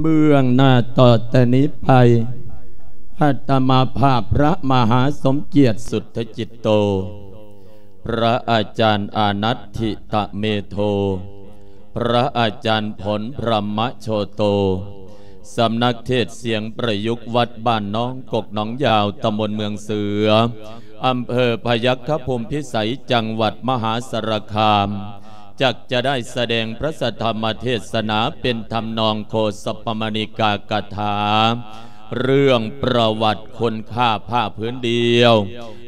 ເບື້ອງໜ້າຕໍ່ແຕ່ນີ້ໄປ ອາດຕະມາພາບພະມະຫາສົມກຽດ ສຸດທະຈິດໂຕ, ພະອາຈານອານັດທິຕະເມໂທ, ພະອາຈານຜົນ ພຣະມະໂຊໂຕ, ສຳນັກເທດສຽງປະຍຸກວັດບ້ານໜອງກົກໜອງຢາວ, ຕຳບົນເມືອງເສືອ, ອຳເພີພະຍັກຂະພູມພິໄສ, ຈັງຫວັດມະຫາສາລະຄາມ. ຈັກຈະໄດ້ສະແດງພະສະທຳມະເທດສະໜາເປັນທຳນອງໂຄສະປະມະນີກາກະຖາ ເລື່ອງປະຫວັດຄຸນຄ່າຜ້າຜືນດຽວ,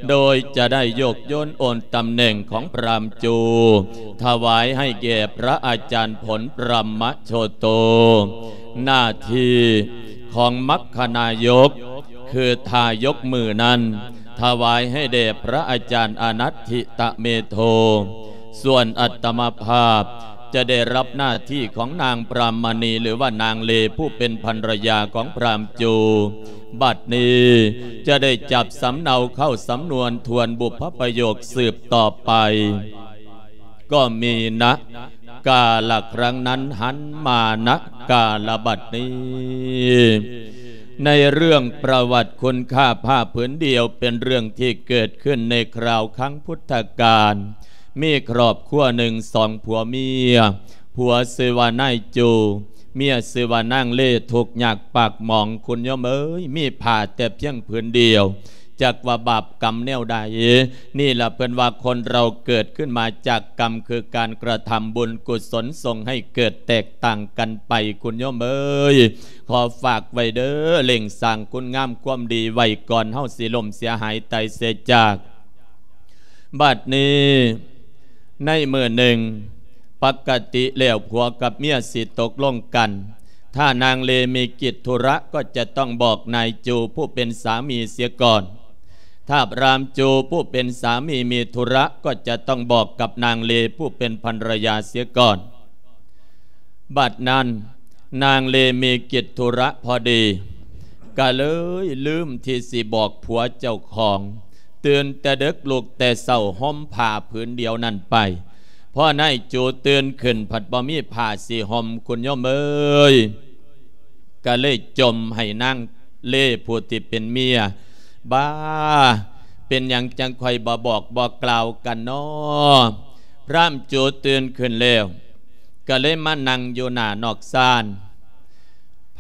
ໂດຍຈະໄດ້ຍົກໂຍນໂອນຕຳແໜ່ງຂອງພຣາມຈູ ຖວາຍໃຫ້ແກ່ພະອາຈານຜົນ ພຣະມະໂຊໂຕ. ໜ້າທີ່ຂອງມັກຄະນາຍົກ ຄືທ່າຍົກມືນັ້ນ ຖວາຍໃຫ້ແດ່ພະອາຈານອານັດທິຕະເມໂທ. ສ່ວນອາດຕະມາພາບຈະໄດ້ຮັບໜ້າທີ່ຂອງນາງພຣາມະນີ ຫຼືວ່ານາງເລ ຜູ້ເປັນພັນລະຍາຂອງພຣາມຈູ. ບັດນີ້ຈະໄດ້ຈັບສຳເນົາເຂົ້າສຳນວນທວນບຸບພະປະໂຫຍກສືບຕໍ່ໄປ. ກໍມີນະກາລະຄັ້ງນັ້ນຫັນມານະກາລະບັດນີ້ ໃນເລື່ອງປະຫວັດຄຸນຄ່າຜ້າຜືນດຽວ ເປັນເລື່ອງທີ່ເກີດຂຶ້ນໃນຄາວຄັ້ງພຸດທະການ. ມີຄອບຄົວໜຶ່ງສອງຜົວເມຍ, ຜົວຊື່ວ່ານາຍຈູ, ເມຍຊື່ວ່ານາງເລ, ທຸກຍາກປາກໝອງ ຄຸນໂຍມເອີຍ, ມີຜ້າແຕ່ພຽງຜືນດຽວ. ຈັກວ່າບາບກຳແນວໃດ. ນີ້ລະເພິ່ນວ່າຄົນເຮົາເກີດຂຶ້ນມາຈາກກຳ ຄືການກະທຳບຸນກຸສົນ ສົ່ງໃຫ້ເກີດແຕກຕ່າງກັນໄປ ຄຸນໂຍມເອີຍ. ຂໍຝາກໄວ້ເດີ ເລັ່ງສ້າງຄຸນງາມຄວາມດີໄວ້ກ່ອນເຮົາຊິລົ້ມເສຍຫາຍຕາຍເສຍຈາກ. ບັດນີ້ ໃນມື້ໜຶ່ງ ປົກກະຕິແລ້ວຜົວກັບເມຍຊິຕົກລົງກັນ ຖ້ານາງເລມີກິດທຸລະກໍຈະຕ້ອງບອກນາຍຈູຜູ້ເປັນສາມີເສຍກ່ອນ. ຖ້າພຣາມຈູຜູ້ເປັນສາມີມີທຸລະກໍຈະຕ້ອງບອກກັບນາງເລຜູ້ເປັນພັນລະຍາເສຍກ່ອນ. ບັດນັ້ນນາງເລມີກິດທຸລະພໍດີ ກະເລີຍລືມທີ່ຊິບອກຜົວເຈົ້າຂອງ. ຕື່ນແຕ່ເດິກ ລຸກແຕ່ເຊົ້າ ຫົ່ມຜ້າຜືນດຽວນັ້ນໄປ. ພໍນາຍຈູຕື່ນຂຶ້ນ ພັດບໍ່ມີຜ້າຊິຫົ່ມ ຄຸນໂຍມເອີຍ. ກະເລີຍຈົ່ມໃຫ້ນາງເລຜູ້ທີ່ເປັນເມຍ. ບາ ເປັນຫຍັງຈັ່ງຄ່ອຍບໍ່ບອກບໍ່ກ່າວກັນນໍ? ພຣາມຈູຕື່ນຂຶ້ນແລ້ວ ກະເລີຍມານັ່ງຢູ່ໜ້ານອກຊານ.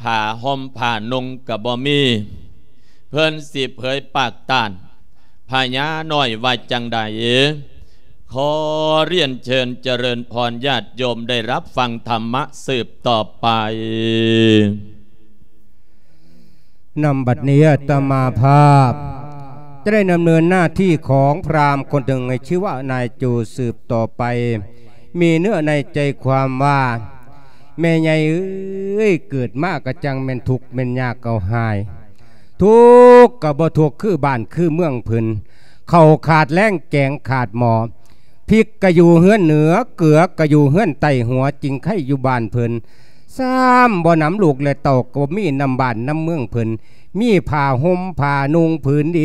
ຜ້າຫົ່ມຜ້ານຸ່ງກະບໍ່ມີ. ເພິ່ນຊິເຜີຍປາກຕ້ານພະຍານ້ອຍວ່າຈັ່ງໃດ? ຂໍຮຽນເຊີນຈະເລີນພອນ ຍາດໂຍມໄດ້ຮັບຟັງທຳມະສືບຕໍ່ໄປ. ນຳບັດນີ້ອາດຕະມາພາບຈະໄດ້ດຳເນີນໜ້າທີ່ຂອງພຣາມຄົນໜຶ່ງໃຫ້ຊື່ວ່ານາຍຈູສືບຕໍ່ໄປ. ມີເນື້ອໃນໃຈຄວາມວ່າ ແມ່ໃຫຍ່ເອີຍ ເກີດມາກະຈັ່ງແມ່ນທຸກແມ່ນຍາກເອົາຫາຍ. ທຸກກະບໍ່ທຸກຄືບ້ານຄືເມືອງເພິ່ນ, ເຂົ້າຂາດແລ້ງແກງຂາດໝໍ້, ພິກກະຢູ່ເຮືອນເໜືອ ເກືອກະຢູ່ເຮືອນໃຕ້ ຫົວຈິງໄຄຢູ່ບ້ານເພິ່ນ. ຊ້ຳບໍ່ນຳລູກແລະເຕົ້າ ກະບໍ່ມີນຳບ້ານນຳເມືອງເພິ່ນ. ມີຜ້າຫົ່ມຜ້ານຸ່ງຜືນດ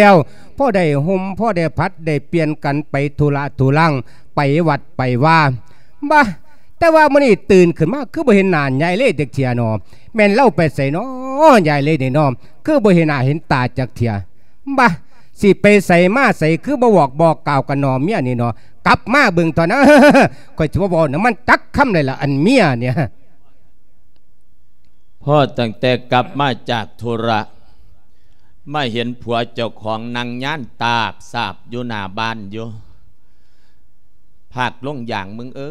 ຽວ ພໍໄດ້ຫົ່ມ ພໍໄດ້ຜັດ ໄດ້ປ່ຽນກັນໄປທຸລະທຸລັງ ໄປວັດໄປວາ. ບາ ແຕ່ວ່າມື້ນີ້ຕື່ນຂຶ້ນມາ ຄືບໍ່ເຫັນໜ້າຍາຍເລຈັກເທື່ອນໍ? ແມ່ນລາວໄປໃສນໍ ຍາຍເລນີ້ນໍ? ຄືບໍ່ເຫັນໜ້າເຫັນຕາຈັກເທື່ອ? ບາ ຊິໄປໃສມາໃສ ຄືບໍ່ບອກບໍ່ກ່າວກັນນໍ ເມຍນີ້ນໍ? ກັບມາເບິ່ງເທາະນະ ຂ້ອຍຊິບໍ່ເວົ້ານຳມັນຈັກຄຳເລີຍລະ ອັນເມຍນີ້. ພໍຕັ້ງແຕ່ກັບມາຈາກທຸລະ ມາເຫັນຜົວເຈົ້າຂອງນັ່ງຍານຕາບສາບຢູ່ໜ້າບ້ານຢູ່. ພາກລົງຢ່າງ ມຶງເອີ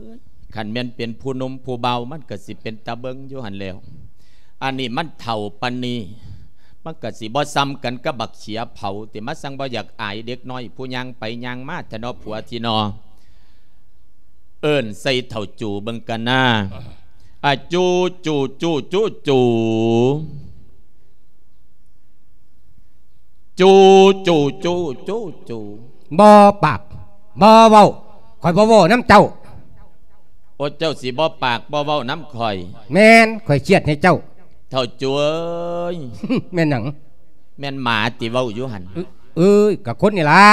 ຍ, ຄັນແມ່ນເປັນຜູ້ໜຸ່ມຜູ້ເບົາ ມັນກະຊິເປັນຕາເບິ່ງຢູ່ຫັ້ນແລ້ວ. ອັນນີ້ມັນເຖົ້າປານນີ້ ມັນກະຊິບໍ່ສ່ຳກັນກັບບັກເຂຍເຜົາຕິ ມາສັ່ງບໍ່ຢາກອາຍເດັກນ້ອຍຜູ້ຍ່າງໄປຍ່າງມາແທ້ນໍ ຜົວຕິນໍ. ເອີ້ນໃສ່ເຖົ້າຈູເບິ່ງກັນນາ. ອາ ຈູ ຈູ ຈູ ຈູ ຈູ. ຈູ ຈູ ຈູ ຈູ ຈູ. ບໍ່ປາກ ບໍ່ເວົ້າ, ຂ້ອຍບໍ່ເວົ້ານຳເຈົ້າ. ໂອ ເຈົ້າຊິບໍ່ປາກບໍ່ເວົ້ານຳຂ້ອຍ? ແມ່ນ, ຂ້ອຍຄຽດໃຫ້ເຈົ້າ. ເຖົ້າຈູເອີຍ. ແມ່ນຫຍັງ? ແມ່ນໝາຕິເວົ້າຢູ່ຫັ້ນ? ເອີຍ, ກະຄົນນີ້ລະ.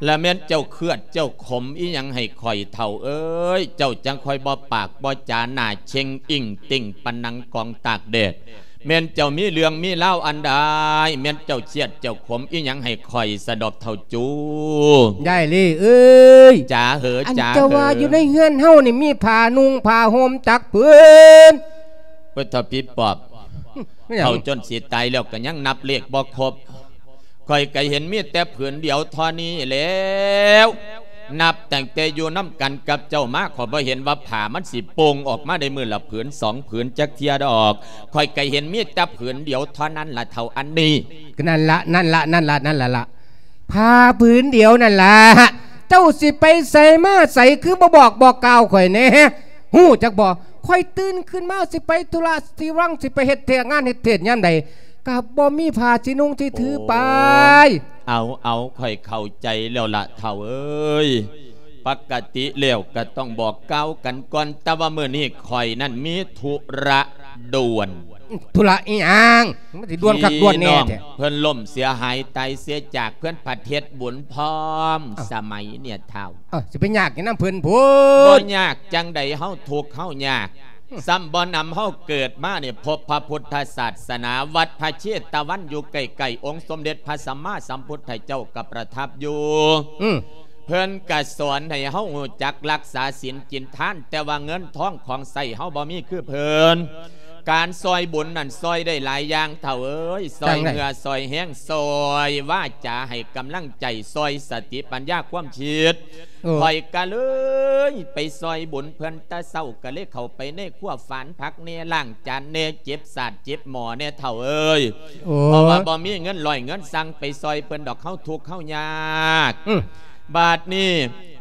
ລະແມ່ນເຈົ້າເຄືອດເຈົ້າຂົມອີ່ຫຍັງໃຫ້ຂ້ອຍເຖົ້າເອີຍ? ເຈົ້າຈັ່ງຄ່ອຍບໍ່ປາກບໍ່ຈາ ໜ້າເຊັງອິ້ງຕິ່ງປານໜັງກອງຕາກແດດ. ແມ່ນເຈົ້າມີເລື່ອງມີລາວອັນໃດ? ແມ່ນເຈົ້າຄຽດເຈົ້າຂົມອີ່ຫຍັງໃຫ້ຂ້ອຍສະດອກເຖົ້າຈູ? ຍາຍລີເອີຍ ຈາເຫີ ອັນ ຈາເຫີ ເຈົ້າວ່າຢູ່ໃນເຮືອນເຮົານີ້ມີຜ້ານຸ່ງຜ້າຫົ່ມຈັກຜືນ? ໂອ້ຍ ເຖົ້າຜີປອບ ແມ່ນຫຍັງ? ເຖົ້າຈົນຊິຕາຍແລ້ວກໍຍັງນັບເລກບໍ່ຄົບ. ຂ້ອຍກໍເຫັນມີແຕ່ຜືນດຽວເທົ່ານີ້ແລ້ວ. ນັບຕັ້ງແຕ່ຢູ່ນຳກັນກັບເຈົ້າມາ ຂ້ອຍບໍ່ເຫັນວ່າຜ້າມັນຊິໂປ່ງອອກມາໄດ້ມື້ລະຜືນສອງຜືນຈັກເທື່ອດອກ. ຂ້ອຍກໍເຫັນມີແຕ່ຜືນດຽວເທົ່ານັ້ນລະເຖົ້າອັນນີ້. ນັ້ນລະ ນັ້ນລະ ນັ້ນລະ ນັ້ນລະລະ ຜ້າຜືນດຽວນັ້ນລະ. ເຈົ້າຊິໄປໃສມາໃສ ຄືບໍ່ບອກ ບອກກ່າວຂ້ອຍແດ່? ຮູ້ຈັກບໍ່? ຂ້ອຍຕື່ນຂຶ້ນມາຊິໄປທຸລະຊິວັງ ຊິໄປເຮັດວຽກງານເຮັດເທດຍາມໃດ ກໍບໍ່ມີຜ້າຊິນຸ່ງຊິຖືໄປ. ໂອ້ ເອົາ ເອົາ ຂ້ອຍເຂົ້າໃຈແລ້ວລະເຖົ້າເອີຍ. ປົກກະຕິແລ້ວກໍຕ້ອງບອກກ່າວກັນກ່ອນ, ແຕ່ວ່າມື້ນີ້ຂ້ອຍນັ້ນມີທຸລະດ່ວນ. ທຸລະອີ່ຫຍັງ? ມັນຊິດ່ວນຄັກດ່ວນແນ່ແທ້. ພີ່ນ້ອງເພິ່ນລົ້ມເສຍຫາຍຕາຍເສຍຈາກ, ເພິ່ນຜັດເຮັດບຸນພ້ອມ. ເອົ້າ ສະໄໝເນຍເຖົ້າ. ເອົ້າ ຊິໄປຍາກຫຍັງນຳເພິ່ນພຸ້ນ? ບໍ່ຍາກຈັ່ງໃດ, ເຮົາທຸກເຮົາຍາກ. ອືມ ຊ້ຳບໍ່ນຳເຮົາເກີດມານີ້ ພົບພະພຸດທະສາສະໜາ, ວັດພະເຊຕະວັນຢູ່ໃກ້ໆ, ອົງສົມເດັດພະສຳມາສຳພຸດທະເຈົ້າກໍປະທັບຢູ່. ອືມ ເພິ່ນກະສອນໃຫ້ເຮົາຮູ້ຈັກລັກສາສິນກິນທານ, ແຕ່ວ່າເງິນທອງຂອງໃຊ້ເຮົາບໍ່ມີຄືເພິ່ນ. ການຊ່ອຍບຸນນັ້ນຊ່ອຍໄດ້ຫຼາຍຢ່າງເຖົ້າເອີຍ, ຊ່ອຍເຫື່ອ ຊ່ອຍແຮງ, ຊ່ອຍວາຈາໃຫ້ກຳລັງໃຈ, ຊ່ອຍສະຕິປັນຍາຄວາມຄິດ. ເອີ ຂ້ອຍກະເລີຍໄປຊ່ອຍບຸນເພິ່ນແຕ່ເຊົ້າ, ກະເລີຍເຂົ້າໄປໃນຄົວຝານຜັກແດ່, ລ້າງຈານແດ່, ເຈັບສາດເຈັບໝໍ້ແດ່ເຖົ້າເອີຍ. ໂອ້ ເພາະວ່າບໍ່ມີເງິນຮ້ອຍເງິນຊັງໄປຊ່ອຍເພິ່ນດອກ, ເຮົາທຸກເຮົາຍາກ. ອືມ ບາດນີ້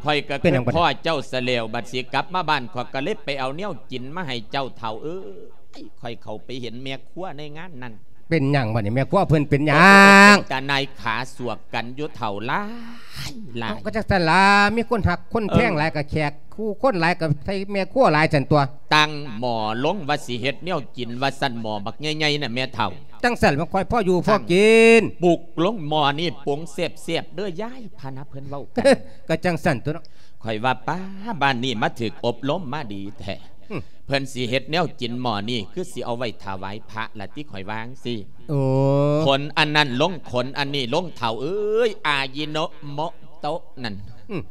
ຂ້ອຍກໍ ເປັນຫຍັງ ຄິດພໍ້ເຈົ້າຊະແລ້ວ, ບັດຊິກັບມາບ້ານ ຂ້ອຍກໍເລີຍໄປເອົາແນວກິນມາໃຫ້ເຈົ້າເຖົ້າເອີຍ. ຂ້ອຍເຂົ້າໄປເຫັນແມ່ຄົວໃນງານນັ້ນ. ເປັນຫຍັງບັດນີ້ ແມ່ຄົວເພິ່ນເປັນຫຍັງ? ໂອ້ຍ ເປັນຕານາຍຂາສວກກັນຢູ່ເຖົ້າ ຫຼາຍ ຫຼາຍ. ເອົ້າ ກໍຈັກຊັ້ນລະ, ມີຄົນຮັກຄົນແພງ ເອີ ຫຼາຍ ກໍແຂກຄູ່ຄົນຫຼາຍ ກໍໃສ່ແມ່ຄົວຫຼາຍຊັ້ນຕົວະ. ຕັ້ງໝໍ້ລົງວ່າຊິເຮັດແນວກິນ ວ່າຊັ້ນ, ໝໍ້ບັກໃຫຍ່ໆນະແມ່ເຖົ້າ. ຈັ່ງຊັ້ນມັນຄ່ອຍພໍຢູ່ພໍກິນ. ປຸກລົງໝໍ້ນີ້ ປຸງແຊບໆເດີ້ຍາຍພະນະ, ເພິ່ນເວົ້າກັນ. ກໍຈັ່ງຊັ້ນຕົວະເນາະ. ຂ້ອຍວ່າ ປ້າ ບ້ານນີ້ມາຖືກອົບຮົມມາດີແທ້. ອືມ ເພິ່ນຊິເຮັດແນວກິນໝໍ້ນີ້ ຄືຊິເອົາໄວ້ຖວາຍພະລະຕິ, ຂ້ອຍວ່າຈັ່ງຊີ້. ໂອ້ ຂົນອັນນັ້ນລົງ ຂົນອັນນີ້ລົງເຖົ້າເອີຍ, ອາຢິໂນໂມະໂຕະນັ້ນ. ອືມ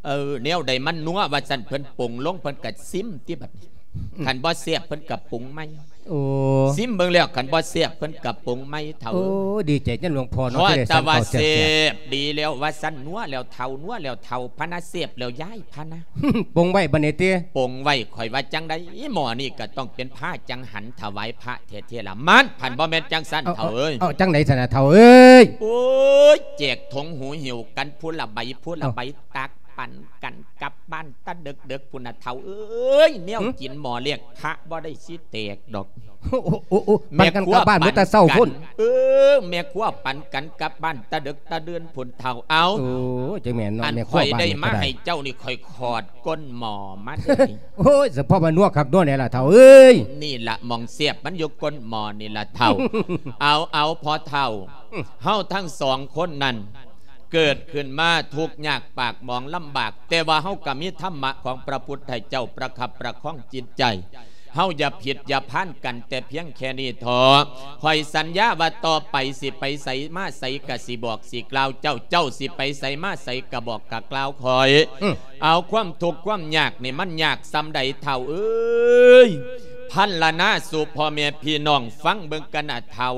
ເອີ ແນວໃດມັນນົວວ່າຊັ້ນ, ເພິ່ນປຸງລົງ ເພິ່ນກະຊິມຕິບັດນີ້. ອືມ ຄັນບໍ່ແຊບເພິ່ນກະປຸງໃໝ່. ໂອ້ ຊິມເບິ່ງແລ້ວ ຄັນບໍ່ແຊບເພິ່ນກະປຸງໃໝ່ເຖົ້າ. ໂອ້ ເອີຍ ດີໃຈນຳຫຼວງພໍ່ເນາະ ພໍແຕ່ວ່າແຊບ ດີແລ້ວວ່າຊັ້ນ, ນົວແລ້ວເຖົ້າ ນົວແລ້ວເຖົ້າພະນະ, ແຊບແລ້ວຍາຍພະນະ. ປົງໄວ້ບັດນີ້ຕິ? ປົງໄວ້. ຂ້ອຍວ່າຈັ່ງໃດ ໝໍ້ນີ້ກໍຕ້ອງເປັນພະຈັງຫັນຖວາຍພະແທ້ໆລະ. ມັນພັນບໍ່ແມ່ນຈັ່ງຊັ້ນເຖົ້າເອີຍ. ເອົ້າ ຈັ່ງໃດຊັ້ນນະເຖົ້າເອີຍ? ໂອ້ຍ ແຈກຖົງຫູຫິ້ວກັນ ຜູ້ລະໃບ ຜູ້ລະໃບ. ເອົ້າ ຕັກປັນກັນກັບບ້ານແຕ່ເດິກໆພຸ້ນນະເຖົ້າເອີຍ. ແນວກິນໝໍ້ລຽກພະບໍ່ໄດ້ຊິແຕກດອກ. ໂອ້ ໂອ້ ໂອ້ ໂອ້ ແມ່ຄົວ ປັນກັນກັບບ້ານມື້ແຕ່ເຊົ້າພຸ້ນ. ເອີ ແມ່ຄົວປັນກັນກັບບ້ານແຕ່ເດິກແຕ່ດື່ນພຸ້ນເຖົ້າ. ເອົາ ໂອ້ ຈັ່ງແມ່ນເນາະ ອັນ ແມ່ຄົວ ຂ້ອຍໄດ້ມາໃຫ້ເຈົ້ານີ້ ຂ້ອຍຂອດກົ້ນໝໍ້ມາເດ້ນີ້. ໂອ້ຍ ສະເພາະວ່ານົວຄັກນົວແນ່ລະເຖົ້າເອີຍ. ນີ້ລະໝ່ອງແຊບ ມັນຢູ່ກົ້ນໝໍ້ນີ້ລະເຖົ້າ. ເອົາ ເອົາ ພໍ່ເຖົ້າ ອືມ ເຮົາທັງສອງຄົນນັ້ນ ເກີດຂຶ້ນມາທຸກຍາກປາກໝອງລຳບາກ, ແຕ່ວ່າເຮົາກໍມີທຳມະຂອງພະພຸດທະເຈົ້າປະຄັບປະຄອງຈິດໃຈ. ເຮົາຢ່າຜິດຢ່າພານກັນແຕ່ພຽງແຄ່ນີ້ເຖາະ. ຂ້ອຍສັນຍາວ່າຕໍ່ໄປຊິໄປໃສມາໃສກໍຊິບອກຊິກ່າວເຈົ້າ, ເຈົ້າຊິໄປໃສມາໃສກໍບອກກໍກ່າວຂ້ອຍ. ອືມ ເອົາ ຄວາມທຸກຄວາມຍາກນີ້ມັນຍາກສ່ຳໃດເຖົ້າເອີຍ? ພັນລະນາສູ່ພໍ່ແມ່ພີ່ນ້ອງຟັງເບິ່ງກັນນະເຖົ້າ.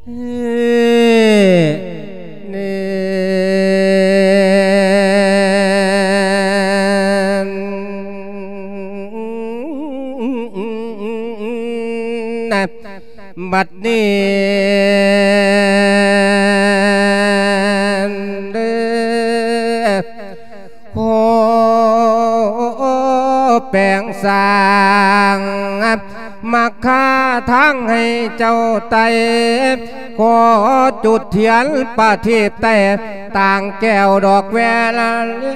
ເອີ ເອີ ນະ ບັດນີ້ເດີ ຂໍແປງສ້າງ ມັກຄາທາງໃຫ້ເຈົ້າໄຕ່ ຂໍຈຸດທຽນປະທີບແຕ່ ຕ່າງແກ້ວດອກແວລະ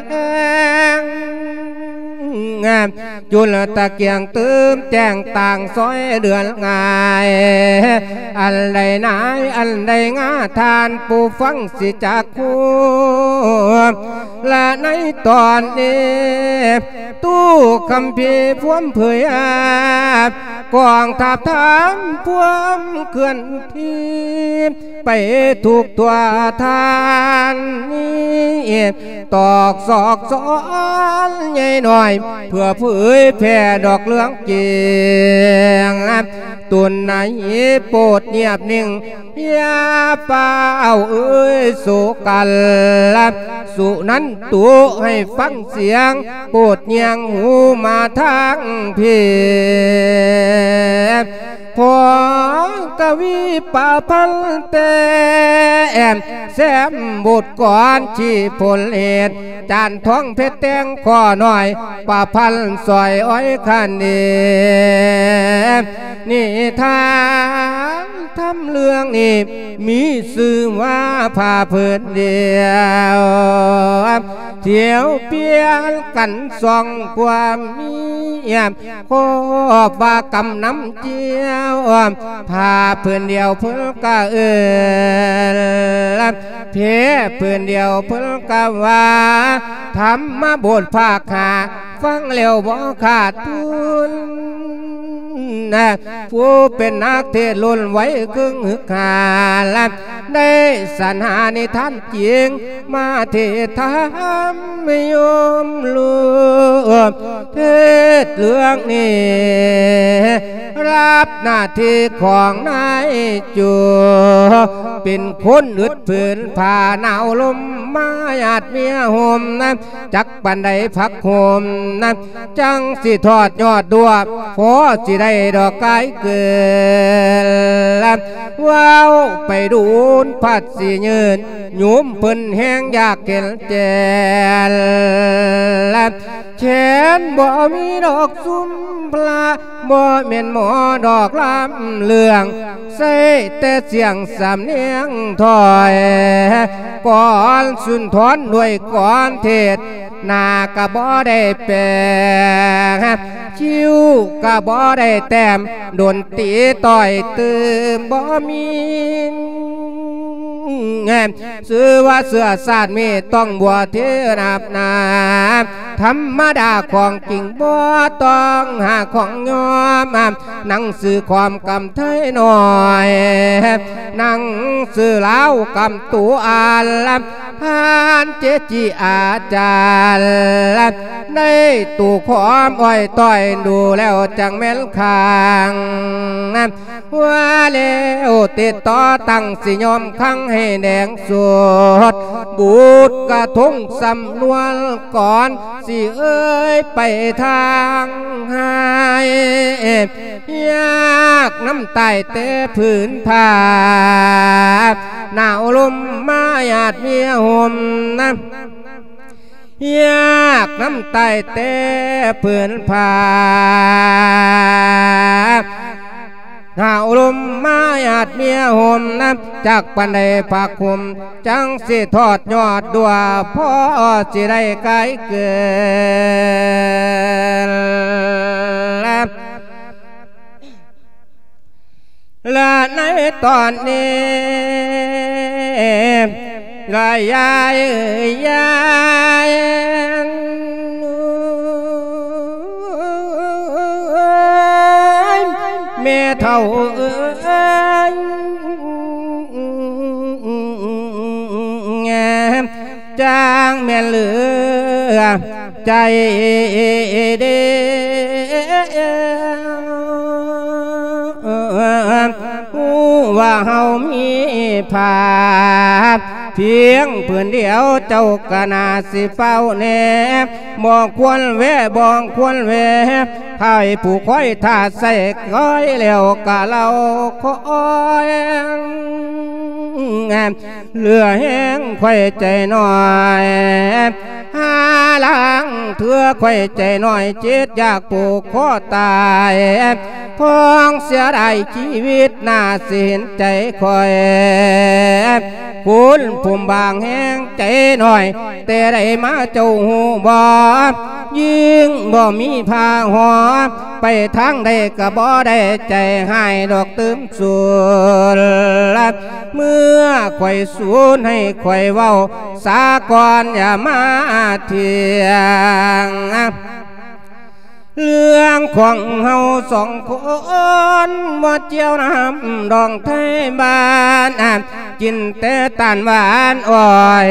ແລງ ຈຸລຕະກຽງຕື່ມແຈ້ງຕ່າງຊອຍເດືອນງ່າຍ ອັນໃດນາຍ ອັນໃດງາ ທ່ານຜູ້ຟັງຊິຈັກຮູ້ ລະໃນຕອນນີ້ ຕູ້ຄຳພີພວມເຜີຍ ກອງທັບທາມພວມເຄື່ອນທີ່ ໄປທຸກທົ່ວທ່ານນີ້ ຕອກຊອກຊອນໃຫຍ່ນ້ອຍ ເພື່ອເຜີຍແຜ່ດອກເລື່ອງຈິງ ຕົນໃນໂປດງຽບນິ່ງ ຢ່າຟ້າວເອີຍໂສກັນ ສຸນັນຕຸໃຫ້ຟັງສຽງ ໂປດຍ່າງຫູມາທາງພີ ພໍກະວີປະພັນແຕ້ມ ແຊມບົດກອນຊີ້ຜົນເຫດ ຈານທອງເພັດແຕ່ງຂໍ້ນ້ອຍ ປະພັນສອຍອ້ອຍຄັນເດ ນິທານທຳເລື່ອງນີ້ ມີຊື່ວ່າຜ້າຜືນດຽວ ທ່ຽວປ່ຽນກັນສອງຄວາມງຽບ ຄອບວ່າກຳນຳຈຽວ ຜ້າຜືນດຽວເພິ່ນກະເອີ້ນ ແພຜືນດຽວເພິ່ນກະວ່າ ທຳມະບົດພາກຫ້າ ຟັງແລ້ວບໍ່ຂາດທຶນ ຜູ້ເປັນນັກເທດລຸ້ນໄວເຄິ່ງຮຶກຫາ ໄດ້ສັນຫານິທານຈິງ ມາເທດທຳໃຫ້ໂຍມຮູ້ ເທດເລື່ອງນີ້ ຮັບໜ້າທີ່ຂອງນາຍໂຈ ເປັນຄົນອຶດຜືນຜ້າໜາວລົມມາຍາດເມຍຫົ່ມ ຈັກປານໃດຜັກຫົ່ມ ຈັ່ງຊິທອດຍອດດ້ວຍ ພໍຊິໄດ້ດອກກາຍເກີນ ເວົ້າໄປດູນພັດຊິຍືນ ໂຍມເພິ່ນແຮງຢາກເຫັນແຈ້ງ ແຂນບໍ່ມີດອກຊຸມພະ ບໍ່ແມ່ນໝໍດອກລຳເລື່ອງ ໃຊ້ແຕ່ສຽງສຳນຽງຖ້ອຍ ກອນສຸນທອນດ້ວຍກອນເທດ ໜ້າກະບໍ່ໄດ້ແປງ ຄິ້ວກະບໍ່ໄດ້ແຕ້ມ ດົນຕີຕ່ອຍຕື່ມບໍ່ມີ ຊື່ວ່າເຊື້ອຊາດມີຕ້ອງບົວເທນັບນາ ທຳມະດາຂອງຈິງບໍ່ຕ້ອງຫາຂອງຍອມ ໜັງສືຂອມກຳໄທໜ້ອຍ ໜັງສືລາວກຳໂຕອ່ານ ທ່ານເຈຈິອາຈານ ໃນຕູ້ຂອມອ້ອຍຕ້ອຍ ດູແລ້ວຈັ່ງແມ່ນຄັງ ວ່າແລ້ວຕິດຕໍ່ຕັ້ງ ຊິຍອມຄັງໃຫ້ແດງສົດ ບູດກະທົງສຳນວນກ່ອນ ຊິເອີຍໄປທາງໃຫ້ ຍາກນຳຕາຍແຕ່ຜືນຜ້າ ໜາວລົມມາຍາດເມຍຫົ່ມນະ ຍາກນຳຕາຍແຕ່ຜືນຜ້າ ໜາວລົມມາຍາດເມຍຫົ່ມນະ ຈັກປານໃດຜ້າຄຸມ ຈັ່ງຊິທອດຍອດດ້ວຍ ພໍຊິໄດ້ກາຍເກີນ ລະໃນຕອນນີ້ ລະຍາຍເອີຍ ຍາຍ ແມ່ເຖົ້າເອີຍ ຈ້າງແມ່ນເຫຼືອໃຈເດ ຮູ້ວ່າເຮົາມີຜ້າພຽງຜືນດຽວ ເຈົ້າກະໜ້າຊິເຝົ້າແນມ ບໍ່ຄວນແວະ ບໍ່ຄວນແວະ ຂ້າຜູ້ຄອຍຖ້າໃສ່ຄອຍ ແລ້ວກະເລົ່າຄອຍ ເຫຼືອແຮງຂ້ອຍໃຈນ້ອຍ ຫາລາງເທື່ອຂ້ອຍໃຈນ້ອຍ ຈິດຢາກຜູກຄໍຕາຍ ພ້ອງເສຍດາຍຊີວິດ ໜ້າຊິເຫັນໃຈຂ້ອຍ ຄົນຜູ້ບາງແຮງໃຈໜ້ອຍ ແຕ່ໃດມາເຈົ້າຮູ້ບໍ່? ຍິ່ງບໍ່ມີຜ້າຫໍ່ ໄປທາງໃດກໍບໍ່ໄດ້ໃຈຮ້າຍດອກຕື່ມສູນ. ເມື່ອຂ້ອຍສູນໃຫ້ຂ້ອຍເວົ້າສາກ່ອນ ຢ່າມາຖຽງ. ເລື່ອງຂອງເຮົາສອງຄົນ ບໍ່ກ່ຽວນຳດອງໄທບ້ານ ກິນແຕ່ຕານຫວານອ້ອຍ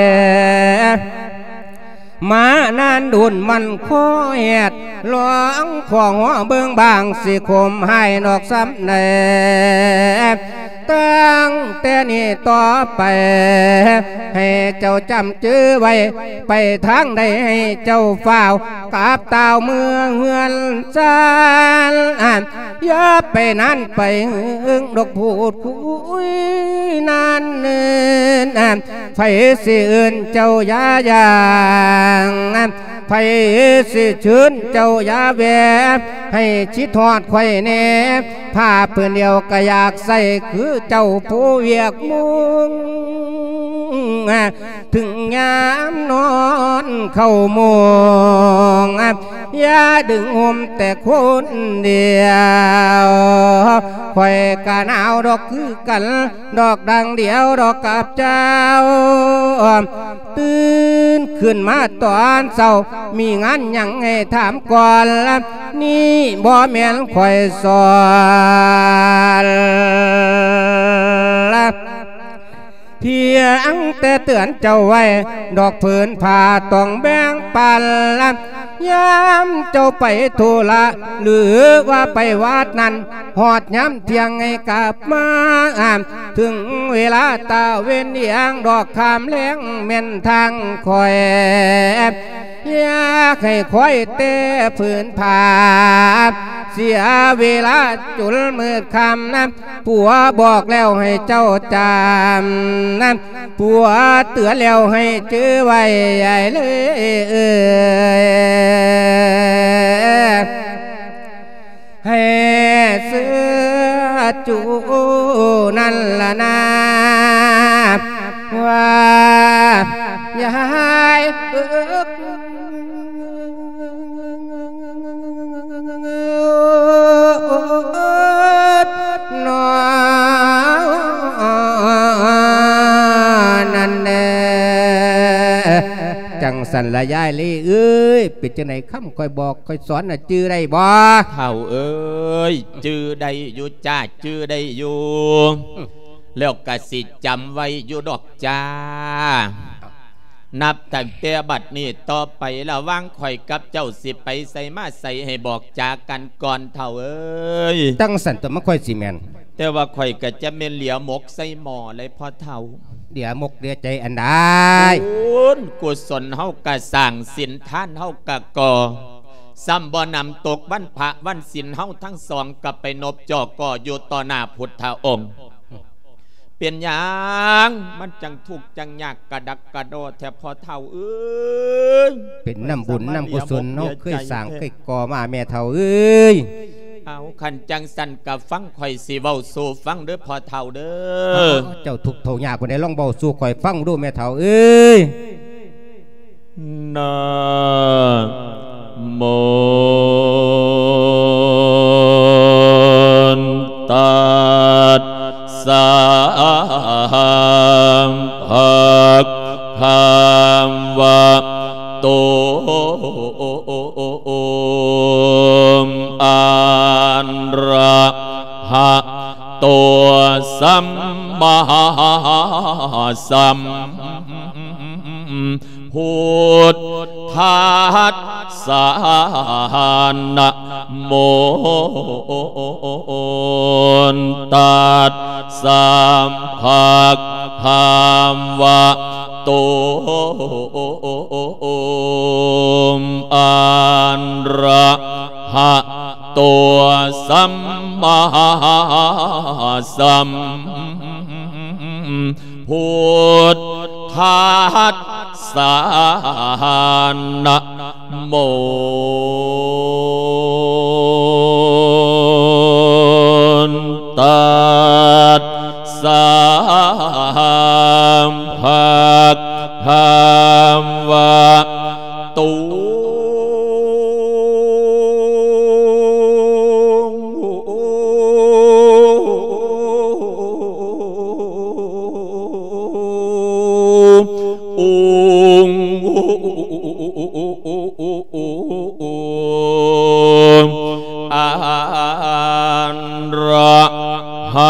ມານານດົນມັນຄໍແຮດ ລອງຂໍເບິ່ງບາງ ຊິຄົມຮ້າຍນອກສ່ຳໃດ. ຕັ້ງແຕ່ນີ້ຕໍ່ໄປ ໃຫ້ເຈົ້າຈຳຈື່ໄວ້ ໄປທາງໃດໃຫ້ເຈົ້າຟ້າວກັບຕ່າວເມືອງເຮືອນຊານ. ຢ່າໄປນານໄປເຫິງດອກ ພູດຄຸຍນານເນີນ. ໃຜຊິເອີ້ນເຈົ້າຢ່າຍ່າງ ໃຜຊິເຊີນເຈົ້າຢ່າແວ່ ໃຫ້ຄິດຮອດຂ້ອຍແດ່ ຜ້າຜືນດຽວກໍຢາກໃສ່ຄືເຈົ້າ ຜູ້ວຽກມຸງ ເຖິງຍາມນອນເຂົ້າມຸງ ຢ່າດຶງຫົ່ມແຕ່ຄົນດຽວ ຂ້ອຍກໍໜາວດອກຄືກັນ ດອກດັ່ງດຽວດອກກັບເຈົ້າ. ຕື່ນຂຶ້ນມາຕອນເຊົ້າ ມີງານຫຍັງໃຫ້ຖາມກ່ອນລະ ນີ້ບໍ່ແມ່ນຂ້ອຍສອນລະ ພຽງແຕ່ເຕືອນເຈົ້າໄວ້ ດອກຜືນຜ້າຕ້ອງແບ່ງປັນລະ ຍາມເຈົ້າໄປທຸລະ ຫຼືວ່າໄປວັດນັ້ນ ຮອດຍາມທ່ຽງໃຫ້ກັບມາ ເຖິງເວລາຕາເວັນດຽງ ດອກຄາມແລງແມ່ນທາງຂ້ອຍ ຢາກໃຫ້ຂ້ອຍແຕ່ຜືນຜ້າ ເສຍເວລາຈົນມືດຄ່ຳນະ ຜົວບອກແລ້ວໃຫ້ເຈົ້າຈຳນະ ຜົວເຕືອນແລ້ວໃຫ້ຈື່ໄວ້ໃຫຍ່ເລີຍ ໃຫ້ເຊື່ອຈູນັ້ນລະນາ ວ່າຍາຍເອີກ ນອນນັ້ນແດ່. ຈັ່ງຊັ້ນລະຍາຍລີເອີຍ ເປັນຈັ່ງໃດຄຳຂ້ອຍບອກຂ້ອຍສອນນະ ຈື່ໄດ້ບໍ່? ເຖົ້າເອີຍ ຈື່ໄດ້ຢູ່ຈ້າ ຈື່ໄດ້ຢູ່ ແລ້ວກະຊິຈຳໄວ້ຢູ່ດອກຈ້າ. ນັບຕັ້ງແຕ່ບັດນີ້ຕໍ່ໄປ ລະຫວ່າງຂ້ອຍກັບເຈົ້າຊິໄປໃສມາໃສ ໃຫ້ບອກຈາກັນກ່ອນເຖົ້າເອີຍ. ຈັ່ງຊັ້ນຕົວະ ມັນຄ່ອຍຊິແມ່ນ. ແຕ່ວ່າຂ້ອຍກະຈະແມ່ນເຫຼືອໝົກໃສ່ໝໍ້ເລີຍພໍ່ເຖົ້າ. ເຫຼືອໝົກເຫຼືອໃຈອັນໃດ? ບຸນກຸສົນເຮົາກະສ້າງ ສິນທານເຮົາກະກໍ່ ຊ້ຳບໍ່ໜຳຕົກວັນພະວັນສິນ ເຮົາທັງສອງກະໄປນົບຈໍ່ກໍຢູ່ຕໍ່ໜ້າພຸດທະອົງ. ເປັນຫຍັງມັນຈັ່ງທຸກຈັ່ງຍາກກະດັກກະດໍແທ້ພໍ່ເຖົ້າເອີຍ? ເປັນນຳບຸນນຳກຸສົນເຮົາເຄີຍສ້າງເຄີຍກໍ່ມາແມ່ເຖົ້າເອີຍ. ເອົາ ຄັນຈັ່ງຊັ້ນກະຟັງຂ້ອຍຊິເວົ້າສູ່ຟັງເດີພໍ່ເຖົ້າເດີ. ເຈົ້າທຸກເຖົ້າຍາກປານໃດ ລອງເວົ້າສູ່ຂ້ອຍຟັງດູແມ່ເຖົ້າເອີຍ. ນະໂມຕັດສະ ພະຄະວະໂຕ ອະຣະຫະໂຕ ສຳມາສຳ ພຸດທັດສະ ນະໂມຕັດສະ ພະຄະວະໂຕ ອະຣະຫະໂຕ ສຳມາສຳ ພຸດທັດສະ ນະໂມຕັດສະ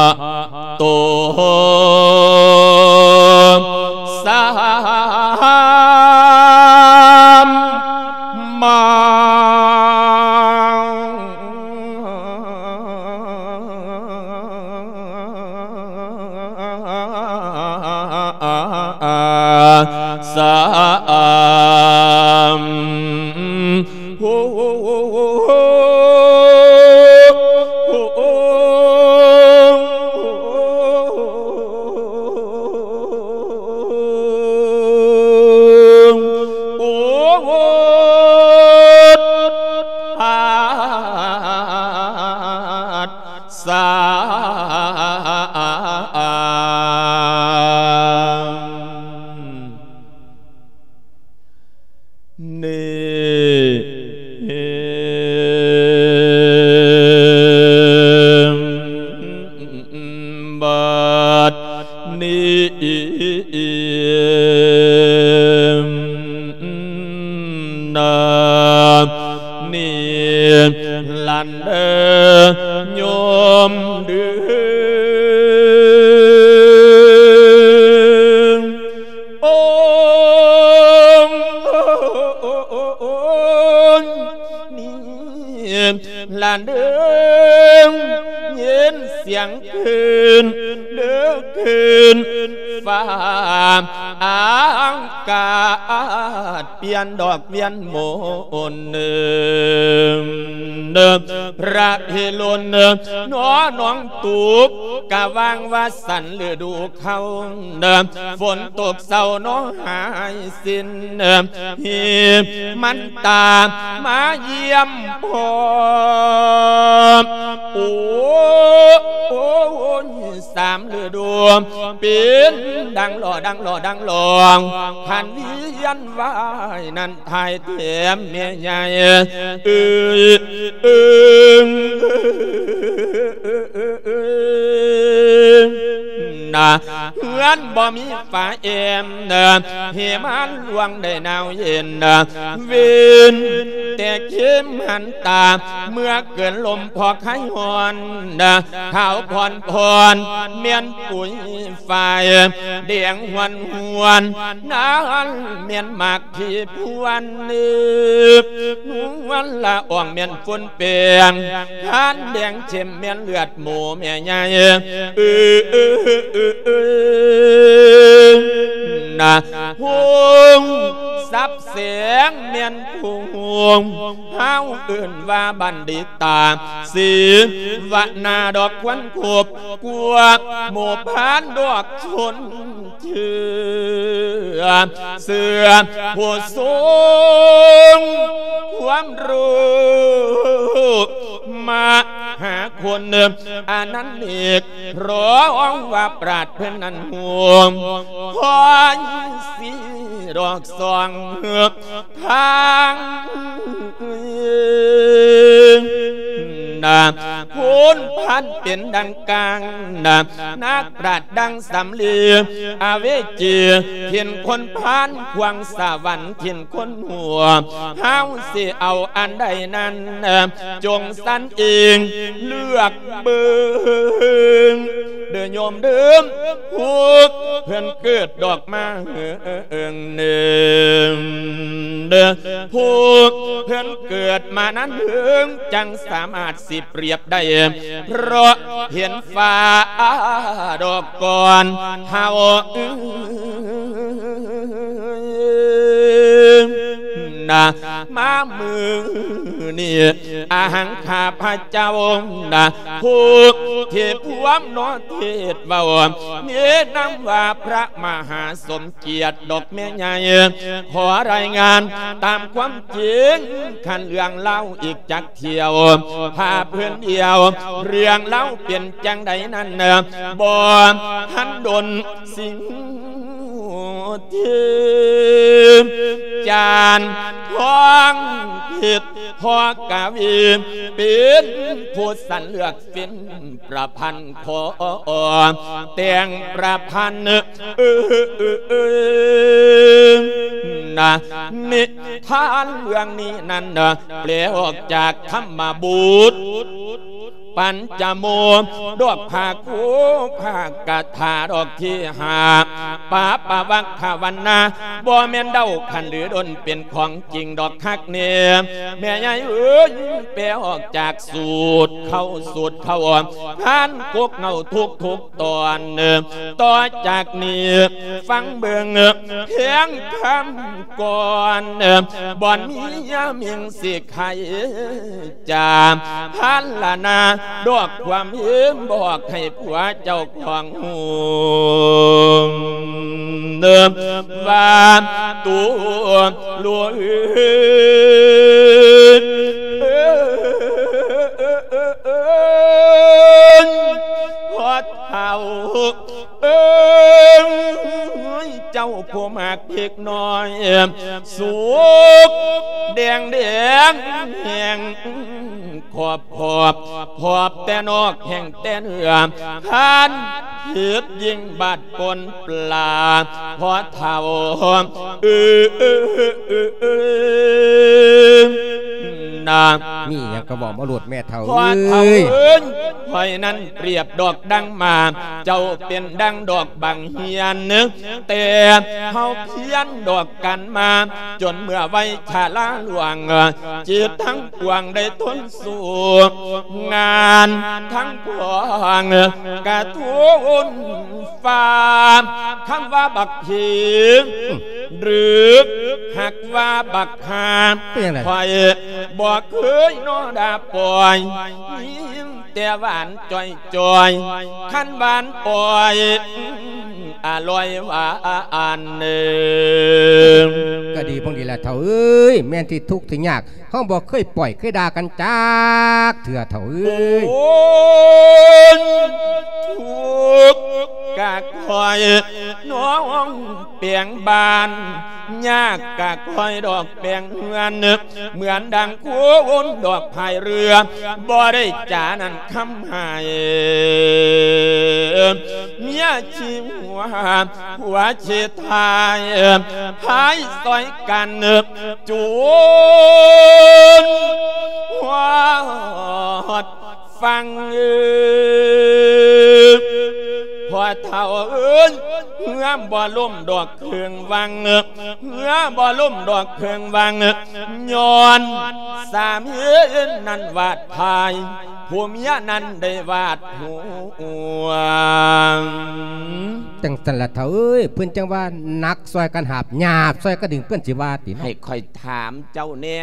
ະໂຕ ສຳມາ ສຳ ໂອ ໂອ ໂອ ໂອ ໂອ ສາ ນີ້ ບັດນີ້ນະ ນີ້ ລັນເດີ ໂຍມເດີ ໂອ ນີ້ ລະເດີ ຍິນສຽງຄືນເດີ ຄືນຟ້າອາກາດ ປ່ຽນດອກວຽນມົນ ພະພິລຸນ ໜໍໜອງຕຸກ ກະຫວ່າງວ່າສັນລະດູ ເຂົາ ຝົນຕົກເຊົາໜໍຫາຍສິ້ນ ຮີມັນຕາມາຢ້ຽມພໍ ໂອ ໂອຍ ສາມລະດູ ເປັນດັ່ງຫຼໍ່ ດັ່ງຫຼໍ່ ດັ່ງຫຼໍ່ ຄັນວຽນວາຍນັ້ນ ຖ່າຍແຖມແມ່ໃຫຍ່ ເອີຍ ເອີຍ ນະ ເຮືອນບໍ່ມີຝາແອ້ມ ເຮມານລວງໄດ້ໜາວເຢັນ ເວັນແຕ່ເຂັມຫັນຕາ ເມື່ອເກີນລົມພໍຄາຍຮ້ອນ ຂາວຜ່ອນໆ ແມ່ນປຸຍ ຝ້າຍແດງຫວນໆ ນັ້ນແມ່ນໝາກທີ່ພວນ ນວນລະອອງແມ່ນຝຸ່ນແປ້ງ ທານແດງເຂັ້ມແມ່ນເລືອດໝູແມ່ໃຫຍ່ ເອີ ນະ ຫົງສັບແສງແມ່ນຜູ້ຫົງ ເຮົາເອີ້ນວ່າບັນດິຕາ ສີວະນາດອກຄວັນຄົບ ກວ່າໝູ່ພານດອກຊົນເຊື້ອ ເສືອຜູ້ຊົງຄວາມຮູ້ມະຫາຄຸນ ອານັນເອກ ຮ້ອງວ່າປາດເພິ່ນນັ້ນໂຮມ ຄອຍສີດອກສ່ອງ ທາງນະ ໂພນພັນເປັນດັ່ງກາງນະ ນັກປາດດັ່ງສຳລີ ອາເວຈີ ຖິ່ນຄົນພານ ຂວາງສະຫວັນ ຖິ່ນຄົນຫົວ ເຮົາຊິເອົາອັນໃດນັ້ນ ຈົ່ງສັນເອງເລືອກເບິ່ງ ເດີໂຍມເດີ ພວກເພິ່ນເກີດດອກມາເຫິງໜຶ່ງ ເດີ ພວກເພິ່ນເກີດມານັ້ນເຫິງ ຈັ່ງສາມາດຊິປຽບໄດ້ ເພາະເຫັນຟ້າດອກກ່ອນເຮົາ ນະ ມາມື້ນີ້ ອາຫັງຂ້າພະເຈົ້ານະ ຜູ້ທີ່ພວມເນາະເທດເວົ້າ ແນະນຳວ່າພະມະຫາສົມກຽດດອກແມ່ໃຫຍ່ ຂໍລາຍງານຕາມຄວາມຈິງ ຄັນເລື່ອງລາວອີກຈັກ ທ່ຽວພາເພິ່ນດຽວ ເລື່ອງລາວເປັນຈັ່ງໃດນັ້ນ ບໍ່ທັນດົນ ສິງເທບ ຈານທອງເພັດ ພໍ່ກະວີ ເປັນຜູ້ສັນເລືອກ ເປັນປະພັນຂໍແຕ່ງປະພັນ ເອີ ເອີ ເອີ ນະ ນິທານເລື່ອງນີ້ນັ້ນນະ ແປອອກຈາກທຳມະບົດ ປັນຈະໂມ ດອກຜ້າຄູ ຜ້າກະຖາ ດອກທີຫ້າ ປາປະວັກຂະວັນນາ ບໍ່ແມ່ນເດົາຄັນຫຼືດົນ ເປັນຂອງຈິງດອກຄັກແນ່ ແມ່ໃຫຍ່ເອີຍ ແປອອກຈາກສູດເຂົ້າສູດເຂົ້າ ຜ່ານກົກເຫງົາທຸກໆຕອນ ຕໍ່ຈາກນີ້ຟັງເບິ່ງ ພຽງຄຳກ່ອນ ບ່ອນມີຍາມິງສິໄຄຈາ ພັນລະນາ ດອກຄວາມເຫັນບອກໃຫ້ຜົວເຈົ້າຂອງຮູ້ ວ່າໂຕລູກ ພໍ່ເຖົ້າ ເອີຍ ເຈົ້າຜູ້ມັກເດັກນ້ອຍ ສຸກແດງແດງແຮງຂອບຂອບ ຂອບແຕ່ນອກແຫ້ງແຕ່ເນື້ອ ທ່ານຜິດຍິ່ງບາດປົນປາ ພໍ່ເຖົ້າ ເອີ ນາ ມີຫຍັງກໍເວົ້າມາໂລດແມ່ເຖົ້າ ພໍ່ເຖົ້າເອີຍ ເອີຍ ຂ້ອຍນັ້ນປຽບດອກດັງໝາກ ເຈົ້າເປັນດັ່ງດອກບັກເຮຍ ແຕ່ເຮົາພຽນດອກກັນມາ ຈົນເມື່ອໄວຊະລາລ່ວງ ຈິດທັງປວງໄດ້ທົນສູ້ ງານທັງປວງກະທົນ ຟ້າ ຄຳວ່າບັກຜີ ຫຼື ຫາກວ່າບັກຫ່າ ເປັນຫຍັງໃດ? ຂ້ອຍບໍ່ເຄີຍນໍດ່າປ່ອຍ ຍິນແຕ່ຫວານຈ່ອຍໆ ຄັນຫວານອ່ອຍ ອະລ່ອຍຫວານເນີ ກໍດີ ເບິ່ງດີແລ້ວເຖົ້າເອີຍ ແມ່ນທີ່ທຸກທີ່ຍາກ ເຮົາບໍ່ເຄີຍປ່ອຍເຄີຍດ່າກັນຈັກເທື່ອເຖົ້າເອີຍ ໂອ້ຍ ທຸກກະຂ້ອຍນ້ອງແປງບ້ານ ຍາກກະຂ້ອຍດອກແປງເຮືອນ ເໝືອນດັ່ງຄົນດອກພາຍເຮືອ ບໍ່ໄດ້ຈານັ້ນຄຳໃຫ້ ເມຍຊິຫົວ ຜົວຊິທ້າຍ ພາຍຊ່ອຍກັນ ຈົນຮອດຝັ່ງ ພໍ່ເຖົ້າເອີຍ ເຮືອບໍ່ລົ້ມດອກເຄິ່ງວັງ ເຮືອບໍ່ລົ້ມດອກເຄິ່ງວັງ ຍ້ອນສາມີນັ້ນຫວາດພາຍ ຜູ້ເມຍນັ້ນໄດ້ຫວາດຫົວ ຈັ່ງຊັ້ນລະເຖົ້າເອີຍ ເພິ່ນຈັ່ງວ່າໜັກຊ່ອຍກັນຫາບ ຫຍາບຊ່ອຍກັນດຶງ ເພິ່ນຊິວ່າຕິເນາະ ໃຫ້ຂ້ອຍຖາມເຈົ້າແດ່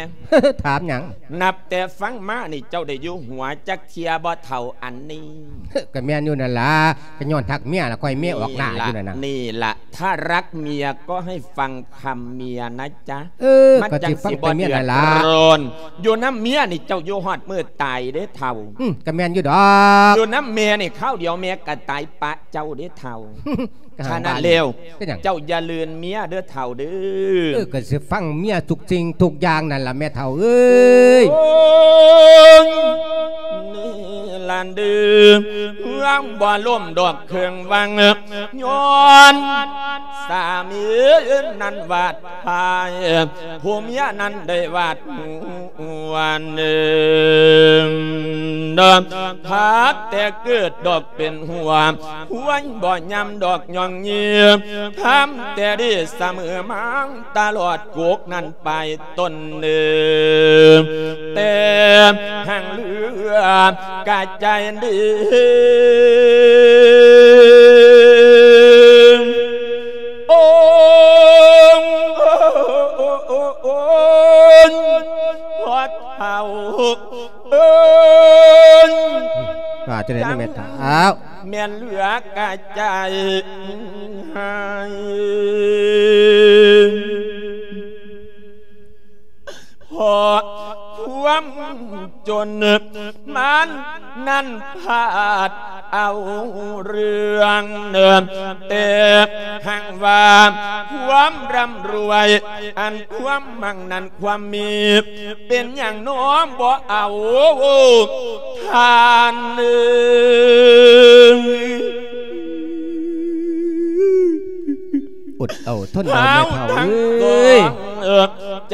ຖາມຫຍັງ? ນັບແຕ່ຟັງມານີ້ ເຈົ້າໄດ້ຢູ່ຫົວຈັກເທື່ອບໍ່ເຖົ້າອັນນີ້? ກໍແມ່ນຢູ່ນັ້ນລະ ກໍຍ້ອນຮັກເມຍລະ ຂ້ອຍເມຍອອກໜ້າຢູ່ນັ້ນນະ ນີ້ລະ ຖ້າรักเมียก็ให้ฟังคำเมียนะจ๊ะ ເອີ ມັນຈັ່ງຊິບໍ່ເດືອດຮ້ອນ ຢູ່ນຳເມຍນີ້ເຈົ້າຢູ່ຮອດມື້ຕາຍເດ້ເຖົ້າ ອືມ ກໍແມ່ນຢູ່ດອກ ຢູ່ນຳແມ່ນີ້ຄາວດຽວແມ່ກໍຕາຍປະເຈົ້າເດ້ເຖົ້າ ສະນັ້ນແລ້ວ ເຈົ້າຢ່າລືມເມຍເດີເຖົ້າເດີ ເອີ ກໍຊິຟັງເມຍທຸກສິ່ງທຸກຢ່າງນັ້ນລະແມ່ເຖົ້າເອີຍ ໂອ້ຍ ນີ້ລະເດີ ເຮືອບໍ່ລົ້ມດອກເຄິ່ງວັງ ຍ້ອນສາມີນັ້ນຫວາດພາຍ ຜູ້ເມຍນັ້ນໄດ້ຫວາດຫົວເນີ ຫາກແຕ່ເກີດດອກ ເປັນຫົວ ຄວາຍບໍ່ຍຳດອກຍ່ອງເຍຍ ທຳແຕ່ດີສະເໝີມາງຕະຫຼອດ ກົກນັ້ນໄປຕົ້ນເນີ ແຕ່ຫາງເຫຼືອກະໃຈດີ ໂອ້ ໂອ້ ໂອ້ ໂອ້ ພໍ່ເຖົ້າ ເອີຍ ວ່າຈັ່ງໃດນະແມ່ເຖົ້າ ແມ່ນເຫຼືອກະໃຈໃຫ້ ເພາະຄວາມຈົນມັນນັ້ນພາດເອົາເລື່ອງ ແຕ່ຫາກວ່າຄວາມຮ່ຳລວຍ ອັນຄວາມມັ່ງນັ້ນ ຄວາມມີ ເປັນຫຍັງນ້ອງບໍ່ເອົາທ່ານເອີຍ ອົດເອົາທົນເອົາແມ່ເຖົ້າເອີຍ ເອີ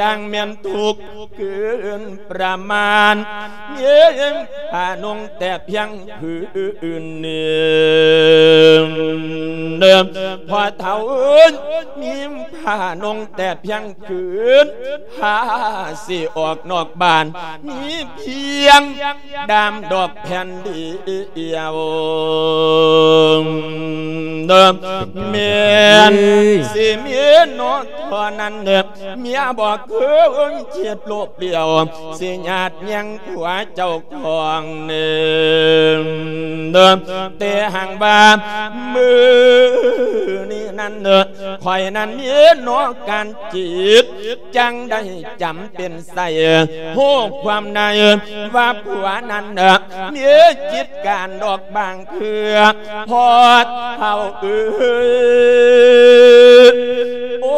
ຈັ່ງແມ່ນທຸກ ເກີນປະມານ ມີຜ້ານຸ່ງແຕ່ພຽງຜືນໜຶ່ງ. ພໍ່ເຖົ້າເອີຍ ມີຜ້ານຸ່ງແຕ່ພຽງຜືນ ຜ້າຊິອອກນອກບ້ານ ມີພຽງດ້າມດອກແຜ່ນດຽວ ແມ່ນຊິມີເນາະເທົ່ານັ້ນ ເມຍບໍ່ເຄີຍຄິດໂລບລ້ຽວ ຊິຍາດແຍ່ງຜົວເຈົ້າຂອງເນີ່ນ. ແຕ່ຫາກວ່າມື້ນີ້ນັ້ນ ຂ້ອຍນັ້ນມີເນາະການຈິດ ຈັ່ງໄດ້ຈຳເປັນໃສ່ ຮູ້ຄວາມໃນວ່າຜົວນັ້ນ ມີຈິດການດອກບາງເທື່ອ ພໍ່ເຖົ້າເອີຍ ໂອ້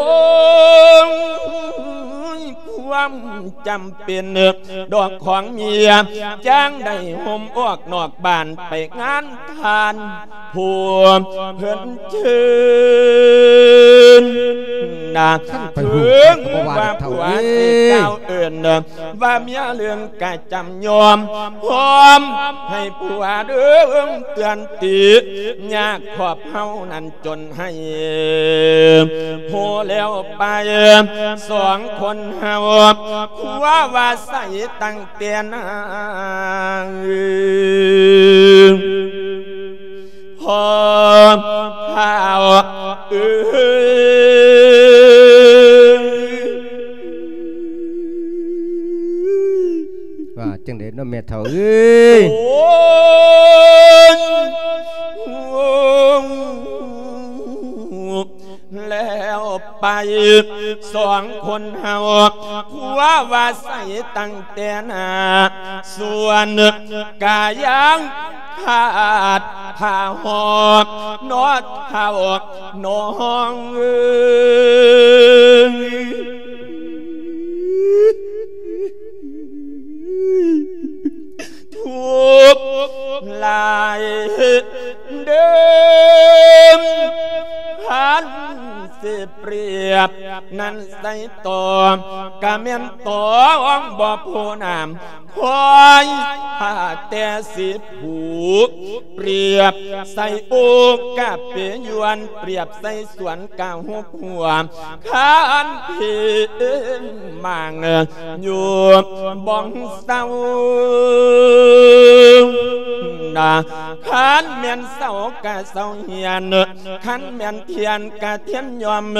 ຍ ຄວາມຈຳເປັນດອກຂອງເມຍ ຈັ່ງໄດ້ໂຮມອອກນອກບ້ານໄປງານທ່ານຜູ້ເພິ່ນເຊີນນະ. ເຖິງວ່າຜົວຊິກ່າວເອີ້ນ ວ່າເມຍເລື່ອງກະຈຳຍອມ ຍອມໃຫ້ຜົວເດີເຕືອນຕິ ຍາກຄອບເຮົານັ້ນຈົນໃຫ້ໂພແລ້ວໄປ ສອງຄົນເຮົາຜົວວ່າໃສຕັ້ງແຕ່ນາ ພໍ່ເຖົ້າເອີຍ ວ່າຈັ່ງໃດເນາະແມ່ເຖົ້າເອີຍ ໂອ້ຍ ແລ້ວໄປ ສອງຄົນເຮົາ ຜົວວ່າໃສຕັ້ງແຕ່ໜ້າ ສ່ວນກາຍັງຂາດຜ້າຫອມ ເນາະເຖົ້ານ້ອງເອີຍ. ທຸກຫຼາຍເດີ ຄັນຊິປຽບນັ້ນໃສ່ຕໍ່ ກະແມ່ນຕ້ອງບໍ່ໂພນາມ ຄວາຍຖ້າແຕ່ສິຜູກ ປຽບໃສ່ໂອກະເປຍວນ ປຽບໃສ່ສວນກະຫົກຫົວ ຄັນເພງມາງຢູ່ບໍ່ເຊົານະ ຄັນແມ່ນເຊົາກະເຊົາຮຽນ ຄັນແມ່ນທຽນກະທຽນຍອມ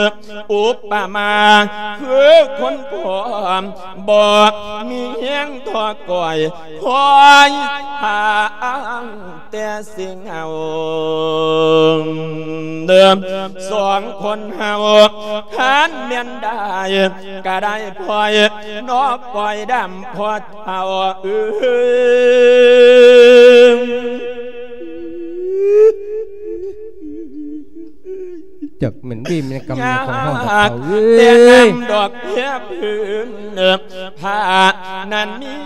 ອຸປະມາຄືຄົນພ້ອມ ບໍ່ມີແຮງທໍ້ກ້ອຍ ຄອຍຫາແຕ່ຊິເຫງົາ ເດີມສອງຄົນເຮົາ ຄັນແມ່ນໄດ້ກະໄດ້ພອຍ ເນາະ ປ່ອຍດຳພໍເຖົ້າເອີຍ. ຈັກແມ່ນເວรແມ່ນກຳຂອງເຮົາດອກເຖົ້າເອີຍ ແຕ່ນຳດອກເພັບພື້ນຜ້ານັ້ນມີ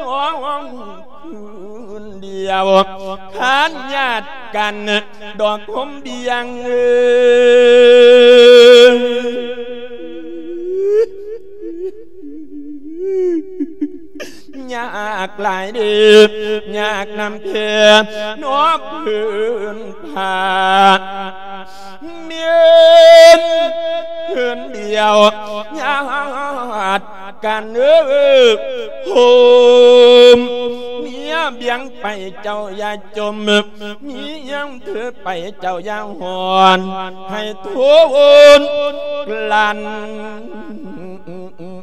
ນ້ອງຄືນດຽວ ຄັນຍາດກັນດອກຫົມບຽງເອີຍ. ຍາກຫຼາຍເດີ ຍາກນຳແທ້ເນາະພື້ນຜ້າ ແມ່ນພື້ນດຽວຍາດກັນເອີ ໂຮມ ເມຍບຽງໄປເຈົ້າຢ່າຈົ່ມ ມີຫຍັງຖືໄປເຈົ້າຢ່າຮ້ອນ ໃຫ້ທົນກລັ້ນ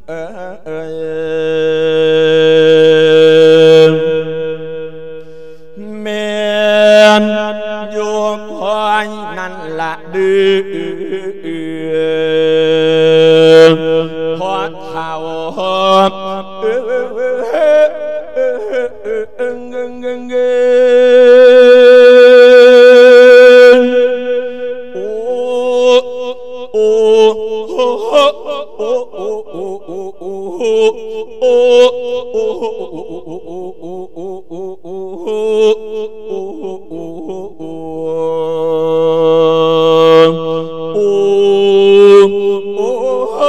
ເອີຍ ແມ່ນຢູ່ຄອຍນັ້ນລະເດີ ພໍ່ເຖົ້າ ເອີຍ. ໂອ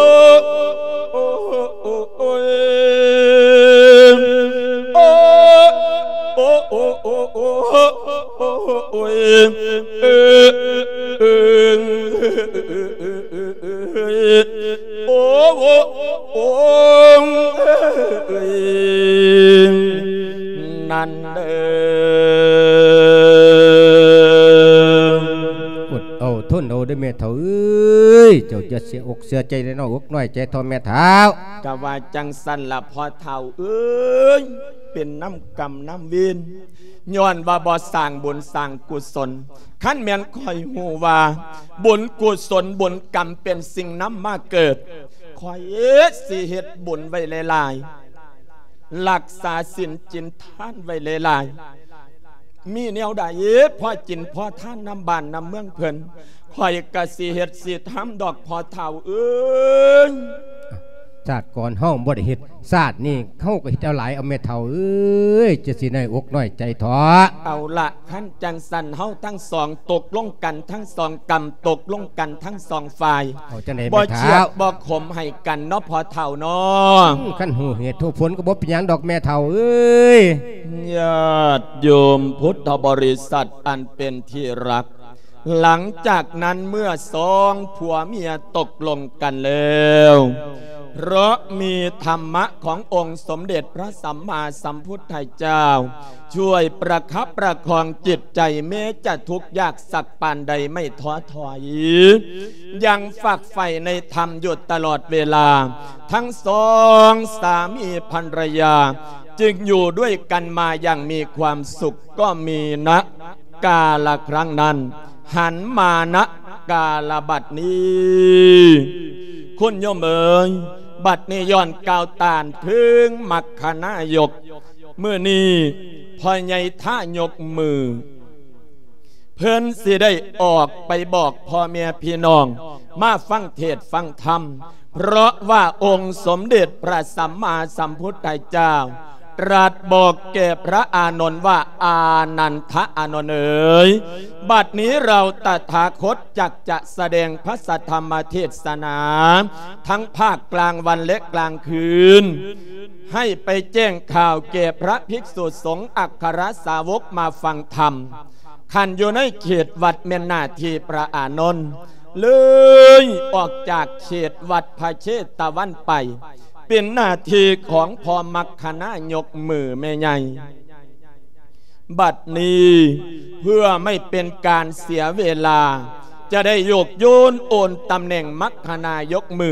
້ ໂອ້ ໂອ້ ໂອ້ ໂອ້ ໂອ້ຍ ເອີ ເອີ ໂອ້ ໂອ້ ໂອ້ ເອີ ນັ້ນເດີ. ອົດເອົາ ທົນເອົາເດີແມ່ເຖົ້າເອີຍ ເຈົ້າຢ່າເສຍອົກເສຍໃຈເດີເນາະ ອົກນ້ອຍໃຈເຖົ້າແມ່ເຖົ້າ. ກະວ່າຈັ່ງຊັ້ນລະພໍ່ເຖົ້າເອີຍ ເປັນນຳກຳນຳເວນ ຍ້ອນວ່າບໍ່ສ້າງບຸນສ້າງກຸສົນ. ຄັນແມ່ນຂ້ອຍຮູ້ວ່າບຸນກຸສົນບຸນກຳເປັນສິ່ງນຳມາເກີດ ຂ້ອຍຊິເຮັດບຸນໄວ້ຫຼາຍໆ ລັກສາສິນກິນທານໄວ້ຫຼາຍໆ. ມີແນວໃດພໍກິນພໍທານນຳບ້ານນຳເມືອງເພິ່ນ ຂ້ອຍກະຊິເຮັດຊິທຳດອກພໍ່ເຖົ້າເອີຍ. ຊາດກ່ອນເຮົາບໍ່ໄດ້ເຮັດ ຊາດນີ້ເຮົາກໍເຮັດເອົາຫຼາຍເອົາແມ່ເຖົ້າເອີຍ ຈະຊິນ້ອຍອົກນ້ອຍໃຈເຖາະ. ເອົາລະ ຄັນຈັ່ງຊັ້ນເຮົາທັງສອງຕົກລົງກັນທັງສອງກຳ ຕົກລົງກັນທັງສອງຝ່າຍ ເອົາຈັ່ງໃດແມ່ເຖົ້າ? ບໍ່ຄຽດບໍ່ຂົມໃຫ້ກັນເນາະພໍ່ເຖົ້າເນາະ. ອືມ ຄັນຮູ້ເຫດຮູ້ຜົນກໍບໍ່ເປັນຫຍັງດອກແມ່ເຖົ້າເອີຍ. ຍາດໂຍມພຸດທະບໍລິສັດອັນເປັນທີ່ຮັກ ຫຼັງຈາກນັ້ນເມື່ອສອງຜົວເມຍຕົກລົງກັນແລ້ວ ເພາະມີທຳມະຂອງອົງສົມເດັດພະສຳມາສຳພຸດທະເຈົ້າ ຊ່ວຍປະຄັບປະຄອງຈິດໃຈ ແມ້ຈະທຸກຍາກສັກປານໃດໄມ່ທໍ້ຖອຍ ຍັງຝັກໃຝ່ໃນທຳຢູ່ຕະຫຼອດເວລາ. ທັງສອງສາມີພັນລະຍາຈຶ່ງຢູ່ດ້ວຍກັນມາຢ່າງມີຄວາມສຸກ ກໍມີນະກາລະຄັ້ງນັ້ນ ຫັນມານະກາລະບັດນີ້. ຄຸນໂຍມເອີຍ ບັດນີ້ຍ້ອນກ່າວຕານເຖິງມັກຄະນາຍົກ ມື້ນີ້ພໍ່ໃຫຍ່ທາຍົກມື ເພິ່ນຊິໄດ້ອອກໄປບອກພໍ່ແມ່ພີ່ນ້ອງມາຟັງເທດຟັງທຳ ເພາະວ່າອົງສົມເດັດພະສຳມາສຳພຸດທະເຈົ້າ ຕລັດບອກແກ່ພະອານົນວ່າ ອານັນທະອານົນເອີຍ ບັດນີ້ເຮົາຕະຖາຄົດຈັກຈະສະແດງພະສັດທຳມະເທດສະໜາ ທັງພາກກາງວັນ ແລະ ກາງຄືນ ໃຫ້ໄປແຈ້ງຂ່າວແກ່ພະພິກສຸສົງ ອັກຄະລະສາວົກມາຟັງທຳ. ຄັນຢູ່ໃນເຂດວັດແມ່ນໜ້າທີ່ພະອານົນ ເລີຍອອກຈາກເຂດວັດພະເຊຕະວັນໄປ ເປັນໜ້າທີ່ຂອງພໍ່ມັກຄະນາຍົກມືແມ່ໃຫຍ່. ບັດນີ້ເພື່ອໄມ່ເປັນການເສຍເວລາ ຈະໄດ້ໂຍກໂຍນໂອນຕຳແໜ່ງມັກຄະນາຍົກມື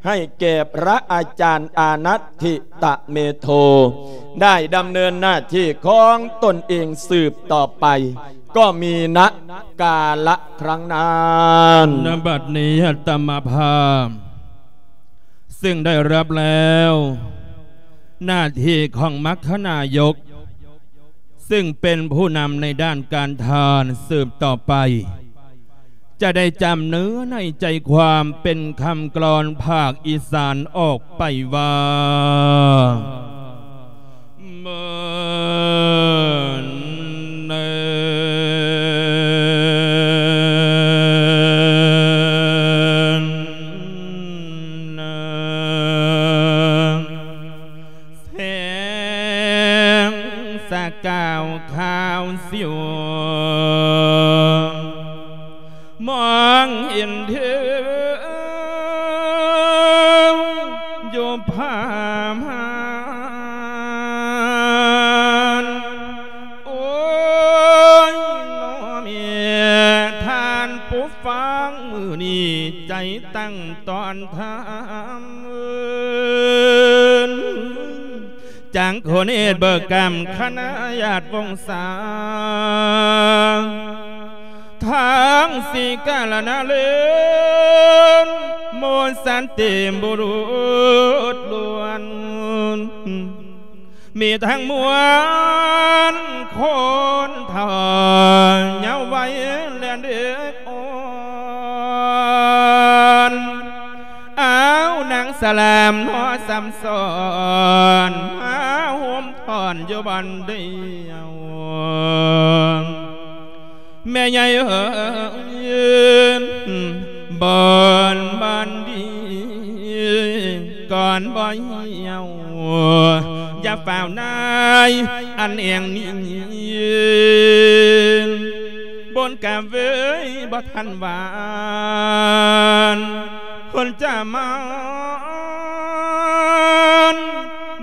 ໃຫ້ແກ່ພະອາຈານອານັດທິຕະເມໂທ ໄດ້ດຳເນີນໜ້າທີ່ຂອງຕົນເອງສືບຕໍ່ໄປ ກໍມີນະກາລະຄັ້ງນັ້ນ. ນະບັດນີ້ອາດຕະມາພາບ ຊຶ່ງໄດ້ຮັບແລ້ວໜ້າທີ່ຂອງມັກຄະນາຍົກ ຊຶ່ງເປັນຜູ້ນຳໃນດ້ານການທານ ສືບຕໍ່ໄປ ຈະໄດ້ຈຳເນື້ອໃນໃຈຄວາມເປັນຄຳກລອນພາກອີສານອອກໄປວ່າ ເມີນເນີນ ແສງສະກາວຂາວສິວ ມອງເຫັນເທີງຢູ່ຜາມ່ານ. ໂອ້ຍ ນ້ອແມ່ທ່ານຜູ້ຟັງ ມື້ນີ້ໃຈຕັ້ງຕ້ອນທຳ ຈັກຄົນເອດເບີກຳຄະນະຍາດວົງສາ ທັງສີກາລະນະເລນ ໝູສັນຕິບຸລຸດລ້ວນ ມີທັງມວນຄົນເຖົ້າເຍົາໄວ ແລະເດັກອ່ອນ ອາວນາງສະຫຼາມເນາະ ສຳສອນ ມາໂຮມທ້ອນຢູ່ບ່ອນດຽວ ແມ່ໃຫຍ່ເອີຍ ບ່ອນ ບ່ອນດີ ກ່ອນບໍ່ຫ່ຽວ ຢ່າຟ້າວນາຍ ອັນແອງນີ້ ຍ ບົນກະເວີຍບໍ່ທັນຫວານ ຄົນຈະມາ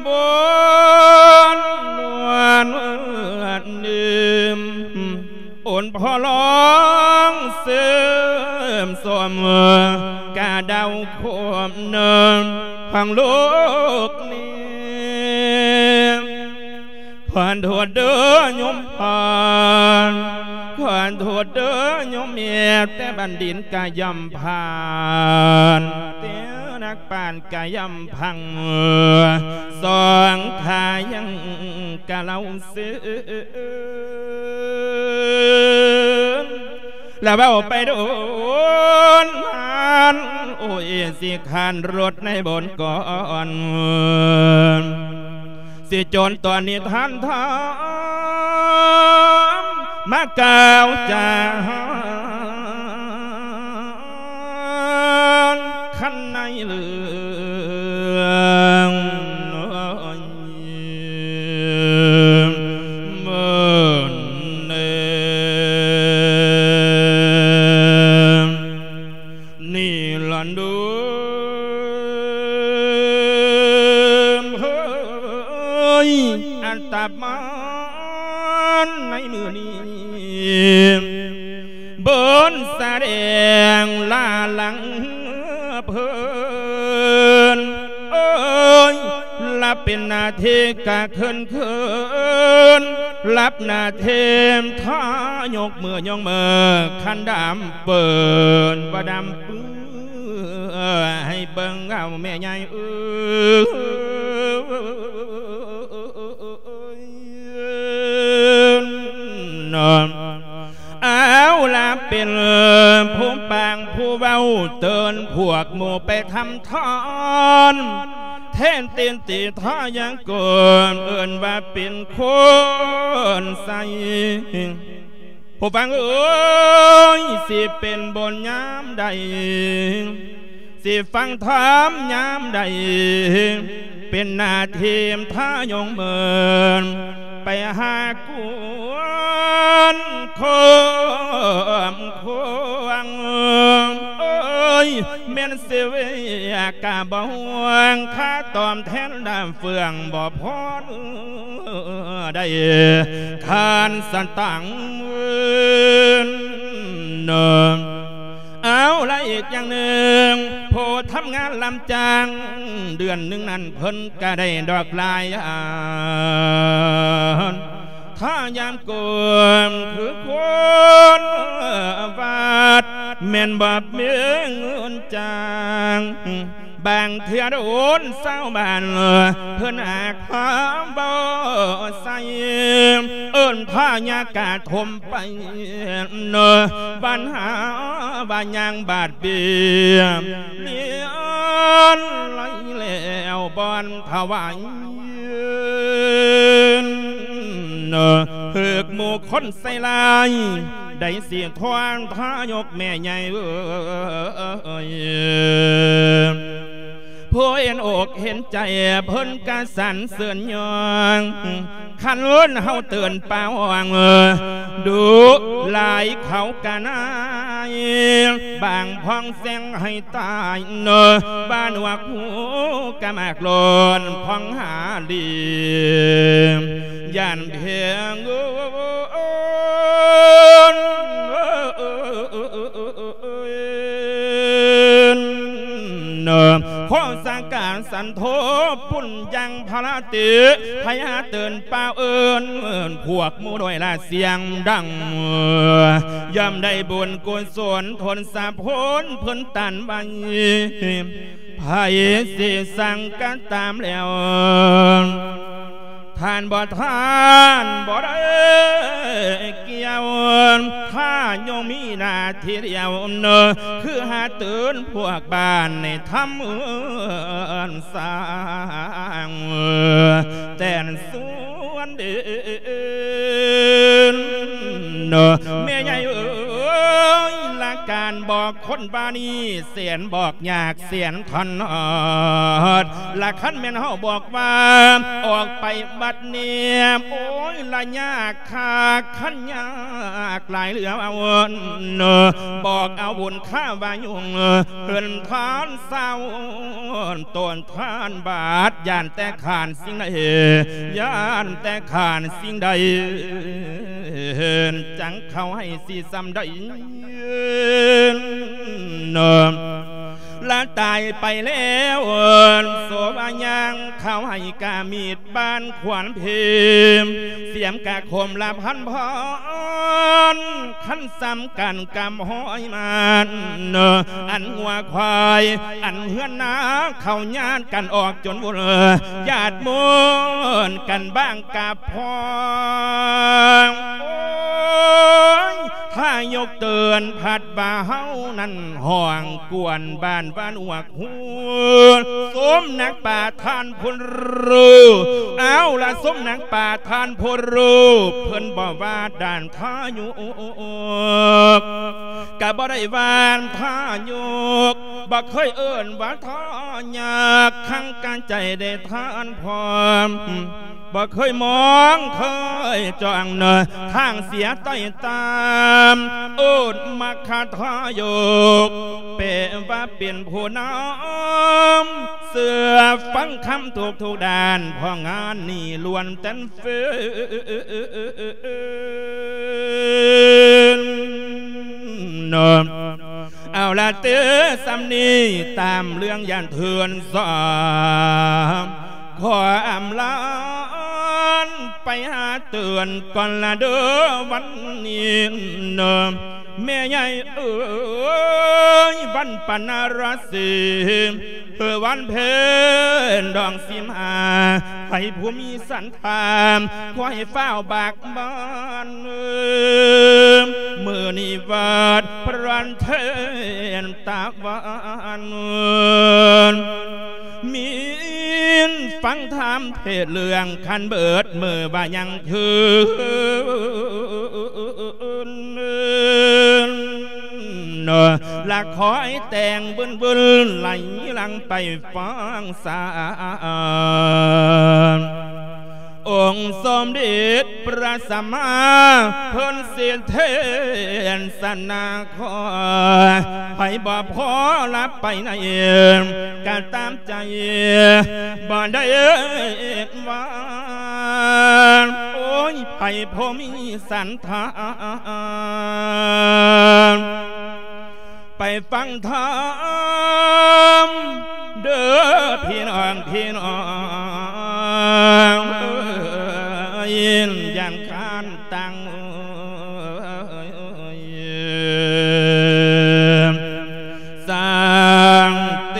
ບົນນວນເດີມ ໂອນພໍ່ລອງເສີມສອມ ກະເດົາຄວາມເນີມຂອງໂລກນີ້ ຂໍໂທດເດີໂຍມພໍ່ ຂໍໂທດເດີໂຍມແມ່ ແຕ່ບັນດິດກະຍ່ອມຜ່ານ ແຕ່ນັກປານກະຍ່ອມພັງ ສອງຂ້າຍັງກະເລົ່າ ເຊີນ ລະເວົ້າໄປໂດນນານ ໂອ້ຍ ຊິຂ້ານລົດໃນບົນກ່ອນ ຊິຈົນຕອນນີ້ທ່ານທາມ ມາກ່າວຈາ ຄັນໃນເລື່ອງ ເອີຍ ເມີນເອີຍ ນີ້ລະເດີມເຮີ້ຍ ອັນຕາມາໃນມື້ນີ້ ເບິ່ນສະແດງລາຫຼັງເພິ່ນ ເອີຍ ລະເປັນໜ້າທີ່ກະເຂີນເຂີນ ລະເປັນໜ້າທີ່ທາຍົກເມືອຍົງເມີ ຄັນດຳເປີນ ບໍ່ດຳເປືອ ໃຫ້ເບິ່ງເອົາແມ່ໃຫຍ່ເອີຍ ເອົາລະເປັນຜູ້ປາງຜູ້ເວົ້າ ເຕືອນພວກໝູ່ໄປທຳທານ ແທນຕີນຕີທາຍັງກວມ ເອີ້ນວ່າເປັນຄົນໃສ ຜູ້ຟັງເອີຍ ຊິເປັນບຸນຍາມໃດ ຊິຟັງທຳຍາມໃດ ເປັນໜ້າທີ່ທາຍົງເມີນ ໄປຫາກວນຄວາມຄວາງ ເອີຍ ແມ່ນຊິເວຍກະບໍ່ຫວງ ຄ່າຕອບແທນດຳເຟືອງບໍ່ພໍ ໄດ້ຄານສະຕາງເງິນ ເອົາລະອີກຢ່າງໜຶ່ງ ຜູ້ທຳງານລຳຈ້າງ ເດືອນໜຶ່ງນັ້ນເພິ່ນກະໄດ້ດອກຫຼາຍ ຖ້າຍາມກວມຄືຄົນວັດ ແມ່ນບໍ່ມີເງິນຈ້າງ ບາງເທື່ອໂດນຊາວບ້ານເພິ່ນຫາກຫາບໍ່ໃສ່ ເອີ້ນພະຍາກາດຖົມໄປ ບັນຫາວ່າຍ່າງບາດເບຍ ລຽນໄຫຼແລ້ວບ່ອນຖວາຍ ຖືກໝູ່ຄົນໃສ່ຮ້າຍ ໄດ້ຊິທວນທາຍົກແມ່ໃຫຍ່ເອີຍ ຜູ້ເຫັນອົກເຫັນໃຈເພິ່ນກະສັນເສີນຍ້ອງ ຄັນເອີ້ນເຮົາເຕືອນປາວອງ ດຸຫຼາຍເຂົາກະນາຍ ບາງພອງແຊງໃຫ້ຕາຍ ເນາະ ບ້ານຫວກຫູກະໝາກໂລນ ພອງຫາລີ ຢ້ານແພງ ເນາະ ຂໍສັກການສັນໂທປຸນຍັງພະລາຕິ ພະຍາເຕືອນປາວເອີ້ນ ພວກໝູ່ດ້ວຍລະສຽງດັງ ຍ່ອມໄດ້ບຸນກຸສົນທົນສະພົນເພິ່ນຕັນໄວ້ ໃຜຊິສັງກະຕາມແລ້ວ ທ່ານບໍ່ ທ່ານບໍ່ໄດ້ກ່ຽວ ຂ້າຍັງມີໜ້າທີ່ດຽວ ເນາະ ຄືຫາເຕືອນພວກບ້ານໃນທຳເຮືອນ ສ້າງແຕ່ນສວນດິນ ເນາະ ແມ່ໃຫຍ່ເອີຍ ລະການບໍ່ ດອກຄົນວ່ານີ້ແສນບອກຍາກແສນຖະໜອດ ລະຄັນແມ່ນເຮົາບອກວ່າອອກໄປບັດນີ້ ໂອ້ຍ ລະຍາກຄັກ ຄັນຍາກຫຼາຍເຫຼືອເກີນ ບອກເອົາບຸນຄາວາຍຸງ ເພິ່ນທານເຊົາ ຕົ້ນທານບາດ ຢ້ານແຕ່ຂານສິ່ງໃດ ຢ້ານແຕ່ຂານສິ່ງໃດ ຈັ່ງເຂົ້າໃຫ້ຊິສ່ຳໃດ ລະຕາຍໄປແລ້ວ ໂສວ່າຍ່າງເຂົ້າໃຫ້ກາມີດ ບ້ານຂວັນເພມ ສຽມກະຄົມລະພັນພອນ ຄັນສ່ຳກັນກັບຫ້ອຍມານ ອັນງົວຄວາຍ ອັນເຮືອນນາ ເຂົ້າຍາດກັນອອກຈົນວຸນ ຍາດມຸນກັນບາງກະພອງ ໂອ້ຍ ຖ້າຍົກເຕືອນພັດ ວ່າເຮົານັ້ນຫ້ອງກວນບ້ານບ້ານອວກ ໂອ້ ສົມນັກປະທານຜູ້ຮູ້ ເອົາລະ ສົມນັກປະທານຜູ້ຮູ້ ເພິ່ນບໍ່ວ່າດ້ານທາຍຸກ ກະບໍ່ໄດ້ວ່າທາຍຸກ ບໍ່ເຄີຍເອີ້ນວ່າທາຍັກ ຄັງການໃຈໄດ້ທານພ້ອມ ບໍ່ເຄີຍມອງເຄີຍຈ້ອງເນີ ທາງເສຍໄຕ້ຕາມ ໂອດມັກຄະທາຍົກ ແປວ່າເປັນຜູ້ນຳ ເຊື່ອຟັງຄຳທຸກໆດ້ານ ເພາະງານນີ້ລ້ວນແຕ່ນເຟືນ ເອົາລະເຕີ ສ່ຳນີ້ຕາມເລື່ອງຢ້ານເຖື່ອນສາ ຂໍອຳລາໄປຫາເຕືອນກ່ອນລະເດີ ວັນນີ້ເນີ ແມ່ໃຫຍ່ເອີຍ ວັນປັນນະລະສີ ເອີ ວັນເພັນດອງສິບຫ້າ ໃຜຜູ້ມີສັນທາ ຂໍໃຫ້ຟ້າວບາກບານ ມື້ນີ້ວັດພະລັນເທນຕາວັນ ມີນຟັງທຳເທດເລື່ອງຄັນເບີດ ມື້ວ່າຍັງຄືນ ລະຂໍໃຫ້ແຕ່ງວືນໆ ໄຫຼຫຼັງໄປຟັງສາ ອົງສົມເດັດພະສຳມາເພິ່ນສິເທສະນາ ຂໍໃຫ້ບໍ່ພໍລະໄປໃນ ກະຕາມໃຈບໍ່ໄດ້ວ່າ ໂອ້ຍ ໃຜຜູ້ມີສັນທາ ໄປຟັງທຳເດີພີ່ນ້ອງ ພີ່ນ້ອງເອີຍ ຢ້ານຄານຕັງ ສ້າງເຕ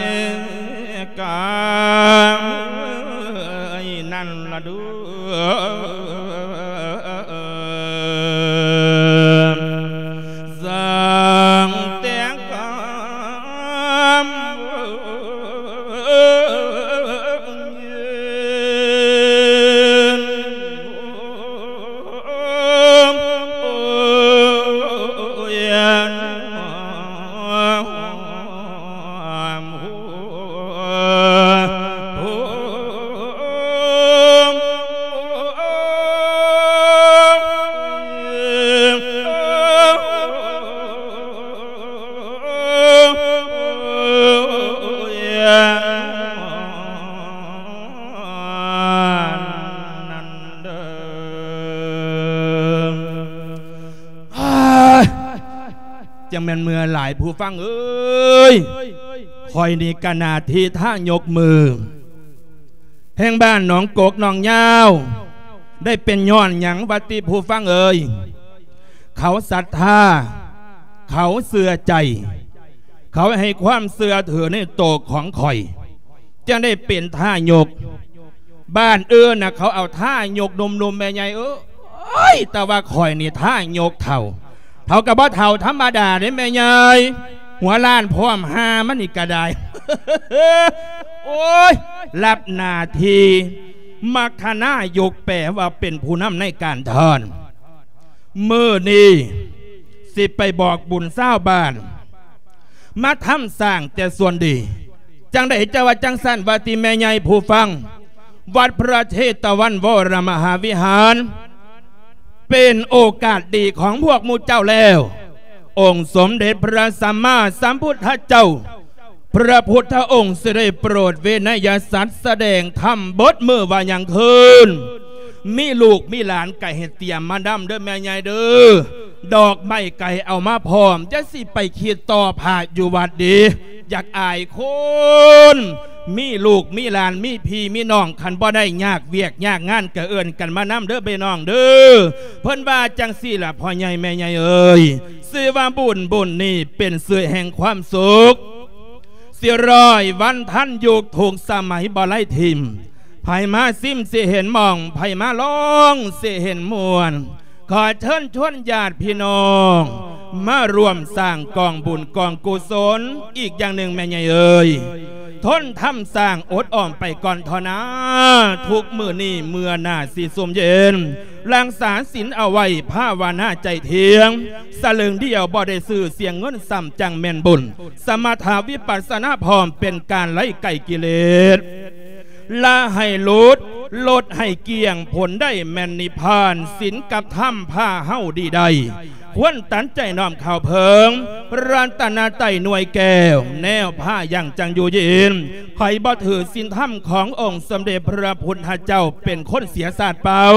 ກາ ນັ້ນລະດູ ສ້າງແຕ່ງການຈັ່ງແມ່ນເມື່ອຍຫຼາຍຜູ້ຟັງເອີຍ ຂ້ອຍນີ້ກະໜ້າທີ່ທາຍົກມື ແຫ່ງບ້ານໜອງກົກໜອງຍາວ ໄດ້ເປັນຍ້ອນຫຍັງວະຕິຜູ້ຟັງເອີຍ? ເຂົາສັດທາ ເຂົາເຊື່ອໃຈ ເຂົາໃຫ້ຄວາມເຊື່ອຖືໃນໂຕຂອງຂ້ອຍ ຈຶ່ງໄດ້ເປັນທາຍົກ. ບ້ານອື່ນນະ ເຂົາເອົາທາຍົກໜຸ່ມໆ ແມ່ໃຫຍ່ເອີຍ ແຕ່ວ່າຂ້ອຍນີ້ທາຍົກເຖົ້າ ເຖົ້າກະບໍ່ເຖົ້າທຳມະດາເດ້ແມ່ໃຫຍ່ ຫົວລ້ານພ້ອມຫາມັນນີ້ກະໄດ້ ໂອ້ຍ ຮັບໜ້າທີ່ມັກຄະນາຍົກ ແປວ່າເປັນຜູ້ນຳໃນການທານ. ມື້ນີ້ຊິໄປບອກບຸນຊາວບ້ານ ມາທຳສ້າງແຕ່ສ່ວນດີ. ຈັ່ງໃດຈະວ່າຈັ່ງຊັ້ນວ່າຕິແມ່ໃຫຍ່ຜູ້ຟັງ? ວັດພະເຊຕະວັນວໍລະມະຫາວິຫານ ເປັນໂອກາດດີຂອງພວກໝູ່ເຈົ້າແລ້ວ. ອົງສົມເດັດພະສຳມາສຳພຸດທະເຈົ້າ ພະພຸດທະອົງຊິໄດ້ໂປດວິໄນຍະສັດສະແດງທຳເບິດມື້ວ່າຍັງຄືນ. ມີລູກມີຫຼານກະໃຫ້ຕຽມມານຳເດີແມ່ໃຫຍ່ເດີ. ດອກໄມ້ກະໃຫ້ເອົາມາພ້ອມ, ຢ່າຊິໄປຄິດຕໍ່ພະຢູ່ວັດເດ. ຢາກອາຍຄົນ ມີລູກມີຫຼານ ມີພີ່ມີນ້ອງ ຄັນບໍ່ໄດ້ຍາກວຽກຍາກງານກະເອີ້ນກັນມານຳເດີພີ່ນ້ອງເດີ. ເພິ່ນວ່າຈັ່ງຊີ້ລະ ພໍ່ໃຫຍ່ແມ່ໃຫຍ່ເອີຍ, ຊື່ວ່າບຸນ ບຸນນີ້ເປັນຊື່ແຫ່ງຄວາມສຸກ. ສີ່ຮ້ອຍວັນທັນຍຸກທຸກສະໄໝບໍ່ໄດ້ຖິ້ມ, ໃຜມາຊິມຊິເຫັນໝ່ອງ, ໃຜມາລອງຊິເຫັນມ່ວນ. ຂໍເຊີນຊວນຍາດພີ່ນ້ອງ ມາຮ່ວມສ້າງກອງບຸນກອງກຸສົນ. ອີກຢ່າງໜຶ່ງແມ່ໃຫຍ່ເອີຍ, ທົນທຳສ້າງອົດອອມໄປກ່ອນເທາະນາ. ທຸກມື້ນີ້ເມື່ອໜ້າຊິຊຸ່ມເຢັນ, ຮັກສາສິນເອົາໄວ້, ພາວະນາໃຈທ່ຽງ. ສະເຫຼີງດຽວບໍ່ໄດ້ຊື້, ເສຍເງິນຊ້ຳຈັ່ງແມ່ນບຸນ. ສະມະຖະວິປັດສະນາພ້ອມ, ເປັນການໄລ່ໄກ່ກິເລດ. ລະໃຫ້ຫຼຸດ, ລົດໃຫ້ກ້ຽງ, ຜົນໄດ້ແມ່ນນິບພານ. ສິນກັບທຳພາເຮົາດີໄດ້, ຄວນຕັນໃຈນ້ອມເຂົ້າເພິງ. ລັດຕະນະໄຕໜ່ວຍແກ້ວ, ແນວພາຍັງຈັງຢູ່ເຢັນ. ໃຜບໍ່ຖືສິນທຳຂອງອົງສົມເດັດພະພຸດທະເຈົ້າ, ເປັນຄົນເສຍຊາດເປົ່າ.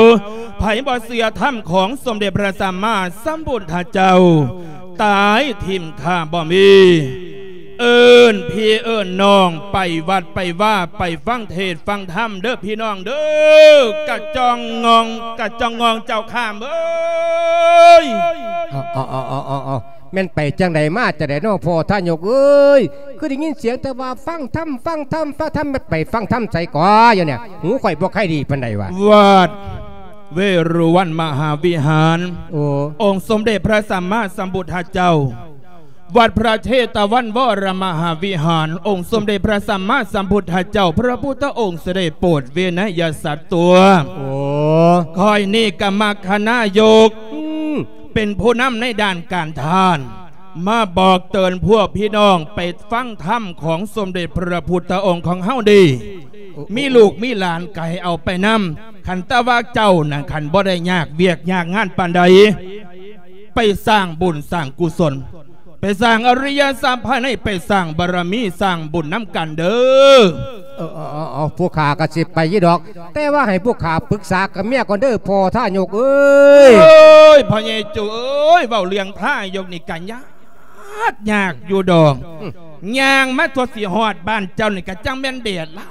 ໃຜບໍ່ເຊື່ອທຳຂອງສົມເດັດພະສຳມາສຳພຸດທະເຈົ້າ, ຕາຍຖິ້ມຂ້າບໍ່ມີ. ເອີ້ນພີ່ເອີ້ນນ້ອງໄປວັດໄປວາ, ໄປຟັງເທດຟັງທຳເດີພີ່ນ້ອງເດີ. ກະຈອງງອງ ກະຈອງງອງເຈົ້າຂ້າເອີຍ. ເອົາ ເອົາ ເອົາ ເອົາ ເອົາ ເອົາ ແມ່ນໄປຈັ່ງໃດມາຈັ່ງໃດເນາະ ພໍ່ທາຍົກເອີຍ? ຄືໄດ້ຍິນສຽງແຕ່ວ່າຟັງທຳ ຟັງທຳ ຟັງທຳ, ໄປຟັງທຳໃສກໍຢູ່ນີ້? ຫູຂ້ອຍບໍ່ຄ່ອຍດີປານໃດວ່າ. ວັດເວຣຸວັນມະຫາວິຫານ. ໂອ້ ອົງສົມເດັດພະສຳມາສຳພຸດທະເຈົ້າ. ວັດພະເຊຕະວັນວໍລະມະຫາວິຫານ, ອົງສົມເດັດພະສຳມາສຳພຸດທະເຈົ້າ ພະພຸດທະອົງຊິໄດ້ໂປດວິໄນຍະສັດຕົວະ. ໂອ້ ຂ້ອຍນີ້ກະມັກຄະນາຍົກ ອືມ ເປັນຜູ້ນຳໃນດ້ານການທານ ມາບອກເຕືອນພວກພີ່ນ້ອງໄປຟັງທຳຂອງສົມເດັດພະພຸດທະອົງຂອງເຮົາເດ້. ໂອ້ ມີລູກມີຫຼານກະໃຫ້ເອົາໄປນຳ. ຄັນແຕ່ວ່າເຈົ້ານັ້ນ ຄັນບໍ່ໄດ້ຍາກວຽກຍາກງານປານໃດ, ໄປສ້າງບຸນສ້າງກຸສົນ, ໄປສ້າງອະລິຍະສັບພາຍໃນ, ໄປສ້າງບາລະມີ, ສ້າງບຸນນຳກັນເດີ. ເອີ ເອີ ເອີ ເອີ ຜູ້ຂ້າກໍຊິໄປຢູ່ດອກ, ແຕ່ວ່າໃຫ້ຜູ້ຂ້າປຶກສາກັບເມຍກ່ອນເດີ ພໍ່ທາຍົກເອີຍ. ໂອ້ຍ ພໍ່ໃຫຍ່ໂຈເອີຍ, ເວົ້າເລື່ອງທາຍົກນີ້ກໍຍາກ ຍາກຢູ່ດອກ. ອືມ ຍ່າງມາທົ່ວຊິຮອດບ້ານເຈົ້ານີ້ ກໍຈັ່ງແມ່ນແດດຫຼ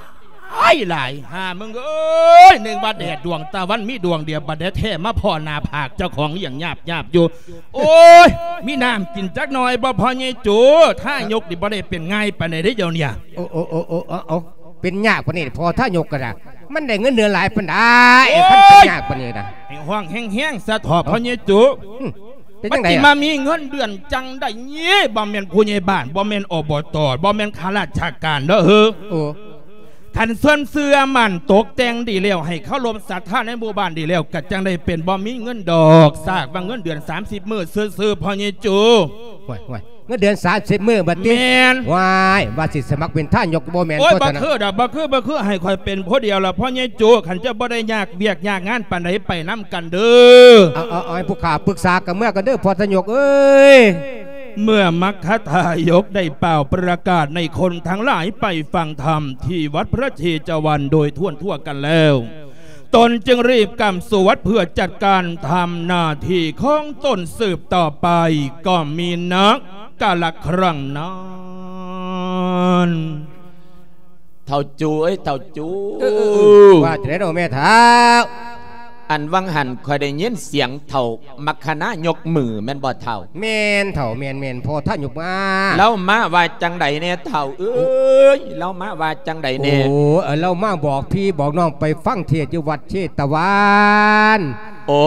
າຍ ຫຼາຍ ຫາມຶງເອີຍ, ນຶກວ່າແດດດວງຕາວັນມີດວງດຽວ, ບັດແທ້ມາພໍ້ໜ້າຜາກເຈົ້າຂອງຫຍັງຍາບໆຢູ່. ໂອ້ຍ ມີນ້ຳກິນຈັກໜ່ອຍບໍ່ ພໍ່ໃຫຍ່ໂຈ? ທາຍົກນີ້ບໍ່ໄດ້ເປັນງ່າຍປານໃດເດ້ດຽວນີ້. ໂອ້ ໂອ້ ໂອ້ ໂອ້ ເອົາ ເອົາ ເປັນຍາກປານນີ້ ພໍ່ທາຍົກກໍໄດ້, ມັນໄດ້ເງິນເດືອນຫຼາຍປານໃດ ໂອ້ຍ ຄັນເປັນຍາກປານນີ້ນະ? ໃຫ້ຮ້ອງແຮງໆຊະເຖາະ ເອົ້າ ພໍ່ໃຫຍ່ໂຈ. ອືມ ເປັນຈັ່ງໃດ ມັນຊິມາມີເງິນເດືອນຈັ່ງໃດ? ບໍ່ແມ່ນຜູ້ໃຫຍ່ບ້ານ, ບໍ່ແມ່ນ ອບຕ, ບໍ່ແມ່ນຂ້າລາຊະການເດີ. ໂອ້ ຄັນເຊື່ອ ເຊື່ອໝັ້ນຕົກແຕ່ງດີແລ້ວ, ໃຫ້ເຄົາລົບສັດທາໃນໝູ່ບ້ານດີແລ້ວ, ກໍຈັ່ງໄດ້ເປັນ, ບໍ່ມີເງິນດອກ. ຊາກວ່າເງິນເດືອນສາມສິບມື້ຊື່ໆ ພໍ່ໃຫຍ່ໂຈ. ໂອ້ຍ ໂອ້ຍ ເງິນເດືອນສາມສິບມື້ບັດຕິ? ແມ່ນ. ວ້າຍ ວ່າຊິສະໝັກເປັນທາຍົກບໍ່ແມ່ນ. ໂອ້ຍ ບໍ່ຄືດອກ ບໍ່ຄື ບໍ່ຄື, ໃຫ້ຂ້ອຍເປັນຜູ້ດຽວລະ ພໍ່ໃຫຍ່ໂຈ. ຄັນເຈົ້າບໍ່ໄດ້ຍາກວຽກຍາກງານປານໃດ, ໄປນຳກັນເດີ. ເອົາ ເອົາ ເອົາ ໃຫ້ຜູ້ຂ້າປຶກສາກັບເມືອກັນເດີ ພໍ່ທາຍົກເອີຍ. ເມື່ອມັກຄະທາຍົກໄດ້ປ່າວປະກາດໃຫ້ຄົນທັງຫຼາຍໄປຟັງທຳທີ່ວັດພະເຊຕະວັນໂດຍທົ່ວທົ່ວກັນແລ້ວ, ຕົນຈຶ່ງຣີບກ້າມສູ່ວັດເພື່ອຈັດການທຳໜ້າທີ່ຂອງຕົນສືບຕໍ່ໄປ, ກໍມີນັກກາລະຄັ້ງນັ້ນ. ເຖົ້າຈູເອີຍ ເຖົ້າຈູ. ເອີ ເອີ ວ່າຈັ່ງໃດເນາະແມ່ເຖົ້າ? ອັນຫວ່າງຫັ້ນຂ້ອຍໄດ້ຍິນສຽງເຖົ້າມັກຄະນາຍົກມືແມ່ນບໍ່ເຖົ້າ? ແມ່ນເຖົ້າ ແມ່ນໆ ພໍ່ທາຍົກມາ. ລາວມາວ່າຈັ່ງໃດແດ່ເຖົ້າເອີຍ? ລາວມາວ່າຈັ່ງໃດແດ່? ໂອ້ ລາວມາບອກພີ່ບອກນ້ອງໄປຟັງເທດຢູ່ວັດເຊຕະວັນ. ໂອ້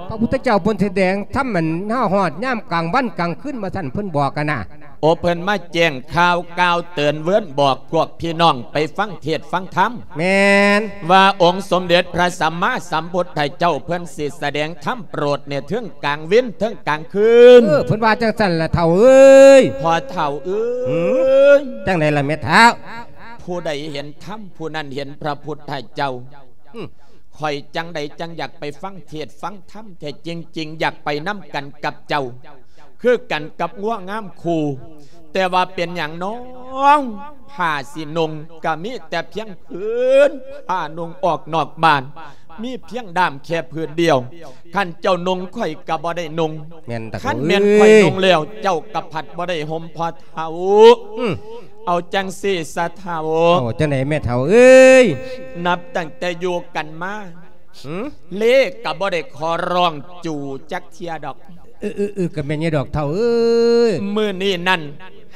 ພະພຸດທະເຈົ້າເພິ່ນສະແດງທຳ ອັນ ຮອດຍາມກາງວັນກາງຄືນວ່າຊັ້ນ ເພິ່ນບອກກັນນະ. ໂອ ເພິ່ນມາແຈ້ງຂ່າວກ່າວເຕືອນເວີນບອກພວກພີ່ນ້ອງໄປຟັງເທດຟັງທຳ ແມ່ນ ວ່າອົງສົມເດັດພະສຳມາສຳພຸດທະເຈົ້າເພິ່ນຊິສະແດງທຳໂປດໃນເທິງກາງເວັນເທິງກາງຄືນ. ເອີ ເພິ່ນວ່າຈັ່ງຊັ້ນລະເຖົ້າເອີຍ. ພໍ່ເຖົ້າເອີຍ ຫື ຈັ່ງໃດລະແມ່ເຖົ້າ? ຜູ້ໃດເຫັນທຳ ຜູ້ນັ້ນເຫັນພະພຸດທະເຈົ້າ. ຫື ຂ້ອຍຈັ່ງໃດຈັ່ງຢາກໄປຟັງເທດຟັງທຳແທ້ ຈິງໆ ຢາກໄປນຳກັນກັບເຈົ້າ ຄືກັນກັບງົວງາມຄູ່. ແຕ່ວ່າເປັນຫຍັງນ້ອງ ຜ້າຊິນຸ່ງກະມີແຕ່ພຽງຜືນ ຜ້ານຸ່ງອອກນອກບ້ານ ມີພຽງດ້າມແຄ່ຜືນດຽວ. ຄັນເຈົ້ານຸ່ງ ຂ້ອຍກະບໍ່ໄດ້ນຸ່ງ. ແມ່ນຕາ ຄັນແມ່ນຂ້ອຍນຸ່ງແລ້ວ ເຈົ້າກະພັດບໍ່ໄດ້ຫົ່ມ ພໍ່ເຖົ້າ. ອື ເອົາຈັ່ງຊີ້ຊະເຖົ້າ. ເອົາຈັ່ງໃດແມ່ເຖົ້າເອີຍ? ນັບຕັ້ງແຕ່ຢູ່ກັນມາ ຫື ເລກະບໍ່ໄດ້ຂໍຮ້ອງຈູ່ຈັກເທື່ອດອກ. ເອີໆໆ ກະແມ່ນຢູ່ດອກເຖົ້າເອີຍ. ມື້ນີ້ນັ້ນ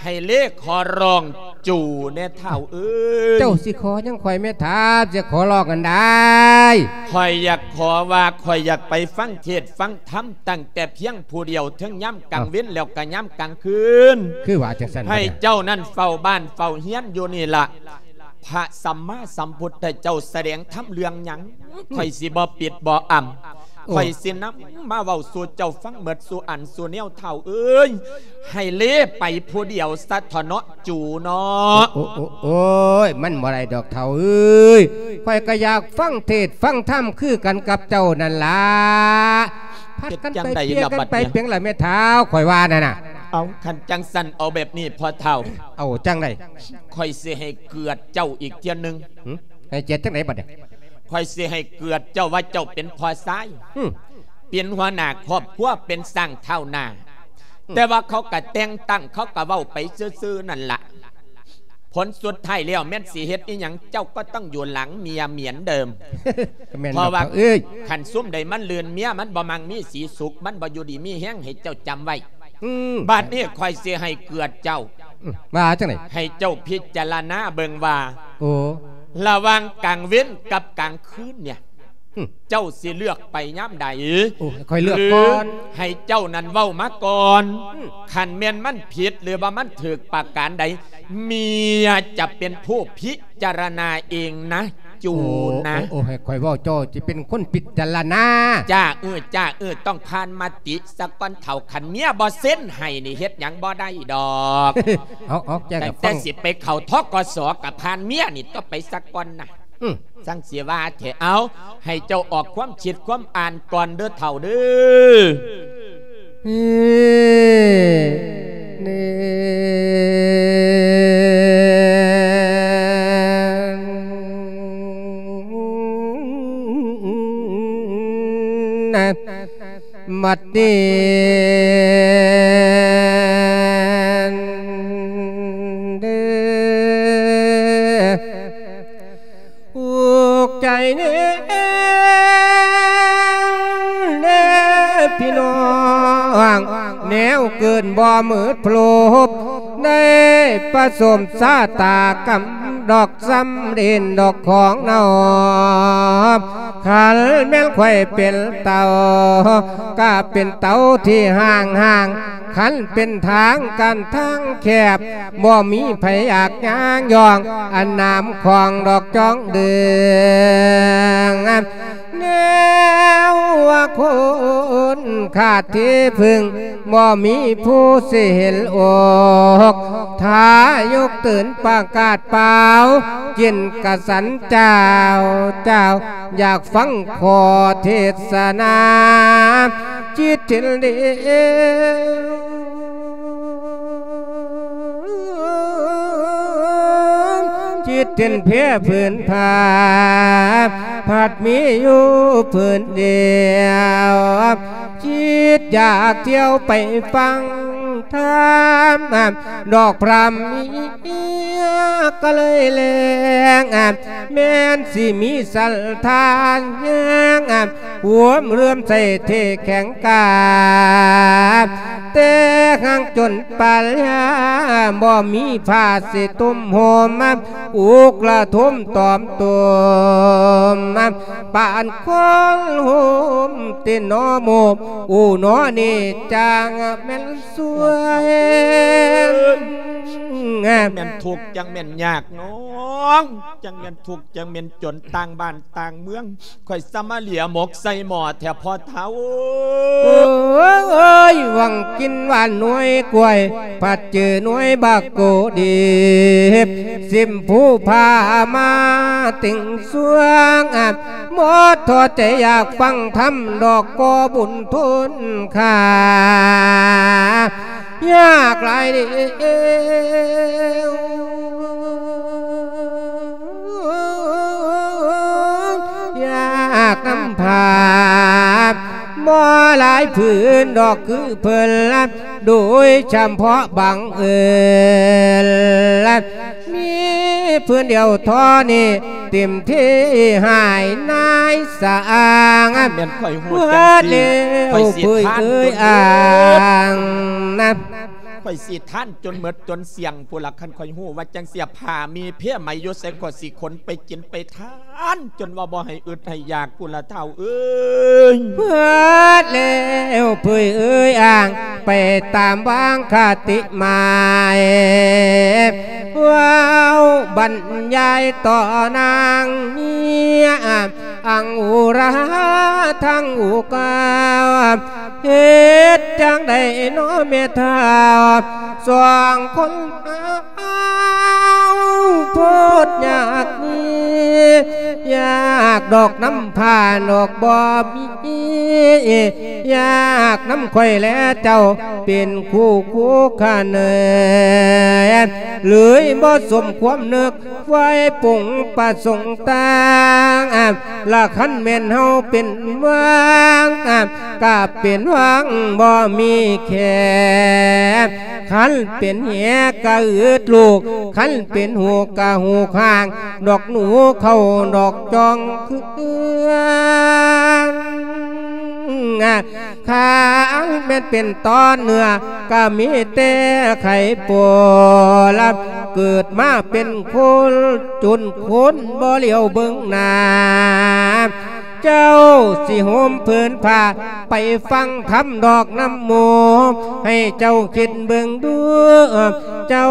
ໃຫ້ເລຂໍຮ້ອງຈູ່ແດ່ເຖົ້າເອີຍ. ເຈົ້າຊິຂໍຫຍັງຂ້ອຍແມ່ເຖົ້າ ຊິຂໍຮ້ອງອັນໃດ? ຂ້ອຍຢາກຂໍວ່າ ຂ້ອຍຢາກໄປຟັງເທດຟັງທຳຕັ້ງແຕ່ພຽງຜູ້ດຽວ ເຖິງຍາມກາງເວັນ ເອົ້າ ແລ້ວກະຍາມກາງຄືນ. ຄືວ່າຈັ່ງຊັ້ນ ໃຫ້ເຈົ້ານັ້ນເຝົ້າບ້ານເຝົ້າເຮືອນຢູ່ນີ້ລະ. ພະສຳມາສຳພຸດທະເຈົ້າສະແດງທຳເລື່ອງຫຍັງ ຂ້ອຍຊິບໍ່ປິດບໍ່ອຳ. ໂອ້ ຂ້ອຍຊິນຳມາເວົ້າສູ່ເຈົ້າຟັງໝົດສູ່ອັນສູ່ແນວເຖົ້າເອີຍ. ໃຫ້ເລໄປຜູ້ດຽວຊະເຖາະເນາະ ຈູເນາະ. ໂອ້ ໂອ້ ໂອ້ຍ ມັນບໍ່ໄດ້ດອກເຖົ້າເອີຍ. ຂ້ອຍກະຢາກຟັງເທດຟັງທຳຄືກັນກັບເຈົ້ານັ້ນລະ. ຜັດກັນໄປເປ່ຽກັນໄປ ເປັນຫຍັງລະແມ່ເຖົ້າ ຂ້ອຍວ່ານັ້ນນະ. ເອົາ ຄັນຈັ່ງຊັ້ນເອົາແບບນີ້ພໍ່ເຖົ້າ. ເອົາຈັ່ງໃດ? ຂ້ອຍຊິໃຫ້ເກືອດເຈົ້າອີກເທື່ອໜຶ່ງ. ຫື ໃຫ້ກຽດຈັ່ງໃດບັດນີ້? ຂ້ອຍຊິໃຫ້ເກືອດເຈົ້າວ່າເຈົ້າເປັນພໍ່ຊາຍ ອື ເປັນຫົວໜ້າຄອບຄົວ ເປັນຊ້າງທ້າວໜ້າ. ອື ແຕ່ວ່າເຂົາກະແຕ່ງຕັ້ງ ເຂົາກະເວົ້າໄປຊື່ໆນັ້ນລະ. ຜົນສຸດທ້າຍແລ້ວແມ່ນຊິເຮັດອີ່ຫຍັງ ເຈົ້າກໍຕ້ອງຢູ່ຫຼັງເມຍເໝືອນເດີມ. ແມ່ນ ເພາະວ່າ ເອີຍ ຄັນຊຸມໃດມັນລື່ນເມຍ ມັນບໍ່ມັກມີສີສຸກ ມັນບໍ່ຢູ່ດີມີແຮງ ໃຫ້ເຈົ້າຈຳໄວ້. ອື ບາດນີ້ຂ້ອຍຊິໃຫ້ເກືອດເຈົ້າ. ອື ວ່າຈັ່ງໃດ? ໃຫ້ເຈົ້າພິຈາລະນາເບິ່ງວ່າ ໂອ້ ລະຫວ່າງກາງເວັນກັບກາງຄືນເນຍ ຫື ເຈົ້າຊິເລືອກໄປຍາມໃດ? ໂອ້ ໃຫ້ຂ້ອຍເລືອກກ່ອນ ຫຼື ໃຫ້ເຈົ້ານັ້ນເວົ້າມາກ່ອນ. ອື ຄັນແມ່ນມັນຜິດ ຫຼືວ່າມັນຖືກປະການໃດ ເມຍຈະເປັນຜູ້ພິຈາລະນາເອງນະ. ຈູນະ. ໂອ້ ໂອ້ ໃຫ້ຂ້ອຍເວົ້າ ເຈົ້າຊິເປັນຄົນພິຈາລະນາ. ຈ້າ ເອີ ຈ້າ ເອີ ຕ້ອງຜ່ານມະຕິສາກົນເຖົ້າ ຄັນເມຍບໍ່ເຊັນໃຫ້ນີ້ເຮັດຫຍັງບໍ່ໄດ້ດອກ. ເອົາ ເອົາ ແຈ້ງ ຕັ້ງແຕ່ຊິໄປເຂົ້າ ທກສ ກະຜ່ານເມຍນີ້ຕ້ອງໄປສາກ່ອນນະ. ອື ຈັ່ງຊິວ່າແທ້. ເອົາ ໃຫ້ເຈົ້າອອກຄວາມຄິດຄວາມອ່ານກ່ອນເດີເຖົ້າເດີ. ເອີ ເນ ນະ ບັດນີ້ເດີ ອຸກໃຈແນ່ ແນ່ພີ່ນ້ອງ ແນວເກີນບໍ່ໝົດພລົບ ໄດ້ປະສົມຊາຕາກຳ ດອກສຳເລັດດອກຂອງນ້ອງ ຄັນແມ່ນຂ້ອຍເປັນເຕົ່າ ກະເປັນເຕົ່າທີ່ຫ້າງໆ ຄັນເປັນທາງກັນທາງແຄບ ບໍ່ມີໃຜຢາກຍ່າງຍ່ອງ ອັນນາມຂອງດອກຈອງເດືອງ ແນວວ່າຄົນຂາດທີ່ເພິ່ງ ບໍ່ມີຜູ້ຊິເຫັນອົກ ຖ້າຍົກຕື່ນປະກາດປ່າວ ກິນກະສັນເຈົ້າ ເຈົ້າ ຢາກຟັງຂໍ້ເທດສະນາ ຈິດເຫັນເດ ຈິດເຫັນເພຍພື້ນຜາ ພັດມີຢູ່ພື້ນດຽວ ຈິດຢາກທ່ຽວໄປຟັງທຳ ດອກພຣຳມີກະເລີຍແລງ ແມ່ນຊິມີສັດທາແຮງ ຄວາມເຫຼື້ອມໃສທີ່ແຂງກາ ແຕ່ຫາງຈົນປານຍາ ບໍ່ມີຜ້າຊິຕຸ້ມຫົ່ມ ອຸກລະທຸມຕອມຕຸ່ມ ປານຄົນໂຮມຕິນນອໝູບ ອູນອນີ້ຈັ່ງແມ່ນສວຍ ຈັກແມ່ນທຸກ ຈັກແມ່ນຍາກນ້ອງ ຈັກແມ່ນທຸກ ຈັກແມ່ນຈົນ ຕ່າງບ້ານຕ່າງເມືອງ ຂ້ອຍສະມາເຫຼຍໝົກໃສ່ໝໍ້ແທ້ພໍ່ເຖົ້າ. ເອີຍ ຫວັງກິນຫວ່ານໜ່ວຍກ້ວຍ ພັດເຈີໜ່ວຍບັກໂກດີບ ຊິມພູຜາມາຕິງສວງ ບໍ່ທໍ້ໃຈຢາກຟັງທຳດອກກໍບຸນທົນຄ່າ ຍາກຫຼາຍເດວ ຍາກນຳພາ ບໍ່ຫຼາຍຜືນດອກຄືເພິ່ນ ໂດຍສະເພາະບັງເອີນ ມີຜືນດຽວທໍ່ນີ້ ເຕັມທີ່ຫາຍນາຍສາງ ແມ່ນຂ້ອຍຮູ້ຈັງຊີ້ ເບິດແລ້ວ ຂ້ອຍຊິ ເອີຍ ທານຈົນເບິດ ອ່າງນະ ຂ້ອຍຊິທານຈົນເໝິດຈົນສ່ຽງພຸ້ນລະ ຄັນຂ້ອຍຮູ້ວ່າຈັ່ງຊີ້ ຜ້າມີເພໄໝຢູ່ໃສ ຂ້ອຍຊິຂົນໄປກິນໄປທານ ຈົນວ່າບໍ່ໃຫ້ອຶດໃຫ້ຢາກພຸ້ນລະເຖົ້າເອີຍ. ເບິດແລ້ວເຜີຍເອີຍອ່າງ ໄປຕາມວາງຄະຕິໝາຍ ເວົ້າບັນຍາຍຕໍ່ນາງເມຍ ອັງອຸລາທັງອຸກາ ເຮັດຈັ່ງໃດນໍແມ່ທ້າວ ສອງຄົນເຮົາໂພດຍາກນີ້ ຍາກດອກນຳພາດອກບໍ່ມີ ຍາກນຳຂ້ອຍແລເຈົ້າ ເປັນຄູ່ຄູ່ຂະເໜີ ເລີຍບໍ່ສົມຄວາມນຶກ ໄວ້ປຸງປະສົງຕ່າງ ລະຄັນແມ່ນເຮົາເປັນຫວ່າງ ກະເປັນຫວ່າງບໍ່ມີແຄ ຄັນເປັນແຫກະອຶດລູກ ຄັນເປັນຫູກະຫູກຫ່າງ ດອກໜູເຂົ້າດອກຈອງຄື ຄັນແມ່ນເປັນຕອນເໜືອ ກະມີແຕ່ໄຂ້ປົວ ເກີດມາເປັນຄົນ ຈົນຄົນບໍ່ຫຼຽວເບິ່ງໜ້າ ເຈົ້າຊິຫົ່ມຜືນຜ້າ ໄປຟັງທຳດອກນຳໝູ່ ໃຫ້ເຈົ້າຄິດເບິ່ງດູ ເຈົ້າ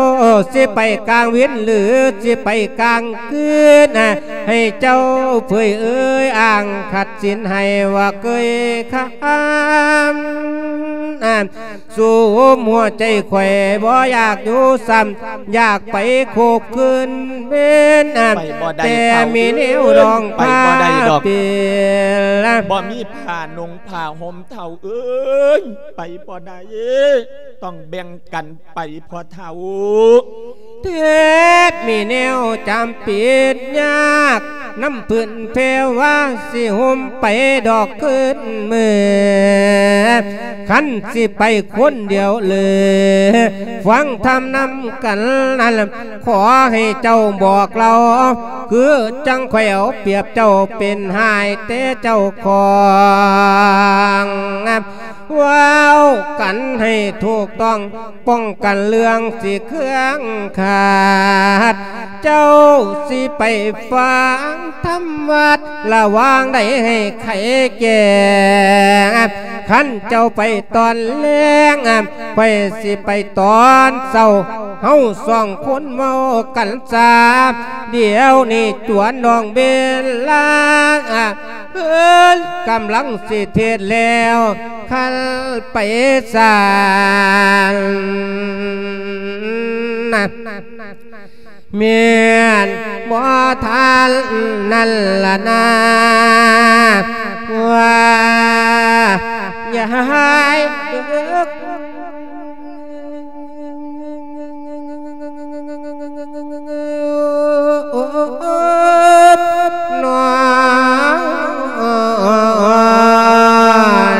ຊິໄປກາງເວັນ ຫຼື ຊິໄປກາງຄືນ ໃຫ້ເຈົ້າເຜີຍເອີຍອ່າງ ຂັດສິນໃຫ້ວ່າເກີຍຄຳ ສູມຫົວໃຈຂ້ອຍບໍ່ຢາກຢູ່ຊ້ຳ ຢາກໄປຄົບຄືນເວັນ ໄປບໍ່ໄດ້ ແຕ່ມີແນວດອງ ໄປບໍ່ໄດ້ດອກ ພາເປັນ ບໍ່ມີຜ້ານຸ່ງຜ້າຫົ່ມເຖົ້າເອີຍ ໄປບໍ່ໄດ້ ຕ້ອງແບ່ງກັນໄປພໍ່ເຖົ້າ. ແຕ່ມີແນວຈຳເປັນຍາກ ນຳເພິ່ນແພວ່າ ຊິຫົ່ມໄປດອກຄືນມື້ ຄັນຊິໄປຄົນດຽວເລີ ຟັງທຳນຳກັນນັ້ນ ຂໍໃຫ້ເຈົ້າບອກເລົ່າ ຄືຈັ່ງຂ້ອຍເອົາປຽບເຈົ້າ ເປັນຫາຍແຕ່ເຈົ້າຂອງ ເວົ້າກັນໃຫ້ຖືກຕ້ອງ ປ້ອງກັນເລື່ອງຊິເຄືອງຂາດ ເຈົ້າຊິໄປຟັງທຳວັດ ລະຫວ່າງໃດໃຫ້ໄຂແກ້ງ ຄັນເຈົ້າໄປຕອນແລງ ຂ້ອຍຊິໄປຕອນເຊົ້າ ເຮົາສອງຄົນເວົ້າກັນຊາ ດຽວນີ້ຈວນນ້ອງເວລາ ເພິ່ນກຳລັງຊິເທດແລ້ວ ຄັນໄປສານ ແມ່ນບໍ່ທັນນັ້ນລະນາ ວ່າຢ່າໃຫ້ເລິກ ນອນ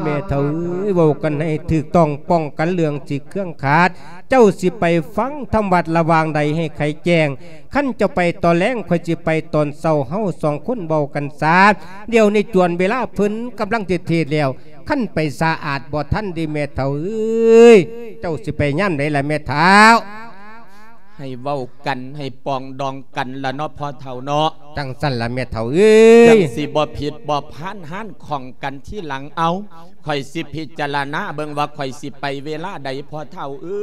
ແມ່ເຖົ້າ ເວົ້າກັນໃຫ້ຖືກຕ້ອງ ປ້ອງກັນເລື່ອງຊິເຄື່ອງຂາດ. ເຈົ້າຊິໄປຟັງທຳວັດລະຫວ່າງໃດໃຫ້ໄຂແຈ້ງ. ຄັນເຈົ້າໄປຕອນແລງ ຂ້ອຍຊິໄປຕອນເຊົ້າ. ເຮົາສອງຄົນເວົ້າກັນສາ. ດຽວນີ້ຈວນເວລາເພິ່ນກຳລັງຊິເທດແລ້ວ. ຄັນໄປສາອາດບໍ່ທັນເດ້ແມ່ເຖົ້າເອີຍ. ເຈົ້າຊິໄປຍາມໃດລະແມ່ເຖົ້າ? ໃຫ້ເວົ້າກັນ ໃຫ້ປອງດອງກັນລະເນາະພໍ່ເຖົ້າເນາະ. ຈັ່ງຊັ້ນລະແມ່ເຖົ້າເອີຍ. ຈັ່ງຊິບໍ່ຜິດບໍ່ພານຮ້ານຂອງກັນທີຫຼັງ. ເອົາ ຂ້ອຍຊິພິຈາລະນາເບິ່ງວ່າຂ້ອຍຊິໄປເວລາໃດພໍ່ເຖົ້າເອີ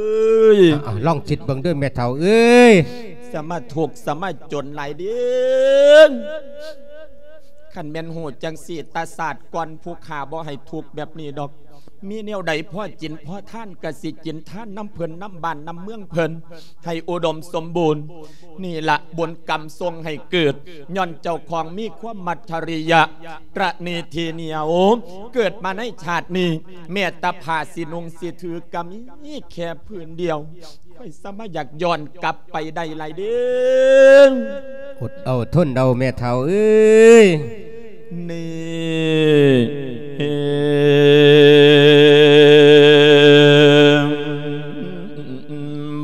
ຍ. ເອົາ ລອງຄິດເບິ່ງເດີແມ່ເຖົ້າເອີຍ. ສະມາທຸກສະມາຈົນຫຼາຍເດ້. ຄັນແມ່ນຮູ້ຈັ່ງຊີ້ ຕາຊາດກ່ອນຜູ້ຂ້າບໍ່ໃຫ້ທຸກແບບນີ້ດອກ. ມີແນວໃດພໍກິນພໍທານ ກະຊິກິນທານນຳເພິ່ນ ນຳບ້ານນຳເມືອງເພິ່ນ ໃຫ້ອຸດົມສົມບູນ. ນີ້ລະບຸນກຳສົ່ງໃຫ້ເກີດ ຍ້ອນເຈົ້າຂອງມີຄວາມມັດທະລິຍະ ຕະໜີທີ່ໜຽວ. ເກີດມາໃນຊາດນີ້ ແມ້ແຕ່ຜ້າຊິນຸ່ງຊິຖືກະມີແຄ່ຜືນດຽວ. ຂ້ອຍສາມາດຢາກຍ້ອນກັບໄປໄດ້ຫຼາຍເດ້. ອົດເອົາທົນເອົາແມ່ເຖົ້າເອີຍ. ນີ້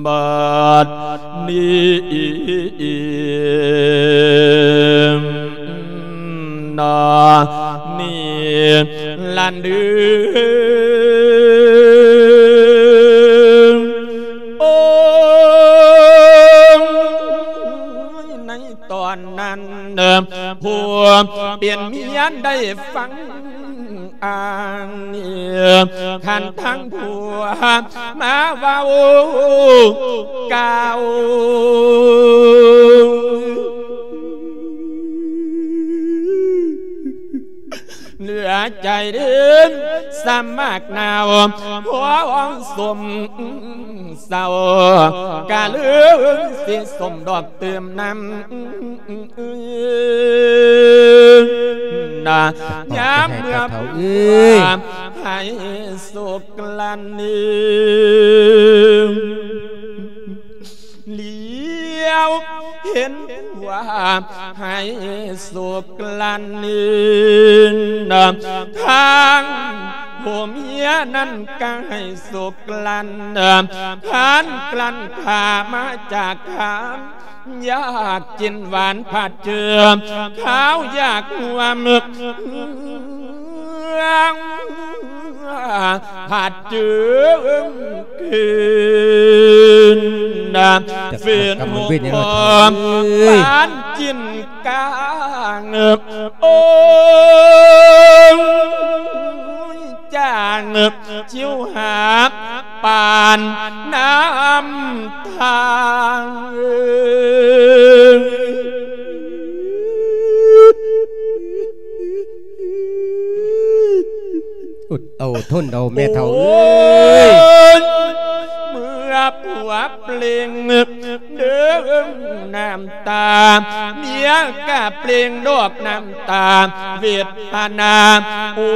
ບາດນີ້ ນາ ນີ້ລະເດີ ໂອ້ຍ ໃນຕອນນັ້ນ ຜູ້ເປັນເມຍໄດ້ຟັງ ອັນນີ້ ຄັນທາງຜົວມາເວົ້າກ່າວ ເຫຼືອໃຈເດີ ສະໝາກໜາວ ຫົວອ່ອນສົມເສົ້າ ກະເລີຍຊິສົມດອກຕື່ມນຳ ນະ ຍາມເມື່ອຜູ້ໃຫ້ໂຊກລັນ ຫຼຽວເຫັນຜູ້ໃຫ້ໂຊກລັນ ທາງຜົວເມຍນັ້ນກະໃຫ້ໂຊກລັນ ທານກລັ້ນຂ້າມາຈາກຄານ ຢາກກິນຫວານຜັດເຈື່ອ ຂາວຢາກຮ່ວມ ຜັດເຈື່ອຄືນ ເປັນຫົວ ເອີຍ ຫວານກິນກາງ ໂອ້ຍ ຈາງ ຊິວຫາປານນ້ຳທາງ ອົດເອົາທົນເອົາແມ່ເຖົ້າເອີຍ ເມື່ອຜົວເປັ່ງ ເດີ້ງນ້ຳຕາ ເມຍກະເປັ່ງດອກນ້ຳຕາ ເວທະນາ ໂອ້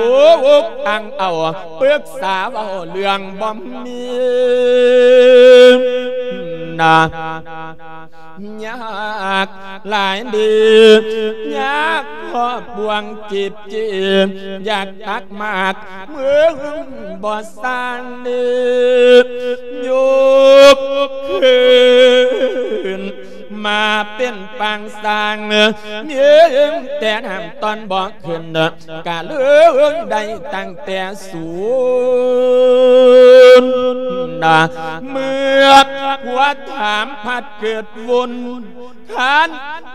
ອັ່ງເອົາ ປຶກສາເວົ້າເລື່ອງບໍ່ມີ ນະ ຍາກຫຼາຍເດີ ຍາກຄອບບ່ວງຈີບຈີ ຢາກຕັກໝາກ ມຶງບໍ່ສ້າງເດີ ຍົກຄືນມາເປັນປາງສ້າງ ມີແຕ່ນ້ຳຕອນບໍ່ຂຶ້ນ ກະເລີຍໄດ້ຕັ້ງແຕ່ສູນ ເມື່ອຜົວຖາມພັດເກີດວຸ່ນ ຄານ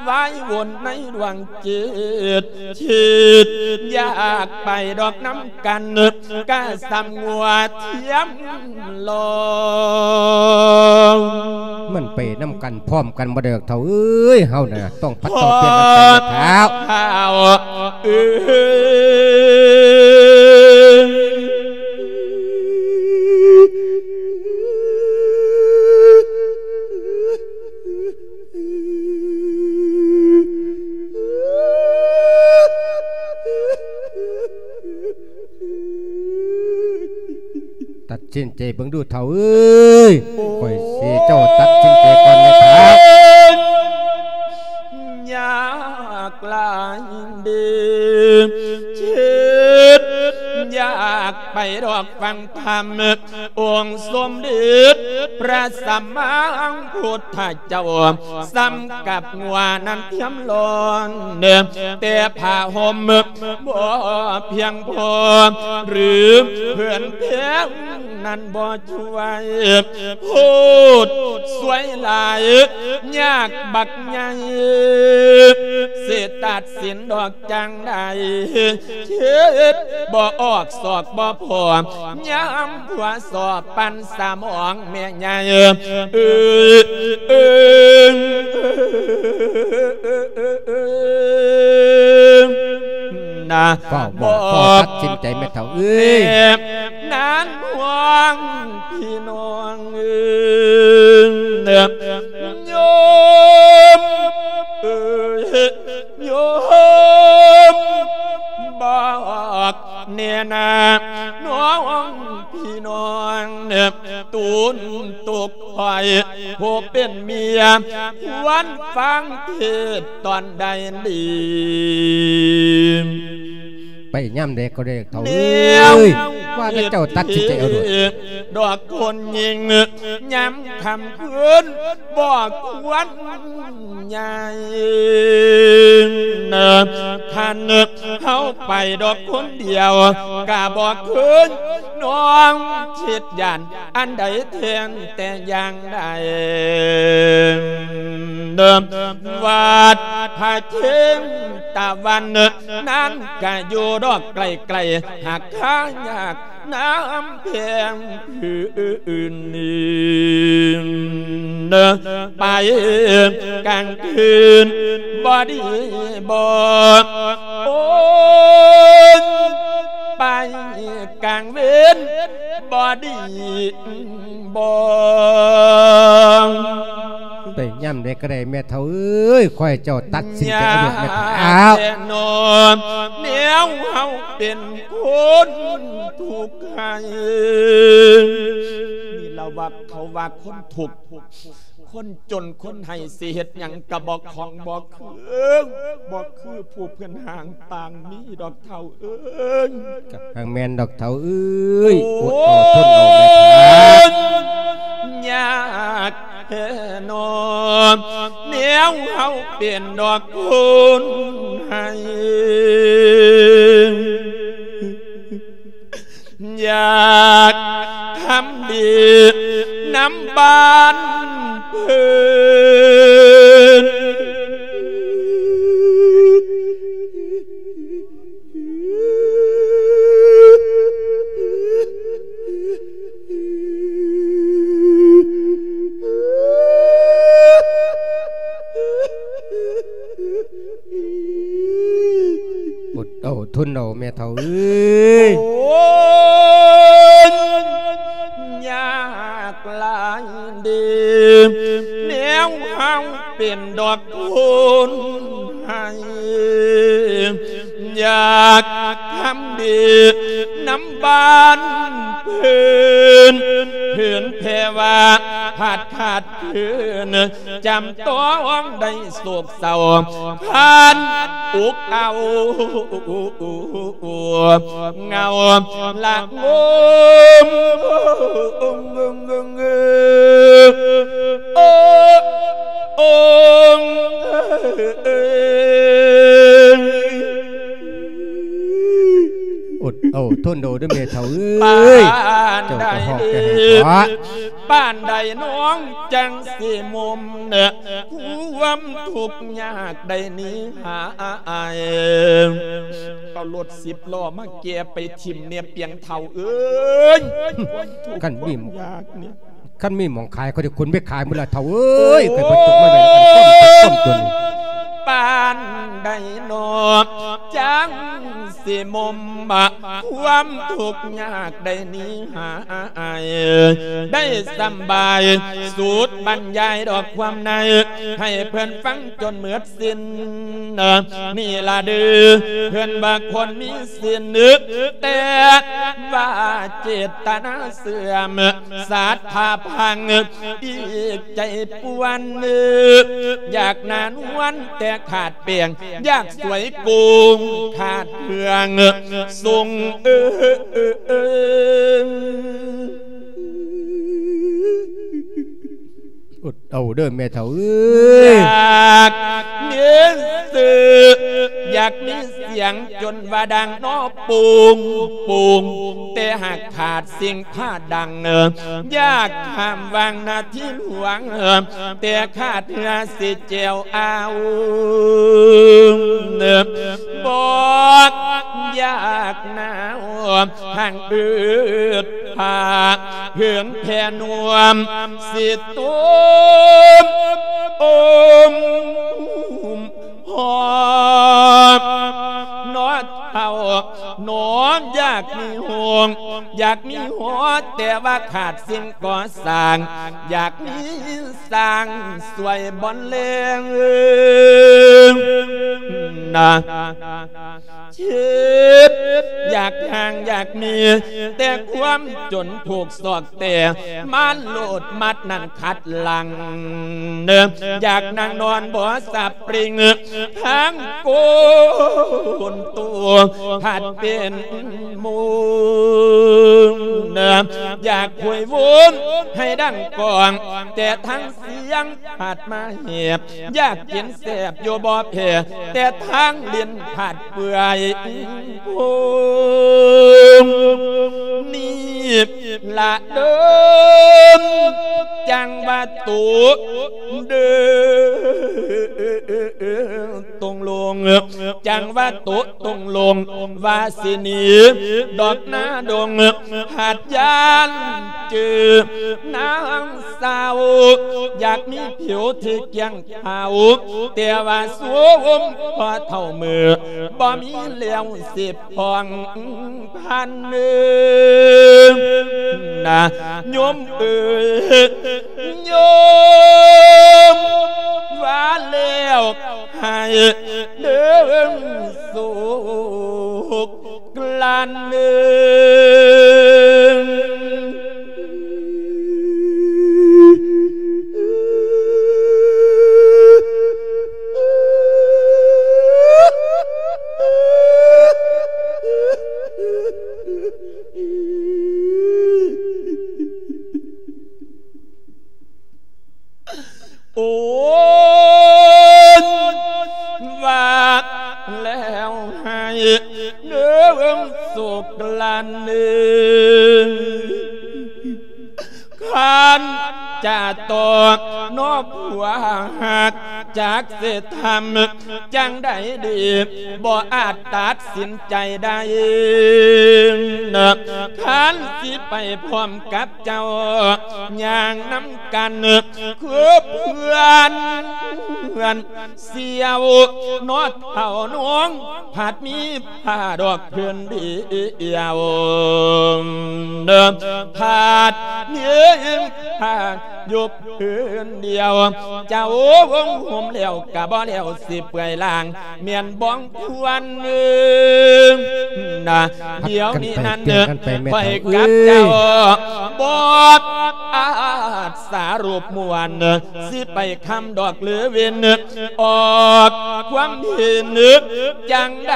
ວາຍວົນໃນດວງຈິດ ຄິດຢາກໄປດອກນຳກັນ ກະສ່ຳງົວທຽມລອງ ມັນໄປນຳກັນ ພ້ອມກັນບໍ່ໄດ້ດອກເຖົ້າເອີຍ ເຮົານະຕ້ອງຜັດຕ້ອງປ່ຽນກັນໄປເນາະເຖົ້າ ເອີຍ ຕັດສິນໃຈເບິ່ງດູເຖົ້າເອີຍ ຂ້ອຍຊິເຈົ້າຕັດສິນໃຈກ່ອນແມ່ເຖົ້າ ຍາກຫຼາຍເດີ ຄິດຢາກ ໄປດອກຟັງທຳ ອົງສົມເດັດພະສຳມາພຸດທະເຈົ້າ ສຳກັບງົວນັ້ນທຽມລ້ອນ ແຕ່ຜ້າຫົ່ມບໍ່ພຽງພໍ ຫຼືເພື່ອນແພງນັ້ນບໍ່ຊ່ວຍ ໂພດສວຍຫຼາຍ ຍາກບັກໃຫຍ່ ຊິຕັດສິນດອກຈັ່ງໃດ ຄິດບໍ່ອອກສອກບໍ່ພໍ ຍາມຜົວສອບປັ່ນສະໝອງແມ່ໃຫຍ່ ເອີ ເອີ ນະ ຟ້າວບອກ ຟ້າວຕັດສິນໃຈແມ່ເຖົ້າເອີຍ ແນບນານຫ່ວງພີ່ນ້ອງເອີຍ ໂຍມເອີຍ ໂຍມ ບອກແນ່ນາ ນ້ອງພີ່ນ້ອງ ຕູນຕຸກຂ້ອຍ ຜູ້ເປັນເມຍ ຄວນຟັງເທດຕອນໃດດີ ໄປຍາມໃດກໍໄດ້ເຖົ້າເອີຍ ວ່າແຕ່ເຈົ້າຕັດສິນໃຈເອົາໂລດ ດອກຄົນຍິງ ຍາມຄ່ຳຄືນ ບໍ່ຄວນຍ້າຍ ຄັນເຮົາໄປດອກຄົນດຽວ ກະບໍ່ຄືນ ນ້ອງຄິດຢ້ານອັນໃດແທ້ແຕ່ຢ່າງໃດ ວັດພະເຊງຕະວັນ ນັ້ນກະຢູ່ດອກໄກໆ ຫາກຄາຍາກ ນຳແພງພື້ນດິນ ໄປກາງຄືນບໍ່ດີບໍ ໂອ້ຍ ໄປກາງເວັນບໍ່ດີບໍ ໄປຍາມໃດກໍໄດ້ແມ່ເຖົ້າເອີຍ ຂໍໃຫ້ເຈົ້າຕັດສິນໃຈເອົາໂລດແມ່ເຖົ້າ ແນ່ນອນ ແນວເຮົາເປັນ ຄົນທຸກໃຫ້ ນີ້ລະວ່າເຂົາວ່າຄົນທຸກ ຄົນຈົນ ຄົນໄຫ້ ຊິເຮັດຫຍັງກະບໍ່ຄ່ອງບໍ່ຄື ບໍ່ຄືຜູ້ເພິ່ນຮ່າງປາງນີ້ດອກເຖົ້າເອີຍ ກະຫາກແມ່ນດອກເຖົ້າເອີຍ ອົດເອົາທົນເອົາແມ່ເຖົ້າ ຍາກ ແທ້ນອນ ແນວເຮົາເປັນດອກຄົນໃຫ້ ຢາກທຳດີນຳບ້ານເພິ່ນ ອົດເອົາທົນເອົາແມ່ເຖົ້າເອີຍ ໂອ້ຍ ຍາກຫຼາຍເດ ແນວເຮົາເປັນດອກຄົນໃຫ້ ຢາກທຳດີນຳບ້ານເພິ່ນ ເພິ່ນແຜ່ວ່າພັດຂາດຄືນ ຈຳຕ້ອງໄດ້ໂສກເສົ້າ ຜ່ານອົກເອົາ ເຫງົາລະງົມ ໂອ້ ໂອ້ ໂອ້ ອົດເອົາທົນເອົາເດີແມ່ເຖົ້າເອີຍ ປານໃດ ເຈົ້າກໍຮ້ອງແຕ່ໃຫ້ຕົວະ ປານໃດນ້ອງຈັ່ງຊິໝົມ ຄວາມທຸກຍາກໄດ້ໜີຫາຍ ເອົາລົດສິບລໍ້ມາແກ່ໄປຖິ້ມແດ່ປຽງເຖົ້າເອີຍ ຄວາມທຸກ ຄັນມີ ຄວາມຍາກນີ້ ຄັນມີໝ່ອງຂາຍ ເຂົາຈະຂົນໄປຂາຍໝົດລະເຖົ້າເອີຍ ໄປເບິດຕົກມາໄວ້ນຳກັນ ຄວາມທຸກຄວາມຈົນ ປານໃດນ້ອງຈັ່ງຊິໝົມ ຄວາມທຸກຍາກໄດ້ໜີຫາຍ ໄດ້ສຳບາຍ ສູດບັນຍາຍດອກຄວາມໃນ ໃຫ້ເພິ່ນຟັງຈົນໝົດສິ້ນ ນີ້ລະເດີ ເພິ່ນວ່າຄົນມີສິນ ແຕ່ວ່າເຈດຕະນາເສື່ອມ ສັດທາພັງ ອີກໃຈປວນ ຢາກໜ້ານວນແຕ່ຂາດແປ້ງ ຢາກສວຍໂກງຂາດເຄື່ອງ ຊົງເອີ ເດີແມ່ເຖົ້າເອີຍ ຢາກມີຊື່ ຢາກມີສຽງຈົນວ່າດັງເນາະ ໂປ່ງໂປ່ງ ແຕ່ຫາກຂາດສິ່ງພາດັງ ຢາກຂ້າມວັງນາທີຫຼວງ ແຕ່ຂາດເຮືອຊິແຈວອາວ ບໍ່ຢາກໜາວ ຫາກອຶດຜາ ເຫີນແຜ່ນວມ ຊິຕົມອົມຫອມ ນອນເຖົ້າ ນອນຢາກມີໂຮງ ຢາກມີຫໍ ແຕ່ວ່າຂາດສິ່ງກໍ່ສ້າງ ຢາກມີ ສ້າງຊ່ວຍບ່ອນແລງນະ ຄິດຢາກຫາງຢາກມີ ແຕ່ຄວາມຈົນຖືກສອກແຕ່ ມາໂລດມັດນັ້ນຂັດຫຼັງ ຢາກນັ່ງນອນບໍ່ສັບປຣິງ ທາງໂກນໂຕພັດເປັນມຸມ ຢາກໂຫຍໂຫຍໃຫ້ດັງກ້ອງ ແຕ່ທາງສຽງ ພັດມາແຫບ ຢາກກິນແຊບຢູ່ບໍ່ແພ້ ແຕ່ທາງເຫຼັ້ນພັດເປື່ອຍໂພງ ນີ້ລະເດີ ຈັ່ງວ່າໂຕເດີ ຕົງລົງ ຈັ່ງວ່າໂຕຕົງລົງ ວ່າຊິໜີດອກໜ້າດົງ ຫາກຢ້ານຈື່ນາງສາວ ຢາກມີຜິວທີ່ກ້ຽງຂາວ ແຕ່ວ່າສວມພໍເທົ່າມື້ ບໍ່ມີແລ້ວຊິຜ່ອງພັນເນີ ນະໂຍມເອີຍ ໂຍມວ່າແລ້ວ ໃຫ້ເດີໂສກກລັ້ນເອີ ໂອ້ຍ ວ່າແລ້ວໃຫ້ເດີໂສກກລັ້ນເອີ ຄັນຈະຕອບນອກຜົວຮັກ ຈັກຊິທຳຈັ່ງໃດດີ ບໍ່ອາດຕັດສິນໃຈໄດ້ ຄັນຊິໄປພ້ອມກັບເຈົ້າ ຍ່າງນຳກັນ ຄືເພື່ອນ ເພື່ອນສ່ຽວ ນອດເຖົ້ານ້ອງ ພັດມີຜ້າດອກເພິ່ນດຽວ ພັດມີຜ້າຢູ່ເພິ່ນດຽວ ເຈົ້າຫົ່ມແລ້ວກະບໍ່ແລ້ວ ຊິເປື່ອຍລ່າງ ແມ່ນບ້ອງຄວນນະ ດຽວນີ້ນັ້ນ ຂ້ອຍກັບເຈົ້າ ບໍ່ອາດສາລົບມ່ວນ ຊິໄປຄຳດອກຫຼືເວັນ ອອກຄວາມເຫັນຈັ່ງໃດ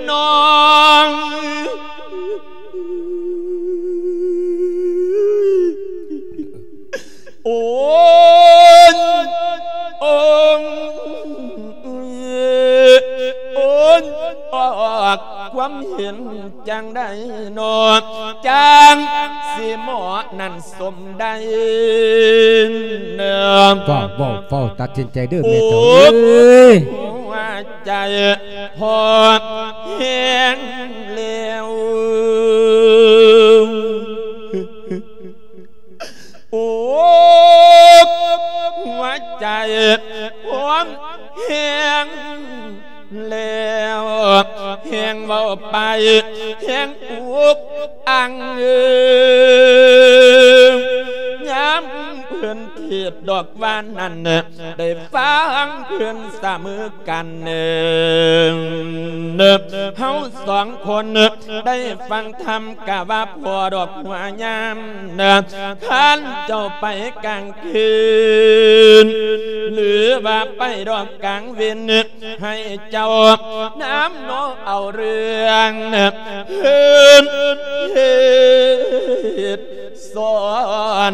ນ້ອງ ໂອ້ຍ ໂອ້ຍ ໂອ້ຍ ອອກຄວາມເຫັນຈັ່ງໃດນໍ ຈັ່ງຊິເໝາະນັ້ນສົມໄດ້ ເວົ້າ ເວົ້າ ເວົ້າ ຕັດສິນໃຈເດີແມ່ເຖົ້າເອີຍ ໃຈພໍແຮງແລ້ວ ໂອ້ ຫົວໃຈພ້ອມແຮງແລ້ວ ແຮງເວົ້າໄປແຮງອຸກອັ່ງ ຍາມເພິ່ນເທດດອກວ່ານັ້ນ ໄດ້ຟັງເພິ່ນສະເໝີກັນ ເຮົາສອງຄົນໄດ້ຟັງທຳກະວ່າພໍດອກຫົວຍາມ ຄັນເຈົ້າໄປກາງຄືນ ຫຼືວ່າໄປດອກກາງເວັນ ໃຫ້ເຈົ້ານຳນ້ອງເອົາເລື່ອງເພິ່ນເຮັດສອນ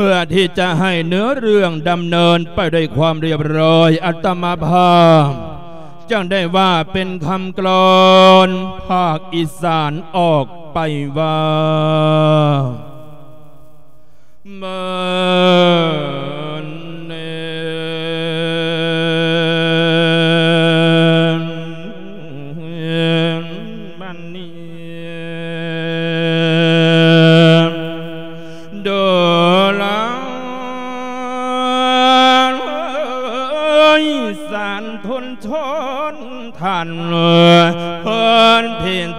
เพื่อที่จะให้เนื้อเรื่องดำเนินไปด้วยความเรียบร้อย อาตมาภาพจึงได้ว่าเป็นคำกลอนภาคอีสานออกไปว่า ສານທົນທົນທ່ານ ເພິ່ນເພັນ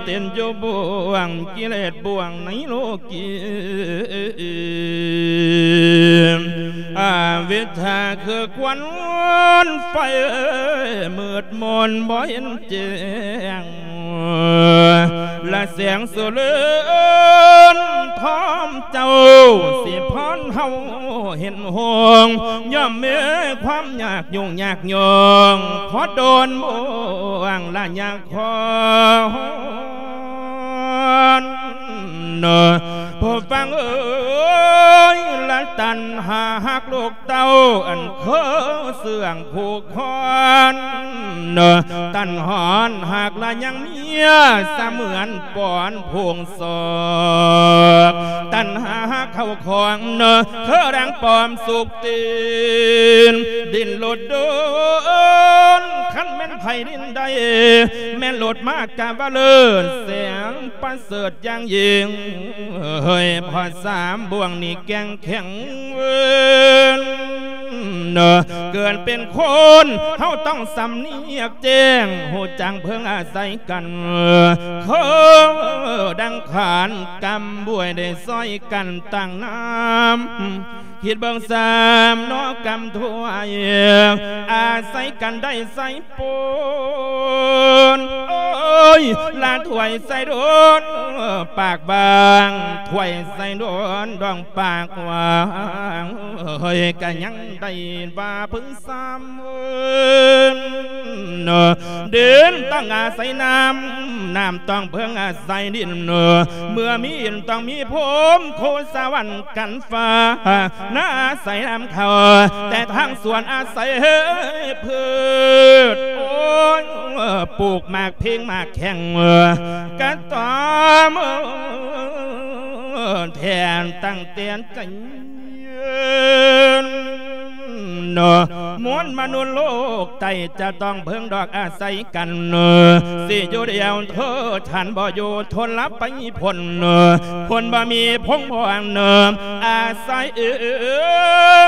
ເຕັນຢູ່ບ່ວງກິເລດບ່ວງໃນໂລກີ ອາວິດຊາຄືຄວັນໄຟມືດມົນບໍ່ເຫັນແຈ້ງ ລະແສງສຸເລີນທອມເຈົ້າ ຊິພອນເຮົາເຫັນຫົງ ຍ່ອມມີຄວາມຍາກຫຍຸ້ງຍາກຫຍ້ອງ ພໍດົນບ່ວງລະຍາກຂອນ ຜູ້ຟັງເອີຍ ລະຕັນຫາຮັກລູກເຕົ້າ ອັນຄືເຊື່ອງຜູກຄອນ ຕັນຫອນຫາກລະຍັງເມຍ ສະເໝືອນປອນຜູງສອກ ຕັນຫາເຂົ້າຂອງ ຄືແດງປອມສຸກຕີນ ດິ້ນລົດດົນ ຄັນແມ່ນໃຜດິ້ນໄດ້ ແມ່ນໂລດມາກະວ່າເລີດ ແສງປະເສີດຢ່າງຍິ່ງ ເຮີ້ຍ ພໍສາມບ່ວງນີ້ແກ່ງແຂງເວີນ ເກີດເປັນຄົນ ເຮົາຕ້ອງສຳນຽກແຈ້ງ ຮູ້ຈັກເພິ່ງອາໄສກັນ ຄືດັ່ງຂານກຳບວຍໄດ້ຊ່ອຍກັນຕັ້ງນ້ຳ ຄິດເບິ່ງສາມເນາະກຳຖ້ວຍ ອາໄສກັນໄດ້ໃສ່ປົນ ໂອ້ຍ ລະຖ້ວຍໃສ່ດົນ ປາກບາງ ຖ້ວຍໃສ່ດົນ ດອງປາກຫວ່າງ ເຮີ້ຍ ກະຍັງໄດ້ວ່າເພິ່ງສາມເວີນ ດິນຕ້ອງອາໄສນ້ຳ ນ້ຳຕ້ອງເພິ່ງອາໄສດິນ ເມື່ອມີດິນຕ້ອງມີພົມ ໂຄສະຫວັນກັນຟ້າ ນາອາໄສນ້ຳເຂົ້າ ແຕ່ທາງສວນອາໄສພືດ ໂອ້ຍ ປູກໝາກເພັງໝາກແຂ້ງ ກະຕ້ອມ ແທນຕັ້ງແຕ່ນ ເນາະ ມວນມະນຸດໂລກໃຕ້ ຈະຕ້ອງເພິ່ງດອກອາໄສກັນ ເນາະ ຊິຢູ່ດຽວເທີ ທ່ານບໍ່ຢູ່ທົນລະໄປພົ້ນ ເນາະ ຄົນບໍ່ມີພົງພອນ ເນາະ ອາໄສເອີ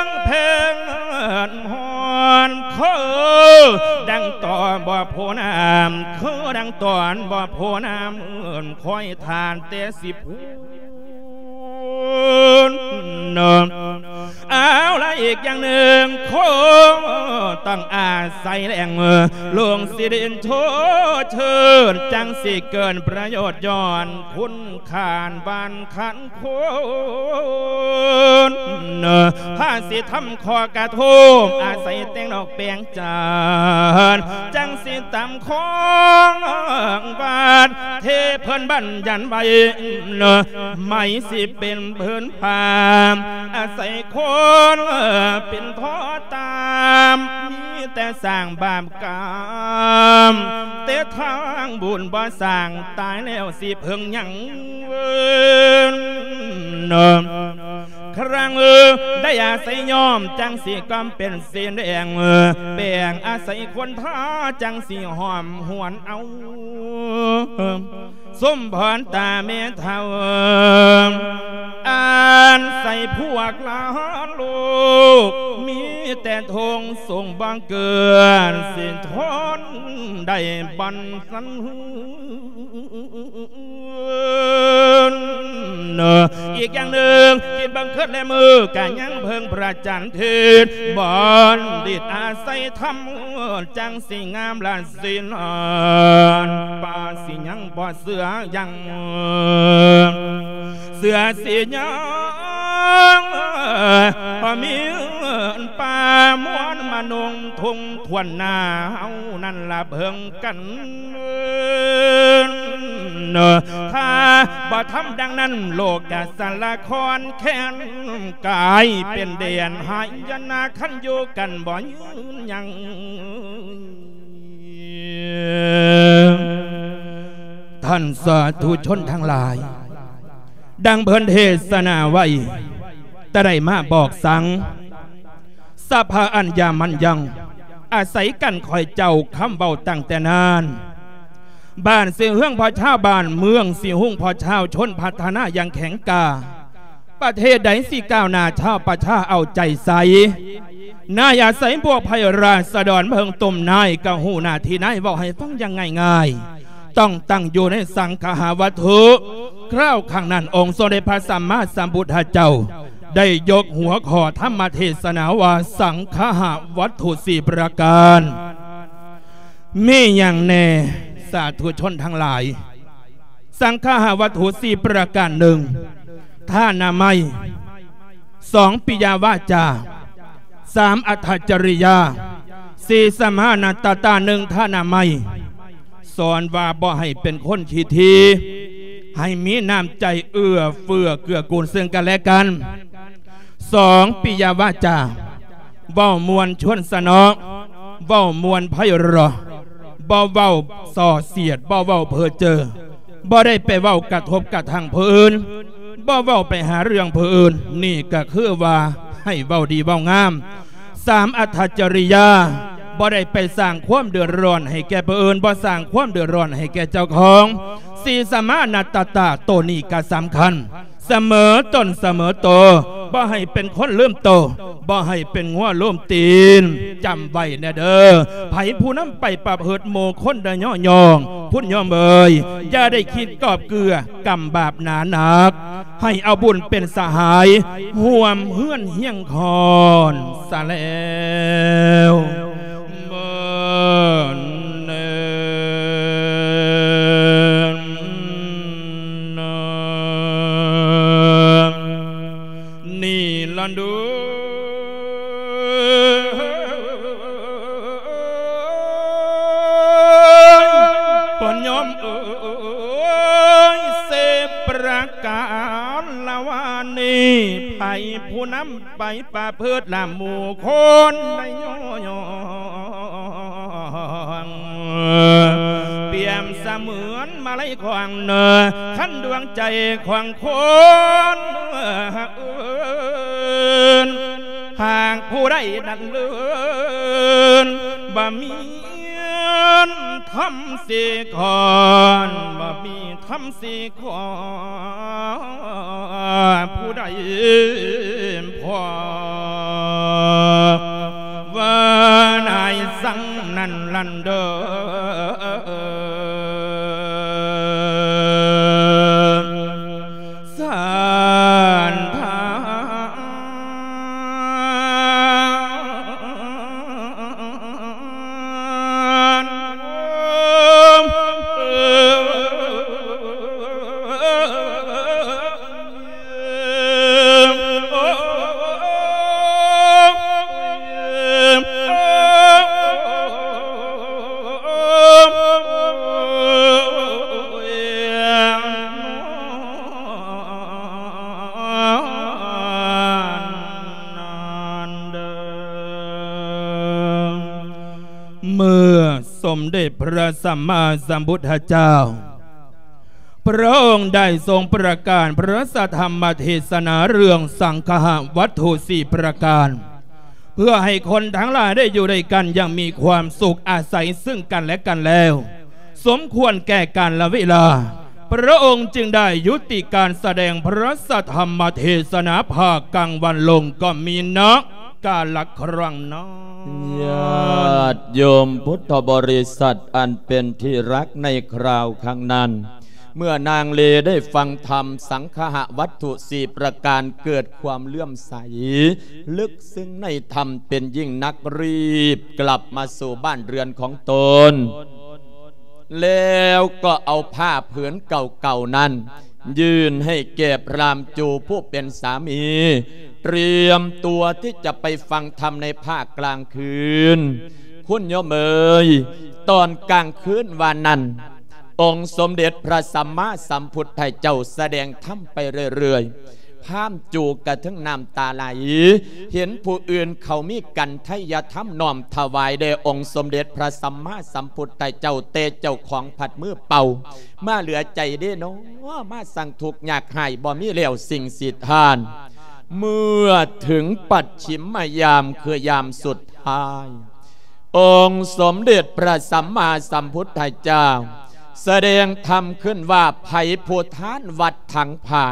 ງແພງຮອນ ຄືດັ່ງຕໍ່ບໍ່ໂພນ້ຳ ຄືດັ່ງຕອນບໍ່ໂພນ້ຳ ຄອຍທ່ານແຕ່ສິບ ເນາະ ເອົາລະ ອີກຢ່າງໜຶ່ງ ຄົງຕ້ອງອາໄສແຫຼ່ງ ເອີ ລົງຊິດິນໂທເທີນ ຈັ່ງຊິເກີດປະໂຫຍດຍ້ອນຄຸນຄ່ານບ້ານຄັນຄົນ ເອີ ພາຊິທຳ ຂໍກະທົບ ອາໄສແຕ່ງດອກແປງຈານ ຈັ່ງຊິຕຳຂອງຫວານ ເທເພິ່ນບັນຍັນໄວ້ ໄມ້ຊິເປັນພື້ນຜ້າ ອາໄສຄົນເປັນທໍ່ຕາມ ມີແຕ່ສ້າງບາບກຳ ແຕ່ທາງບຸນບໍ່ສ້າງ ຕາຍແລ້ວຊິເພິ່ງຫຍັງເວີນ ເນາະ ຄັ້ງເອີ ໄດ້ອາໄສຍ້ອມ ຈັ່ງຊິກຳເປັນສີແດງ ແປງອາໄສຄົນທາ ຈັ່ງຊິຫອມຫວນເອົາ ສົມພອນຕາແມ່ເຖົ້າ ອາໄສພວກຫຼານລູກ ມີແຕ່ທົ່ງສູງບໍ່ເກີນ ຊິທົນໄດ້ບັນສັນ ເນາະ ອີກຢ່າງໜຶ່ງ ຄິດເບິ່ງຄືນແລະມື້ ກະຍັງເພິ່ງພະຈັນທິດ ບັນດິດອາໄສທຳ ຈັ່ງຊິງາມລະສິນ ປ່າຊິຍັງບໍ່ເຊື່ອຍັງ ເຊື່ອຊິຍັງ ມີປ່າມວນມະນຸງ ທຸງທວນໜ້າເຮົານັ້ນລະເພິ່ງກັນ ຖ້າບໍ່ທຳດັ່ງນັ້ນ ໂລກກະສາລະຄອນແຄ້ນກາຍເປັນແດນຫາຍນາ ຄັນຢູ່ກັນບໍ່ຍືນຍັງ. ທ່ານສາທຸຊົນທັງຫຼາຍ, ດັ່ງເພິ່ນເທສະນາໄວ້, ແຕ່ໄດ້ມາບອກສັງ ສະພາອັນຍາມັນຍັງ ອາໄສກັນຂ້ອຍເຈົ້າຄຳເວົ້າຕັ້ງແຕ່ນານ. ບ້ານຊື່ເຮືອງພໍ່ຊາວ ບ້ານເມືອງຊິຮຸ່ງພໍ່ຊາວ ຊົນພັດທະນາຢ່າງແຂງກ້າ. ປະເທດໃດຊິກ້າວໜ້າ ຊາວປະຊາເອົາໃຈໃສ່. ນາຍອາໄສພວກໄພຣາສະດອນເບິ່ງຕົ້ມນາຍ ກະຮູ້ໜ້າທີ່ນາຍ ເວົ້າໃຫ້ຟັງຢ່າງງ່າຍໆ ຕ້ອງຕັ້ງຢູ່ໃນສັງຄະຫະວັດຖຸ. ຄາວຄັ້ງນັ້ນ ອົງສົມເດັດພະສຳມາສຳພຸດທະເຈົ້າ ໄດ້ຍົກຫົວຂໍ້ທຳມະເທສະນາວ່າ ສັງຄະຫະວັດຖຸສີ່ປະການ. ມີຫຍັງແດ່ ສາທຸຊົນທັງຫຼາຍ? ສັງຄະຫະວັດຖຸສີ່ປະການ ໜຶ່ງ ທານາໄມ, ສອງ ປິຍະວາຈາ, ສາມ ອັດຖະຈະລິຍາ, ສີ່ ສະມານະຕະຕາ. ໜຶ່ງ ທານາໄມ ສອນວ່າບໍ່ໃຫ້ເປັນຄົນຂີ້ຖີ່, ໃຫ້ມີນ້ຳໃຈເອື້ອເຟື້ອເກື້ອກູນເຊິ່ງກັນແລະກັນ. ສອງ ປິຍະວາຈາ ເວົ້າມ່ວນຊວນສະເນາະ, ເວົ້າມ່ວນໄພເຣາະ, ບໍ່ເວົ້າສ່ອສຽດ, ບໍ່ເວົ້າເພີ້ເຈີ, ບໍ່ໄດ້ໄປເວົ້າກະທົບກະທັງຜູ້ອື່ນ, ບໍ່ເວົ້າໄປຫາເລື່ອງຜູ້ອື່ນ, ນີ້ກະຄືວ່າໃຫ້ເວົ້າດີເວົ້າງາມ. ສາມ ອັດຖະຈະລິຍາ ບໍ່ໄດ້ໄປສ້າງຄວາມເດືອດຮ້ອນໃຫ້ແກ່ຜູ້ອື່ນ, ບໍ່ສ້າງຄວາມເດືອດຮ້ອນໃຫ້ແກ່ເຈົ້າຂອງ. ສີ່ ສະມານະຕະຕາ ໂຕນີ້ກະສຳຄັນ. ສະເໝີຕົນສະເໝີໂຕ, ບໍ່ໃຫ້ເປັນຄົນລືມໂຕ, ບໍ່ໃຫ້ເປັນງົວລືມຕີນ. ຈຳໄວ້ແດ່ເດີ ໃຜຜູ້ນຳໄປປະພຶດໝູ່ຄົນໄດ້ຍໍຍ້ອງ, ຄຸນໂຍມເອີຍ, ຢ່າໄດ້ຄິດກອບເກື້ອກຳບາບໜາໜັກ, ໃຫ້ເອົາບຸນເປັນສະຫາຍ ຮ່ວມເຮືອນຮຽງຄອນສະແລ້ວ. ເມີນ ນີ້ລະເດີ ພໍ່ໂຍມເອີຍ ເສບປະການລະວານີ້ ໃຜຜູ້ນຳ ໄປປະພຶດລະໝູ່ຄົນໄດ້ຍໍຍ້ອງ ປຽບສະເໝືອນມາໄລຂວາງເນີ ຄັນດວງໃຈຂອງຄົນເອີຍ ຫາກຜູ້ໃດນັ້ນເລີນ ບໍ່ມີທຳເສກ່ອນ ບໍ່ມີ ທຳຊິຂໍຜູ້ໃດພໍ ວ່ານາຍສັງນັ້ນລັນເດີ ສານທາ ເມື່ອສົມເດັດພະສຳມາສຳພຸດທະເຈົ້າ ພະອົງໄດ້ຊົງປະກາດພະທຳມະເທສະນາເລື່ອງສັງຄະຫະວັດຖຸສີ່ປະການ ເພື່ອໃຫ້ຄົນທັງຫຼາຍໄດ້ຢູ່ດ້ວຍກັນຢ່າງມີຄວາມສຸກ ອາໄສເຊິ່ງກັນແລະກັນແລ້ວ ສົມຄວນແກ່ການລະເວລາ ພະອົງຈຶ່ງໄດ້ຍຸຕິການສະແດງພະທຳມະເທສະນາພາກກາງວັນລົງ ກໍມີນະກາລະຄັ້ງນັ້ນ. ຍາດໂຍມພຸດທະບໍລິສັດອັນເປັນທີ່ຮັກໃນຄາວຄັ້ງນັ້ນ ເມື່ອນາງເລໄດ້ຟັງທຳສັງຄະຫະວັດຖຸສີ່ປະການ ເກີດຄວາມເຫຼື້ອມໃສເລິກ ຊຶ່ງໃນທຳເປັນຍິ່ງນັກ ຣີບກັບມາສູ່ບ້ານເຮືອນຂອງຕົນ ແລ້ວກໍເອົາຜ້າຜືນເກົ່າໆນັ້ນ ຍື່ນໃຫ້ແກ່ພຣາມຈູຜູ້ເປັນສາມີ ຕຽມຕົວທີ່ຈະໄປຟັງທຳໃນພາກກາງຄືນ. ຄຸນໂຍມເອີຍ, ຕອນກາງຄືນວານນັ້ນ, ອົງສົມເດັດພະສຳມາສຳພຸດທະເຈົ້າສະແດງທຳໄປເລື້ອຍໆ ພາມຈູກະເຖິງນ້ຳຕາໄຫຼ ເຫັນຜູ້ອື່ນເຂົາມີກັນໄທຍະທຳນ້ອມຖວາຍແດ່ອົງສົມເດັດພະສຳມາສຳພຸດທະເຈົ້າ ແຕ່ເຈົ້າຂອງພັດມືເປົ່າ ມາເຫຼືອໃຈເດ້ເນາະ ມາສັ່ງທຸກຍາກຮ້າຍ ບໍ່ມີແລ້ວສິ່ງສິດທານ. ເມື່ອເຖິງປັດຖິມມະຍາມ ຄືຍາມສຸດທ້າຍ ອົງສົມເດັດພະສຳມາສຳພຸດທະເຈົ້າ ສະແດງທຳຂຶ້ນວ່າ ໃຜຜູ້ທານວັດຖັງຜ້າ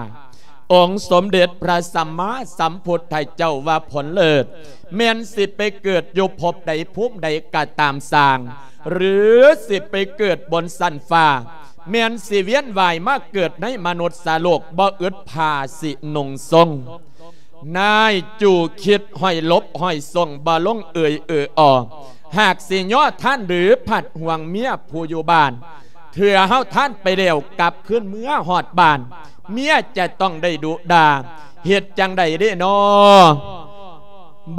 ອົງສົມເດັດພະສຳມາສຳພຸດທະເຈົ້າວ່າ ຜົນເລີດ ແມ່ນຊິໄປເກີດຢູ່ພົບໃດພູມໃດກໍຕາມຊ່າງ ຫຼື ຊິໄປເກີດບົນຊັ້ນຟ້າ ແມ່ນຊິວຽນວ່າຍມາເກີດໃນມະນຸດສະໂລກ ບໍ່ອຶດຜ້າຊິນຸ່ງຊົງ. ນາຍຈູຄິດຫ້ອຍຫຼົບຫ້ອຍຊົງ ບໍ່ລົງເອີ່ຍເອີ່ອ ຫາກຊິຍໍທານ ຫຼື ພັດຫ່ວງເມຍຜູ້ຢູ່ບ້ານ ເທື່ອເຮົາທານໄປແລ້ວ ກັບຄືນເມືອຮອດບ້ານ ເມຍຈະຕ້ອງໄດ້ດຸດ່າ ເຮັດຈັ່ງໃດເດ້ນໍ?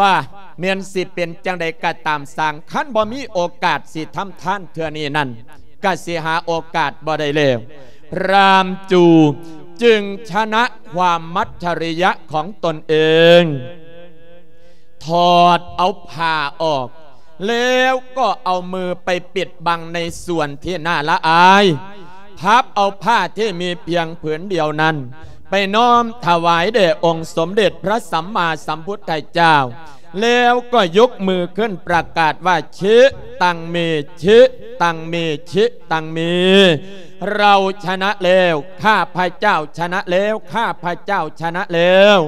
ບາ ແມ່ນຊິເປັນຈັ່ງໃດກໍຕາມຊ່າງ ຄັນບໍ່ມີໂອກາດຊິທຳທານເທື່ອນີ້ນັ້ນ ກະຊິຫາໂອກາດບໍ່ໄດ້ແລ້ວ. ພຣາມຈູຈຶ່ງຊະນະຄວາມມັດຈະລິຍະຂອງຕົນເອງ ຖອດເອົາຜ້າອອກ ແລ້ວກໍເອົາມືໄປປິດບັງໃນສ່ວນທີ່ໜ້າລະອາຍ ພັບເອົາຜ້າທີ່ມີພຽງຜືນດຽວນັ້ນ ໄປນ້ອມຖວາຍແດ່ອົງສົມເດັດພະສຳມາສຳພຸດທະເຈົ້າ ແລ້ວກໍຍົກມືຂຶ້ນປະກາດວ່າ ຊິຕັງເມ ຊິຕັງເມ ຊິຕັງເມ ເຮົາຊະນະແລ້ວ ຂ້າພະເຈົ້າຊະນະແລ້ວ ຂ້າພະເຈົ້າຊະນະແລ້ວ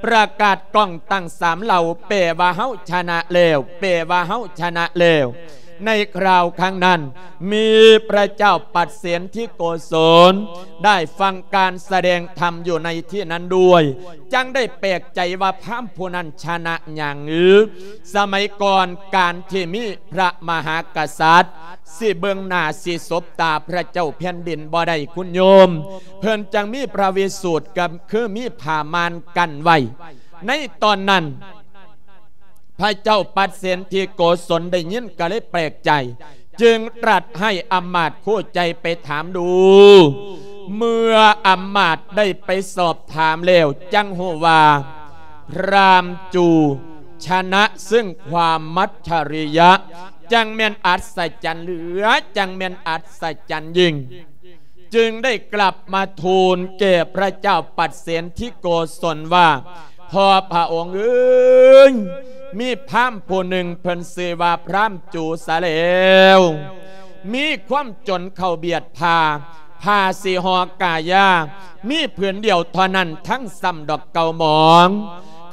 ປະກາດກ້ອງຕັ້ງສາມເຫຼົ່າ ແປວ່າເຮົາຊະນະແລ້ວ ແປວ່າເຮົາຊະນະແລ້ວ. ໃນຄາວຄັ້ງນັ້ນ ມີພະເຈົ້າປັດເສນທິໂກສົນ ໄດ້ຟັງການສະແດງທຳຢູ່ໃນທີ່ນັ້ນດ້ວຍ ຈັ່ງໄດ້ແປກໃຈວ່າພາມຜູ້ນັ້ນຊະນະຫຍັງ? ສະໄໝກ່ອນການທີ່ມີພະມະຫາກະສັດ ຊິເບິ່ງໜ້າຊິສົບຕາພະເຈົ້າແຜ່ນດິນບໍ່ໄດ້ຄຸນໂຍມ ເພິ່ນຈັ່ງມີພະວິສູດ ກໍຄືມີຜ້າມ່ານກັ້ນໄວ້. ໃນຕອນນັ້ນ ພະເຈົ້າປັດເສນທິໂກສົນໄດ້ຍິນກໍເລີຍແປກໃຈ ຈຶ່ງຕລັດໃຫ້ອຳມາດຄູ່ໃຈໄປຖາມດູ. ເມື່ອອຳມາດໄດ້ໄປສອບຖາມແລ້ວ ຈັ່ງຮູ້ວ່າ ພຣາມຈູຊະນະເຊິ່ງຄວາມມັດຈະລິຍະ ຈັ່ງແມ່ນອັດສະຈັນເຫຼືອ ຈັ່ງແມ່ນອັດສະຈັນຍິ່ງ. ຈຶ່ງໄດ້ກລັບມາທູນແກ່ພະເຈົ້າປັດເສນທິໂກສົນວ່າ ພໍ່ພະອົງເອີຍ ມີພາມຜູ້ໜຶ່ງເພິ່ນຊື່ວ່າພຣາມຈູສະແລ້ວ ມີຄວາມຈົນເຂົ້າບຽດຜ້າ ຜ້າສີຫໍ່ກາຢາ ມີຜືນດຽວເທົ່ານັ້ນ ທັງຊ້ຳດອກເກົ່າໝອງ.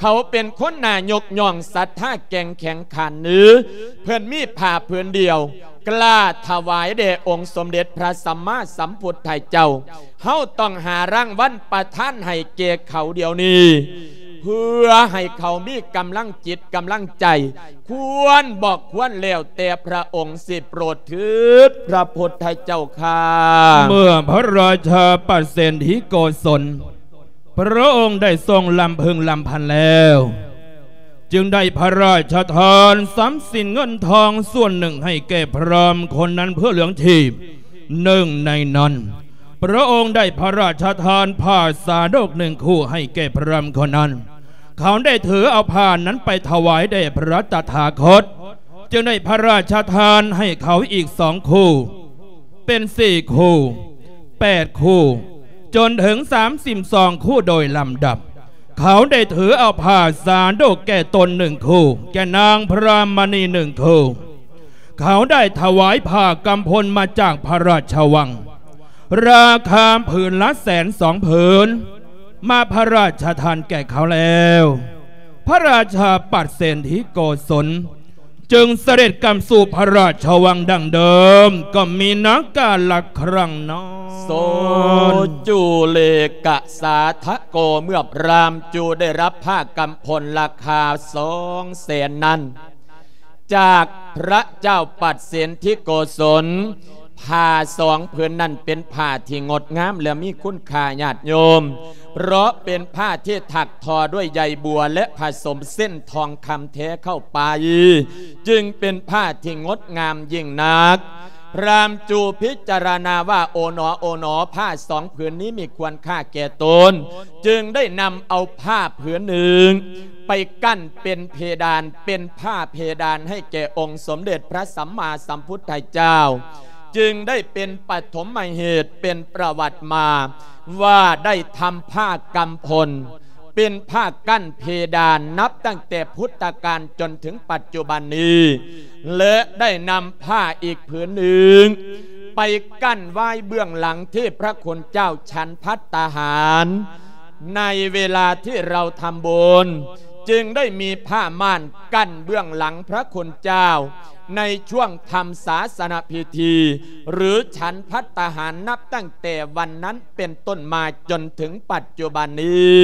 ເຂົາເປັນຄົນໜ້າຍົກຍ້ອງ ສັດທາແກ່ງແຂງຂັນເນີ ເພິ່ນມີຜ້າຜືນດຽວ ກລ້າຖວາຍແດ່ອົງສົມເດັດພະສຳມາສຳພຸດທະເຈົ້າ ເຮົາຕ້ອງຫາລາງວັນປະທານໃຫ້ແກ່ເຂົາດຽວນີ້ ເພື່ອໃຫ້ເຂົາມີກຳລັງຈິດກຳລັງໃຈ ຄວນບໍ່ຄວນແລ້ວແຕ່ພະອົງຊິໂປດເທີດ ພະພຸດທະເຈົ້າຂ້າ. ເມື່ອພະລາຊາປັດເສນທິໂກສົນ ພະອົງໄດ້ຊົງລຳເພິ່ງລຳພັນແລ້ວ ຈຶ່ງໄດ້ພະລາຊະທານຊັບສິນເງິນທອງສ່ວນໜຶ່ງໃຫ້ແກ່ພຣາມຄົນນັ້ນເພື່ອລ້ຽງຊີບ. ໜຶ່ງໃນນັ້ນ ພະອົງໄດ້ພະລາຊະທານຜ້າສາດົກໜຶ່ງຄູ່ໃຫ້ແກ່ພຣາມຄົນນັ້ນ. ເຂົາໄດ້ຖືເອົາຜ້ານັ້ນໄປຖວາຍແດ່ພະຕະຖາຄົດ ຈຶ່ງໄດ້ພະລາຊະທານໃຫ້ເຂົາອີກສອງຄູ່ ເປັນສີ່ຄູ່ ແປດຄູ່ ຈົນເຖິງສາມສິບສອງຄູ່ໂດຍລຳດັບ. ເຂົາໄດ້ຖືເອົາຜ້າສາດົກແກ່ຕົນໜຶ່ງຄູ່ ແກ່ນາງພຣາມະນີໜຶ່ງຄູ່. ເຂົາໄດ້ຖວາຍຜ້າກຳພົນມາຈາກພະລາຊະວັງ ລາຄາຜືນລະແສນສອງຜືນ ມາພະລາຊະທານແກ່ເຂົາແລ້ວ. ພະລາຊາປັດເສນທິໂກສົນ ຈຶ່ງສະເດັດກັບສູ່ພະລາຊະວັງດັ່ງເດີມ ກໍມີນາກາລະຄັ້ງນັ້ນ. ໂສຈູເລກະສາທະໂກ ເມື່ອພຣາມຈູໄດ້ຮັບຜ້າກຳພົນລາຄາສອງແສນນັ້ນ ຈາກພະເຈົ້າປັດເສນທິໂກສົນ ຜ້າສອງຜືນນັ້ນເປັນຜ້າທີ່ງົດງາມ ແລະ ມີຄຸນຄ່າຍາດໂຍມ ເພາະເປັນຜ້າທີ່ຖັກທໍດ້ວຍໃຍບົວ ແລະ ຜະສົມເສັ້ນທອງຄຳແທ້ເຂົ້າໄປ ຈຶ່ງເປັນຜ້າທີ່ງົດງາມຍິ່ງນັກ. ພຣາມຈູພິຈາລະນາວ່າ ໂອໜໍ ໂອໜໍ ຜ້າສອງຜືນນີ້ມີຄວນຄ່າແກ່ຕົນ, ຈຶ່ງໄດ້ນຳເອົາຜ້າຜືນໜຶ່ງໄປກັ້ນເປັນເພດານ, ເປັນຜ້າເພດານໃຫ້ແກ່ອົງສົມເດັດພຣະສຳມາສຳພຸດທະເຈົ້າ, ຈຶ່ງໄດ້ເປັນປະຖົມມະເຫດ ເປັນປະຫວັດມາວ່າໄດ້ທຳຜ້າກຳພົນ ເປັນຜ້າກັ້ນເພດານ ນັບຕັ້ງແຕ່ພຸດທະການຈົນເຖິງປັດຈຸບັນນີ້ ແລະ ໄດ້ນຳຜ້າອີກຜືນໜຶ່ງ ໄປກັ້ນໄວ້ເບື້ອງຫຼັງທີ່ພຣະຄຸນເຈົ້າສັນພັດຕາຫານ ໃນເວລາທີ່ເຮົາທຳບຸນ ຈຶ່ງໄດ້ມີຜ້າມ່ານກັ້ນເບື້ອງຫຼັງພຣະຄຸນເຈົ້າ ໃນຊ່ວງທຳສາສະນະພິທີ ຫຼື ສັນພັດຕາຫານ ນັບຕັ້ງແຕ່ວັນນັ້ນເປັນຕົ້ນມາຈົນເຖິງປັດຈຸບັນນີ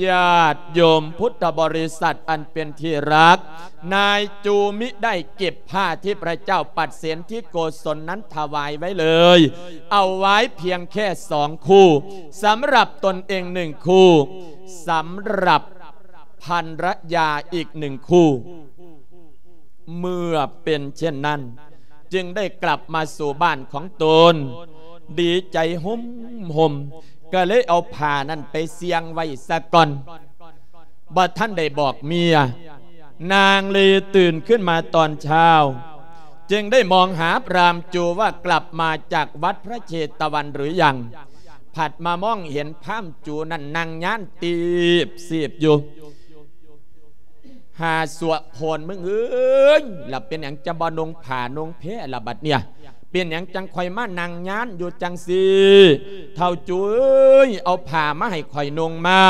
້. ຍາດໂຍມພຸດທະບໍລິສັດອັນເປັນທີ່ຮັກ, ນາຍຈູມິໄດ້ເກັບຜ້າທີ່ພຣະເຈົ້າປັດເສນທິໂກສົນນັ້ນຖວາຍໄວ້ເລີຍ, ເອົາໄວ້ພຽງແຄ່ສອງຄູ່, ສຳລັບຕົນເອງໜຶ່ງຄູ່, ສຳລັບພັນລະຍາອີກໜຶ່ງຄູ່. ເມື່ອເປັນເຊັ່ນນັ້ນ, ຈຶ່ງໄດ້ກັບມາສູ່ບ້ານຂອງຕົນ, ດີໃຈໂຮມໆ, ກໍເລີຍເອົາຜ້ານັ້ນໄປສ່ຽງໄວ້ສາກ່ອນ, ບໍ່ທັນໄດ້ບອກເມຍ. ນາງເລີຕື່ນຂຶ້ນມາຕອນເຊົ້າ, ຈຶ່ງໄດ້ມອງຫາພຣາມຈູວ່າກັບມາຈາກວັດພຣະເຊຕະວັນຫຼືຍັງ, ພັດມາມອງເຫັນພຣາມຈູນັ້ນນັ່ງຍານຕີບຊີບຢູ່. ຫາຊົ່ວໂພນມຶງເອີຍ, ລະເປັນຫຍັງຈະບໍ່ນຸ່ງຜ້ານຸ່ງແພລະບັດເນີ້ຍ? ເປັນຫຍັງຈັ່ງຄ່ອຍມານັ່ງຍານຢູ່ຈັ່ງຊີ້? ທ້າວຈູເອີຍ, ເອົາຜ້າມາໃຫ້ຂ້ອຍນຸ່ງມາ,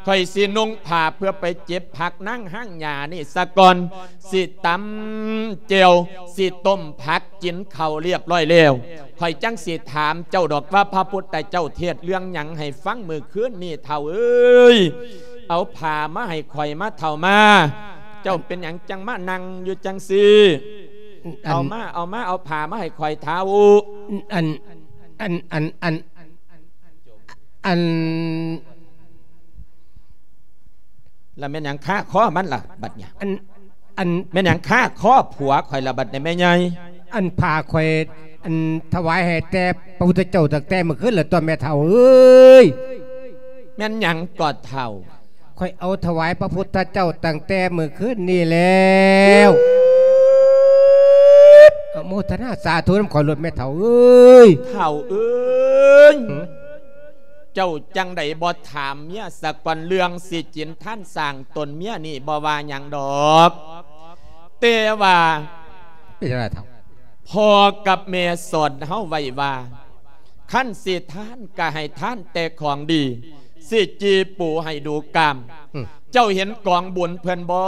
ຂ້ອຍຊິນຸ່ງຜ້າເພື່ອໄປເກັບຜັກນາງຫາງຫຍ້ານີ້ສາກ່ອນ, ຊິຕຳແຈ່ວ, ຊິຕົ້ມຜັກ, ກິນເຂົ້າລຽບຮ້ອຍແລ້ວ, ຂ້ອຍຈັ່ງຊິຖາມເຈົ້າດອກວ່າ ພະພຸດທະເຈົ້າເທດເລື່ອງຫຍັງໃຫ້ຟັງມື້ຄືນນີ້ ທ້າວເອີຍ? ເອົາຜ້າມາໃຫ້ຂ້ອຍມາ ທ້າວມາ. ເຈົ້າເປັນຫຍັງຈັ່ງມານັ່ງຢູ່ຈັ່ງຊີ້? ອັນ ເອົາມາ ເອົາມາ ເອົາຜ້າມາໃຫ້ຂ້ອຍ ທ້າວ. ອັນ ອັນ ອັນ ອັນ ອັນ ລະແມ່ນຫຍັງຄາຄໍມັນລະບັດນີ້? ອັນ ອັນ ແມ່ນຫຍັງຄາຄໍຜົວຂ້ອຍລະບັດນີ້ແມ່ໃຫຍ່? ອັນຜ້າຂ້ອຍ ອັນຖວາຍໃຫ້ແຕ່ພະພຸດທະເຈົ້າຕັ້ງແຕ່ມື້ຄືນລະຕົວະແມ່ເຖົ້າເອີຍ. ແມ່ນຫຍັງກໍເຖົ້າ? ຂ້ອຍເອົາຖວາຍພະພຸດທະເຈົ້າຕັ້ງແຕ່ມື້ຄືນນີ້ແລ້ວ. ອະໂມທະນາສາທຸນຳຂ້ອຍໂລດແມ່ເຖົ້າເອີຍ. ເຖົ້າເອີຍ ຫື? ເຈົ້າຈັ່ງໃດບໍ່ຖາມເມຍສາກ່ອນ? ເລື່ອງຊິກິນທານສ້າງຕົນເມຍນີ້ບໍ່ວ່າຫຍັງດອກ, ແຕ່ວ່າ ເປັນຈັ່ງໃດເຖົ້າ? ພໍ່ກັບແມ່ສອນເຮົາໄວ້ວ່າ ຄັນຊິທານກະໃຫ້ທານແຕ່ຂອງດີ, ຊິຈີ່ປູໃຫ້ດູກາມ. ອືມ ເຈົ້າເຫັນກອງບຸນເພິ່ນບໍ່?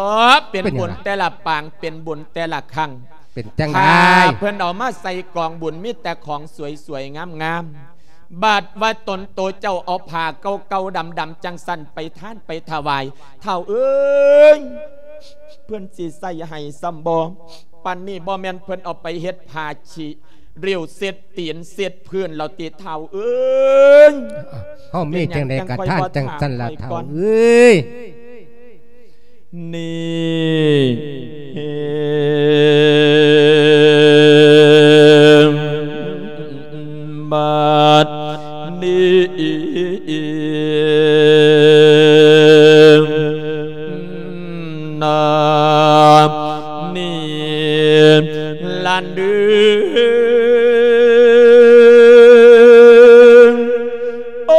ເປັນ ເປັນຫຍັງ ບຸນແຕ່ລະປາງ, ເປັນບຸນແຕ່ລະຄັ້ງ. ເປັນຈັ່ງໃດ? ຜ້າເພິ່ນເອົາມາໃສ່ກອງບຸນ ມີແຕ່ຂອງສວຍໆງາມໆ. ບາດວ່າຕົນໂຕເຈົ້າເອົາຜ້າເກົ່າໆດຳໆຈັ່ງຊັ້ນໄປທານໄປຖວາຍ, ທ້າວເອີຍ ເພິ່ນຊິໃສ່ໃຫ້ຊ້ຳບໍ່? ປານນີ້ບໍ່ແມ່ນເພິ່ນເອົາໄປເຮັດຜ້າຂີ້ ລິ້ວເຊັດຕີນເຊັດພື້ນແລ້ວຕິ ທ້າວເອີຍ? ເຮົາມີຈັ່ງໃດກະທານຈັ່ງຊັ້ນລະ ທ້າວເອີຍ. ນີ້ ບາດນີ້ ນານີ້ ລະເດີ ໂອ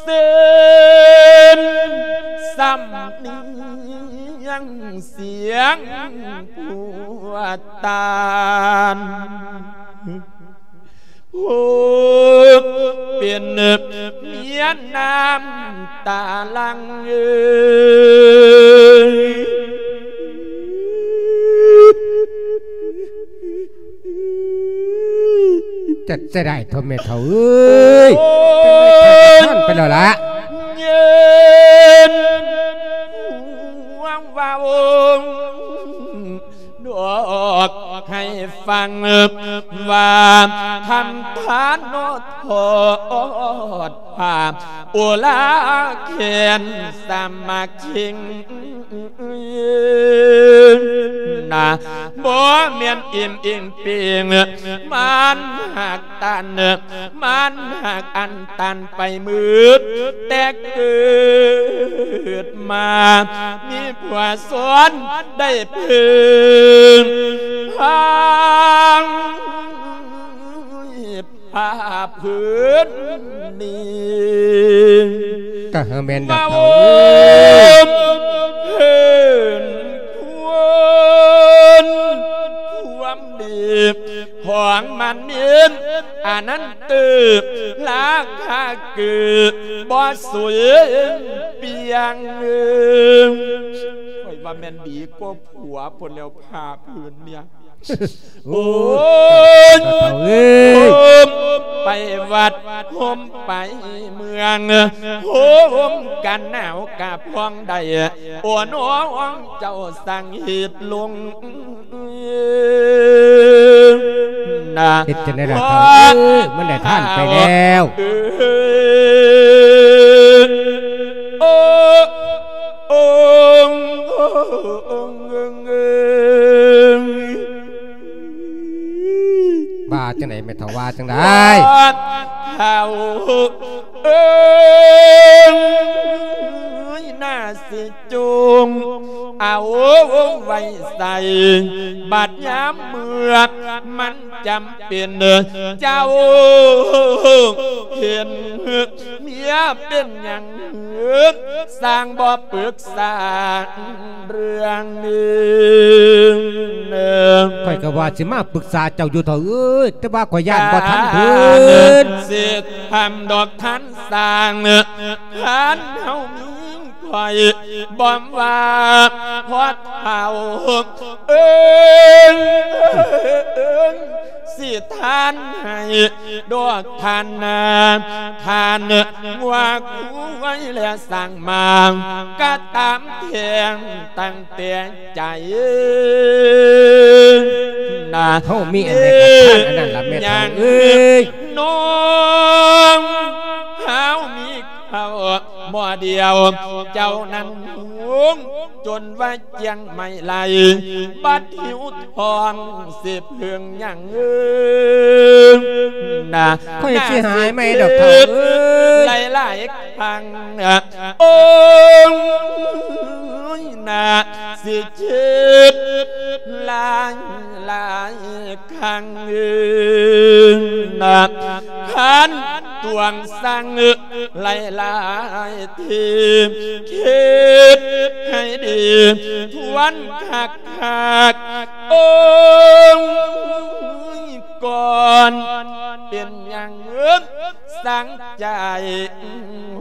ເຊັ່ນສຳນຽງສຽງຜູ້ຕານ ຜູ້ເປັນເມຍນ້ຳຕາຫຼັ່ງເອີຍ. ຈັດເສຍດາຍເຖົ້າແມ່ເຖົ້າເອີຍ. ໂອ້ຍ ໄປແລ້ວລະ ເຢັນຫວງວ່າອົງ ດອກໃຫ້ຟັງ ວ່າທຳທານໂນ ທອດຜ້າອຸລາແຂນສາມັກຄີ ນະ ບໍ່ແມ່ນອີ່ມອີ່ງປິງ ມັນຫາກຕັນ ມັນຫາກອັນຕັນໄປໝົດ ແຕ່ເກີດມາມີຜົວສອນໄດ້ເພິ່ງພາ ພາພື້ນນີ້ ກະເອີແມ່ນດອກເຖົ້າເອີຍ ເພິ່ນຄວນຄວາມດີຂອງມັນມີອັນນັ້ນຕື່ມ ລາຄາເກີດບໍ່ສຸຍປ່ຽງ ຂ້ອຍວ່າແມ່ນດີກວ່າຜົວພຸ້ນແລ້ວ ຜ້າຜືນເນຍ ໂອ້ ໂອ້ຍ ເຖົ້າເອີຍ ໂຮມໄປວັດ ໂຮມໄປເມືອງ ໂຮມກັນໜາວກະພອງໄດ້ ໂອ້ ນ້ອງເຈົ້າສັ່ງເຮັດລົງນະ ເຮັດຈັ່ງໃດລະເຖົ້າເອີຍ ມັນໄດ້ທານໄປແລ້ວ ເອີ ໂອ້ ໂອ້ ວ່າຈັ່ງໃດແມ່ເຖົ້າ ວ່າຈັ່ງໃດ ເຖົ້າເອີຍ ໜ້າຊິຈົ່ງເອົາໄວ້ໃສ່ ບັດຍາມເມື່ອມັນຈຳເປັນ ເຈົ້າເຫັນ ເມຍເປັນຫຍັງ ຊ່າງບໍ່ປຶກສາເລື່ອງນີ້ ຂ້ອຍກໍວ່າຊິມາປຶກສາເຈົ້າຢູ່ເຖົ້າເອີຍ ແຕ່ວ່າຂ້ອຍຢ້ານບໍ່ທັນເພິ່ນ ຊິທຳດອກທ່ານສ້າງ ທ່ານເຮົາມີ ຂ້ອຍບໍ່ວ່າພໍ່ເຖົ້າເອີຍ ຊິທານໃຫ້ດອກທ່ານນາ ທ່ານງົວຄວາຍແລະສ້າງມາ ກະຕາມແທງຕັ້ງແຕ່ໃຈນະ ເຮົາມີອັນໃດກະທານອັນນັ້ນລະແມ່ເຖົ້າເອີຍ ນ້ອງເຮົາມີ ເຂົ້າໝໍ້ດຽວ ເຈົ້ານັ້ນຫວງຈົນວ່າຈຽງໄມ່ໄຫຼ ບັດຫິວທ້ອງຊິເພິ່ງຫຍັງເອີຍນະ ຂ້ອຍຊິຫາຍໃໝ່ດອກເຖົ້າເອີຍ ຫຼາຍໆຄັ້ງ ໂອ້ຍນະ ຊິຄິດຫຼາຍໆ ຄັ້ງນະ ຄັນຕວງສັງຫຼາຍໆທີ ຄິດໃຫ້ດີ ທວນຄັກໆ ໂອ້ຍ ກ່ອນ ເປັນຫຍັງເອີຍ ສັງໃຈ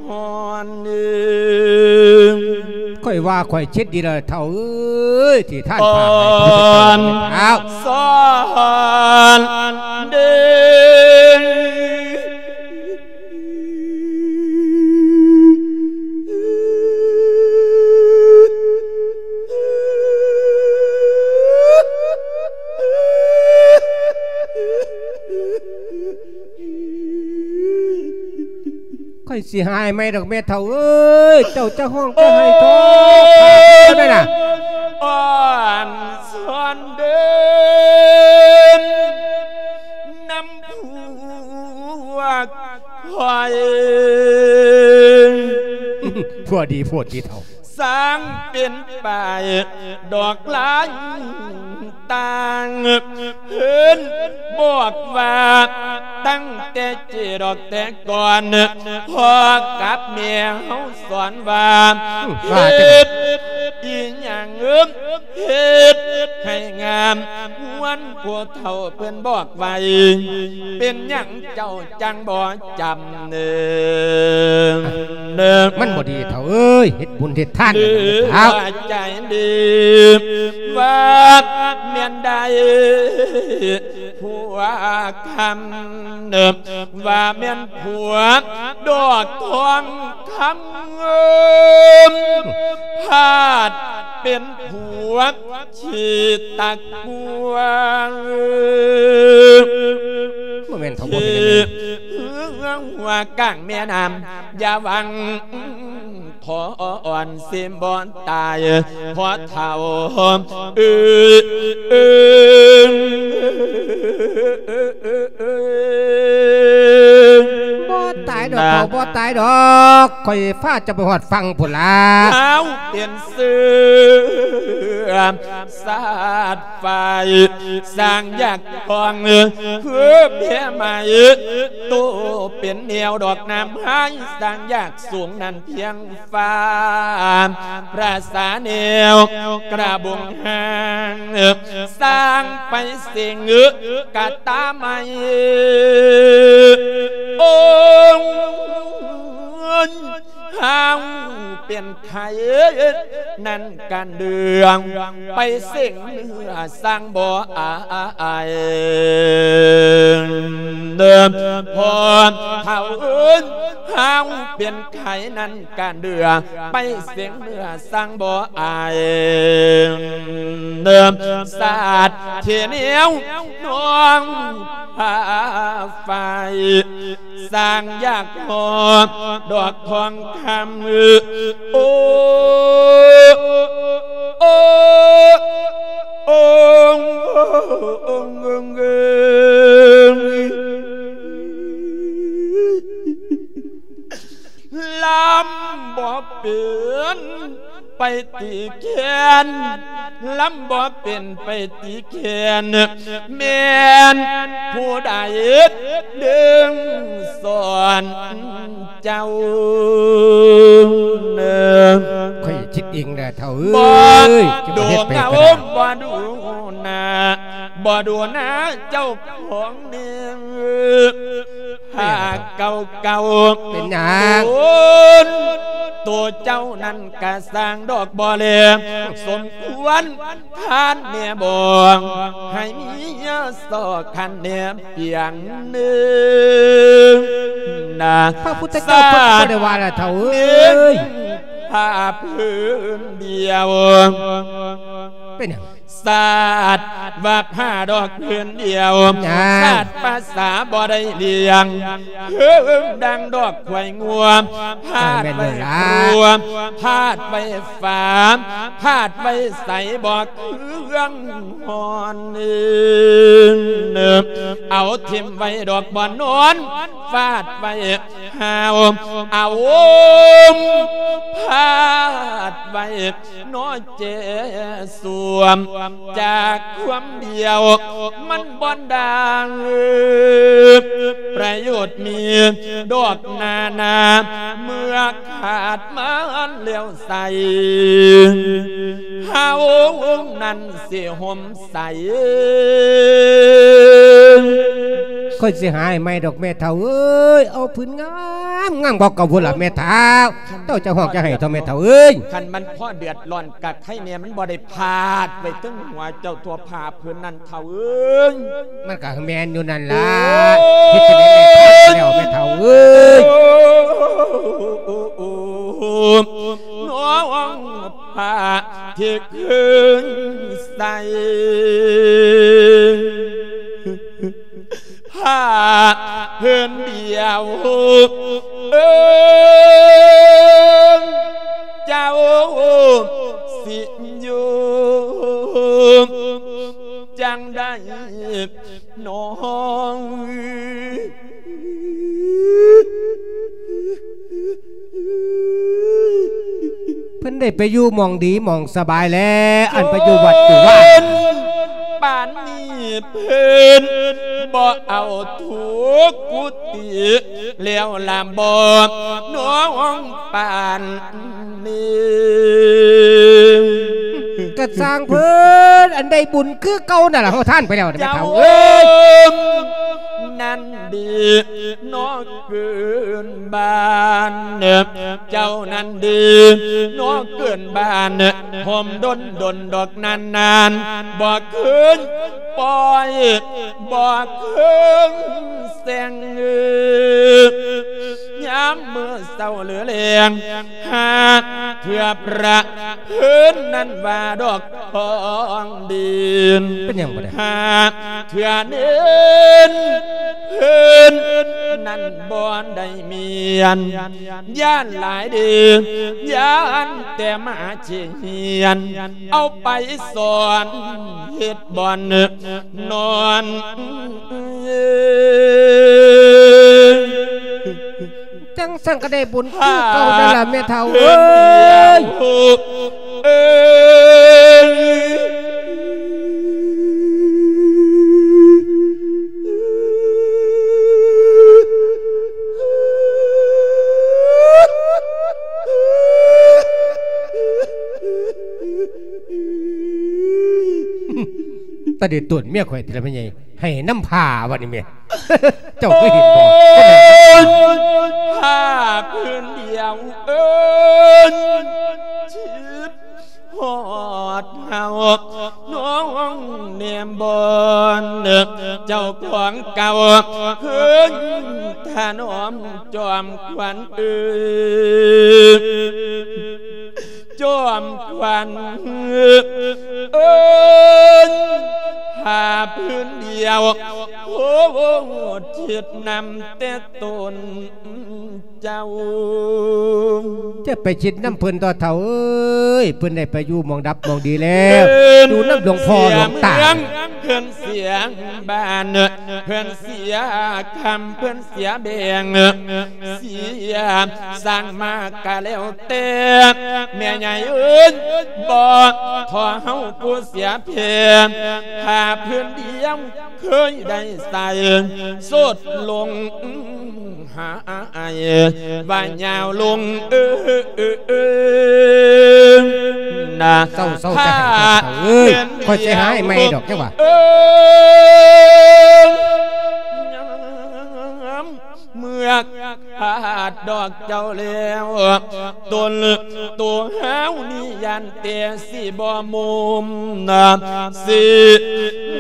ຮ້ອນເອີຍ ຂ້ອຍວ່າຂ້ອຍຄິດດີແລ້ວເຖົ້າເອີຍ ທີ່ທ່ານພາໃຫ້ຜູ້ເຈົ້າເຈົ້າ ສອນເດ້ ຂ້ອຍຊິຫາຍໃໝ່ດອກແມ່ເຖົ້າເອີຍ ເຈົ້າຈະຮ້ອງຈະໄຫ້ເຖາະ ຂ້າພະເຈົ້າໄດ້ນະ ອ່ອນຊອນເດີນນຳພວກຂ້ອຍ ຜົວດີໂພດຕິເຖົ້າ ສ້າງເປັນປ້າຍດອກລາຍຕ່າງ ເພິ່ນບອກວ່າຕັ້ງແຕ່ເຈດອກແຕ່ກ່ອນ ພໍ່ກັບແມ່ເຮົາສອນວ່າ ອືມ ເຮັດອີ່ຫຍັງ ເຮັດໃຫ້ງາມ ມ່ວນຜູ້ເຖົ້າເພິ່ນບອກໄວ້ ເປັນຫຍັງເຈົ້າຈັ່ງບໍ່ຈຳ ເນີ ມັນບໍ່ດີເຖົ້າເອີຍ ເຮັດບຸນເຮັດທານ ເອີ ເອີ ເຈົ້າ ໃຈດີ ວ່າແມ່ນໄດ້ຜົວຄຳ ວ່າແມ່ນຜົວດອກທອງຄຳ ພາດ ເປັນຜົວຂີ້ຕັກກົວ ບໍ່ແມ່ນເຖົ້າ ບໍ່ແມ່ນ ທີ່ເຮືອງຫົວກາງແມ່ນ້ຳ ຢ່າຫວັງ ຂໍອ່ອນຊິບໍ່ຕາຍ ພໍ່ເຖົ້າເອີຍ ເອີຍ ບໍ່ຕາຍດອກ ເຖົ້າ ບໍ່ຕາຍດອກ ຂ້ອຍພາເຈົ້າໄປຮອດຝັ່ງພຸ້ນລະ ເຮົາເປັນເສືອ ຊາດໄຟ ສ້າງຢາກຂອງ ຄືແພໄມ້ ໂຕເປັນແນວດອກນ້ຳໄຮ ສ້າງຢາກສູງນັ້ນພຽງຟ້າ ປາສາແນວກະບົງຫາງ ສ້າງໄປເສັງກະຕາໄມ້ ໂອ້ຍ ເຮົາເປັນ ໄຂ້ນັ້ນການເດືອງ ໄປເສັງເນື້ອສ້າງບໍ່ອາຍ ເດີ ພໍ່ເຖົ້າເອີຍ ເຮົາເປັນໄຂ້ນັ້ນການເດືອງ ໄປເສັງເນື້ອສ້າງບໍ່ອາຍ ເດີ ຊາດທີ່ແນວນ້ອງ ພາໄຟ ສ້າງຢາກຫໍ່ດອກທອງຄຳ ໂອ້ ໂອ້ ໂອ້ ລຳບໍ່ເປັນ ໄປຕີແຄນ ລຳບໍ່ເປັນໄປຕີແຄນ ແມ່ນຜູ້ໃດດຶງສອນເຈົ້າ ຂ້ອຍຄິດເອງແຫຼະເຖົ້າເອີຍ ບໍ່ດູເງົາ ບໍ່ດູໜ້າ ບໍ່ດູໜ້າເຈົ້າຂອງນີ້ ຜ້າເກົ່າໆ ເປັນຫຍັງ ໂຕນ ໂຕເຈົ້ານັ້ນກະສ້າງດອກບໍ່ແລ ສົມຄວນທ່ານແມ່ບອກ ໃຫ້ເມຍຊອກຄັນແນມປຽງໜຶ່ງນະ ພະພຸດທະເຈົ້າເພິ່ນກໍບໍ່ໄດ້ວ່າລະເຖົ້າເອີຍ ສາດເໜັງຜ້າຜືນດຽວ ເປັນຫຍັງ? ສາດວ່າຜ້າດອກຜືນດຽວ ຫຍັງ? ສາດພາສາບໍ່ໄດ້ລ້ຽງ ເຮີງດັ່ງດອກຄວາຍງົວ ພາດໄວ້ ແມ່ນຢູ່ລະ ຄົວ ພາດໄວ້ຝາ ພາດໄວ້ໃສບໍ່ເຄື່ອງຮ້ອນ ເອົາຖິ້ມໄວ້ດອກບ່ອນນອນ ຟາດໄວ້ ຫາວ ອາໂອມ ພາດໄວ້ ໜໍແຈສວມ ຈາກຄວາມດຽວ ມັນບໍ່ດັງ ປະໂຫຍດມີດອກນານາ ເມື່ອຂາດມັນແລ້ວໃສ ເຮົານັ້ນຊິຫົ່ມໃສ ຂ້ອຍຊິຫາໃໝ່ດອກແມ່ເຖົ້າເອີຍ ເອົາຜືນງາມ ງາມກວ່າເກົ່າພຸ້ນລະແມ່ເຖົ້າ ເຈົ້າຈະຮ້ອງຈະໄຫ້ເຖົ້າແມ່ເຖົ້າເອີຍ ຄັນມັນພໍເດືອດຮ້ອນກະໄຄແນ່ ມັນບໍ່ໄດ້ພາດໄວ້ເທິງຫົວເຈົ້າຕົວະ ຜ້າຜືນນັ້ນເຖົ້າເອີຍ ມັນກະແມ່ນຢູ່ນັ້ນລະ ໂອ້ຍ ເຮັດຈັ່ງໃດແມ່ພາດໄປແລ້ວແມ່ເຖົ້າເອີຍ ນ້ອງ ຜ້າທີ່ຄືນໃສ່ ຜ້າຜືນດຽວ ເອີ ເຈົ້າຊິຢູ່ຈັ່ງໃດ ນ້ອງ ເພິ່ນໄດ້ໄປຢູ່ໝ່ອງດີໝ່ອງສະບາຍແລ້ວ ອັນໄປຢູ່ວັດຢູ່ວາ ເພິ່ນ ປານນີ້ເພິ່ນບໍ່ເອົາທຸກກຸຕິແລ້ວລະບໍ່ ນ້ອງ ປານ ນີ້ ກະຊ່າງເພິ່ນ ອັນໄດ້ບຸນຄືເກົ່ານັ້ນລະ ເຮົາທານໄປແລ້ວແມ່ເຖົ້າເອີຍ ນັ້ນດີ ນ້ອງເກີນບ້ານ ເຈົ້ານັ້ນດີ ນ້ອງເກີນບ້ານ ຫົ່ມດົນດົນດອກນານນານ ບໍ່ຄືນປ່ອຍ ບໍ່ຄືນແສງ ຍາມມື້ເຊົ້າຫຼືແລງ ຫາກ ເທື່ອພະເພິ່ນນັ້ນວ່າດອກທອງດິນ ເປັນຫຍັງບໍ່ໄດ້ ຫາເທື່ອເນັ້ນເພິ່ນນັ້ນບໍ່ໄດ້ ແມ່ນຢ້ານຫຼາຍເດ ຢ້ານແຕ່ມາຊິຮຽນ ເອົາໄປສອນເຮັດບ່ອນນອນ. ຈັ່ງຊັ້ນກໍໄດ້ບຸນຄືເກົ່ານັ້ນລະແມ່ເຖົ້າເອີຍ. ຕາເດັດຕົວເມຍຂ້ອຍຕິລະແມ່ໃຫຍ່ ໃຫ້ນຳຜ້າບັດນີ້ແມ່ ເຈົ້າຄືເຫັນບໍ່? ໂອ້ຍ ຜ້າພື້ນດຽວເອີ້ນ ຄິດຮອດເຮົາ ນ້ອງແນມບ່ອນ ເຈົ້າຂອງເກົ່າ ເຮີ້ຍ ຖະໜອມຈອມຂວັນເອີຍ. ຈອມຂວັນເອີຍ ຜ້າພື້ນດຽວ ໂອ້ ຄິດນຳແຕ່ຕົນເຈົ້າ. ຈະໄປຄິດນຳເພິ່ນຕົວະເຖົ້າເອີຍ ເພິ່ນໄດ້ໄປຢູ່ໝ່ອງດັບໝ່ອງດີແລ້ວ ຢູ່ນຳຫຼວງພໍ່ຫຼວງຕາ. ເພິ່ນເສຍເມືອງ ເພິ່ນເສຍບ້ານ ເພິ່ນເສຍຄຳ ເພິ່ນເສຍແບງ ເສຍສ້າງມາກະແລ້ວແຕ່ ແມ່ໃຫຍ່ເອີຍ ບໍ່ທໍ່ເຮົາຜູ້ເສຍແຜ່ ຜ້າພື້ນດຽວເຄີຍໄດ້ໃສ່ ໂຊດລົງຫາອ້າຍ ວ່າຍາວລົງເອີ ເອີ ເອີ ນະ. ເສົ້າ ເສົ້າ ຈະໃຫ້ຂ້ອຍເຖົ້າເອີຍ ຂ້ອຍຊິຫາໃຫ້ໃໝ່ດອກ ເຈົ້າວ່າ ເອີ ຍາມ ເມື່ອຂາດດອກເຈົ້າແລ້ວ ຕົນໂຕເຮົານີ້ຢ້ານແຕ່ຊິບໍ່ມຸມນະ ຊິ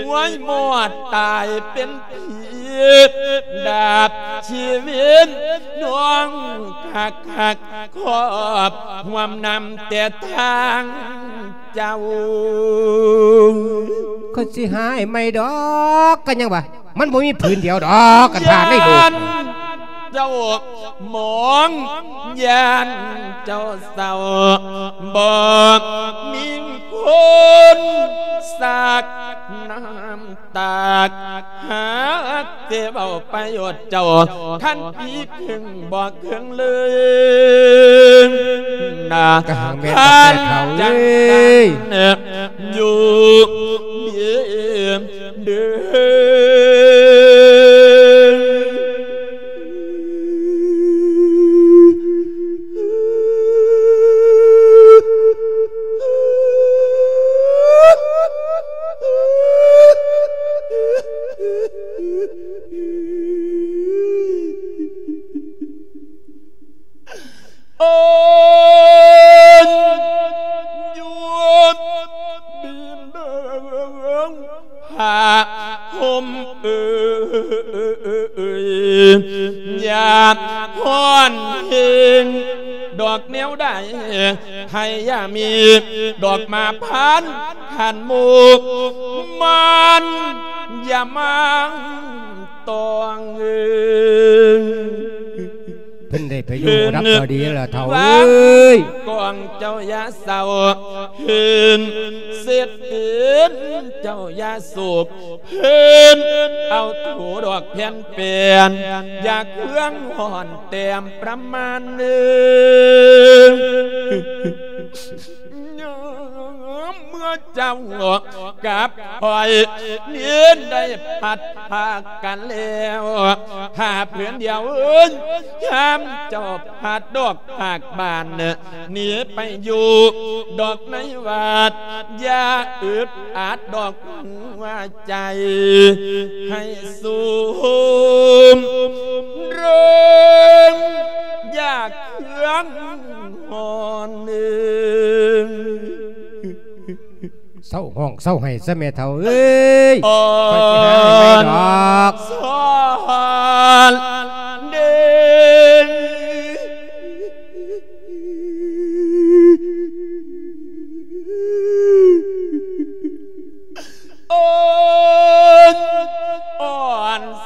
ຫວຍມອດຕາຍເປັນຜີ ດາບຊີວິດນ້ອງຄັກໆ ຄອບຮ່ວມນຳແຕ່ທາງ ເຈົ້າ ຂ້ອຍຊິຫາໃຫ້ໃໝ່ດອກ ກໍຍັງວ່າ ມັນບໍ່ມີຜືນດຽວດອກ ກັນຜ່ານໃນໂລກ ຢ້ານເຈົ້າໝອງ ຢ້ານເຈົ້າເສົ້າ ບໍ່ມີຄົນສາກນ້ຳຕາກ ຫາກແຕ່ເວົ້າໄປໂອດເຈົ້າ ຄັນປີເຄິ່ງບໍ່ເຄິ່ງເລີຍນະ ກະຫາງແມ່ນດອກແມ່ເຖົ້າເອີຍ ຢູ່ດີເດີ. ໂອ້ຍ ຢູ່ດິນເດີ ຜ້າຫົ່ມເອີຍ ຢ່າຮ້ອນແຮງດອກແນວໃດ ໃຫ້ຢ່າມີດອກມາພັນຂັນໝູກ ມັນຢ່າມາ ຕ້ອງເອີຍ ເພິ່ນໄດ້ໄປຢູ່ຮັບກໍດີລະເຖົ້າເອີຍ ກອງເຈົ້າຢ່າເສົ້າ ເພິ່ນເສັດເປັນເຈົ້າຢ່າໂສກ ເພິ່ນເອົາໂທດອກແຜ່ນແປນ ຢ່າເຄືອງຮ້ອນແຕ້ມປະມານເອີຍ. ຍາມເມື່ອເຈົ້າກັບຂ້ອຍ ເນນໄດ້ພັດພາກັນແລ້ວ ຜ້າຜືນດຽວເອີຍ ຍາມເຈົ້າພັດດອກພາກບ້ານ ໜີໄປຢູ່ດອກໃນວັດ ຢ່າອຶດອັດດອກຫົວໃຈ ໃຫ້ຊຸ່ມເລີ່ມຢາກເຄືອງ ຮ້ອນເອີຍ ເຊົາຮ້ອງເຊົາໄຫ້ຊະແມ່ເຖົ້າເອີຍ ຂ້ອຍຊິຫາໃຫ້ໃໝ່ດອກ ສອນເດ.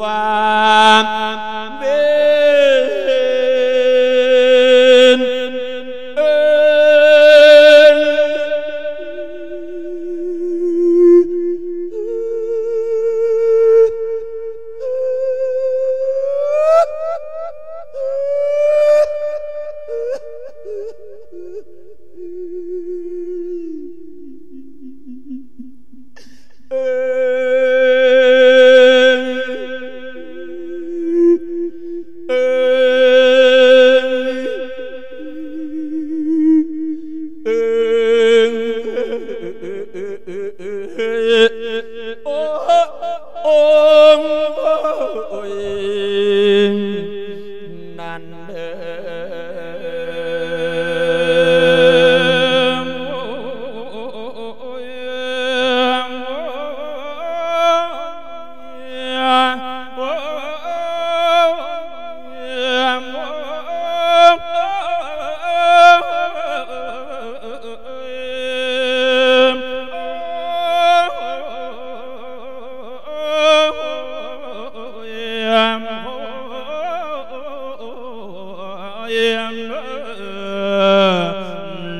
ວ່າເວນເອີຍ ໂອ້ ໂອ້ຍ ນັ້ນເດີ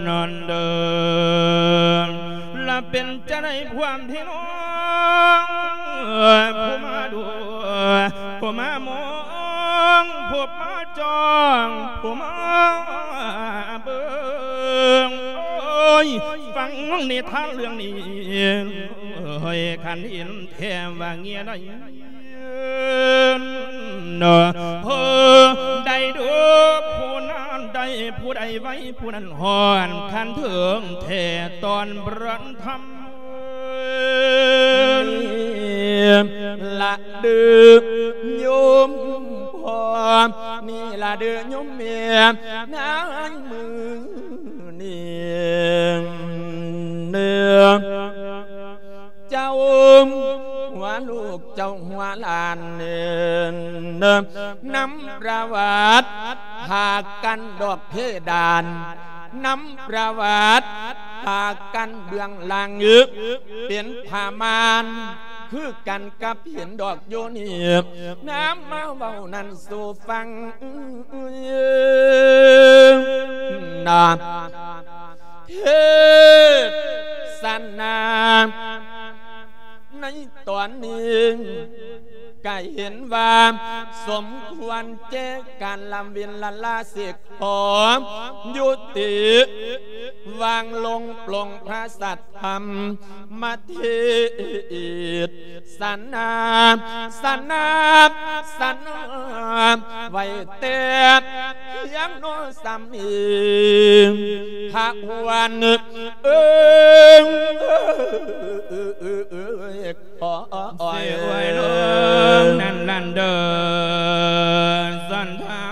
ນັ້ນເດີ ລະເປັນຈັ່ງໃດພວກພີ່ນ້ອງ ຜູ້ມາດູ ຜູ້ມາມອງ ຜູ້ມາຈ້ອງ ຜູ້ມາເບິ່ງ ໂອ້ຍ ຟັງນິທານເລື່ອງນີ້ ໂອ້ຍ ຄັນເຫັນແທ້ວ່າເງຍໄດ້ ເນາະ ເອີ ໄດ້ເດີ ຜູ້ນັ້ນໄດ້ ຜູ້ໃດໄວ ຜູ້ນັ້ນຮອດ ຄັນເຖິງແທ້ຕອນບະທັນ ນີ້ລະເດີໂຍມພໍ່ ນີ້ລະເດີໂຍມແມ່ ໃນມື້ນີ້ ເຈົ້າຫົວລູກເຈົ້າຫົວຫຼານ ນຳປະຫວັດຫາກັນດອກເພດານ ນຳປະຫວັດຫາກັນເບື້ອງຫຼັງ ເປັນຜ້າມ່ານຄືກັນກັບເຫັນດອກໂຍນີ ນຳມາເວົ້ານັ້ນສູ່ຟັງນະ ເທສະນາ ໃນຕອນນີ້ກະເຫັນວ່າສົມຄວນແກ່ການລຳເວັນລະລາສິກ ຂໍຍຸຕິວາງລົງ ປົງພະສັດທຳມາເທດສະໜາ ສະໜາ ສະໜາ ໄວ້ແຕ່ພຽງໂນສາມີ ພະວັນ ເອີຍ ໂອ້ຍ ເສຍໂອ້ຍ ໂອ້ຍ ນ້ອງນັ້ນລະເດີ ສັນທາ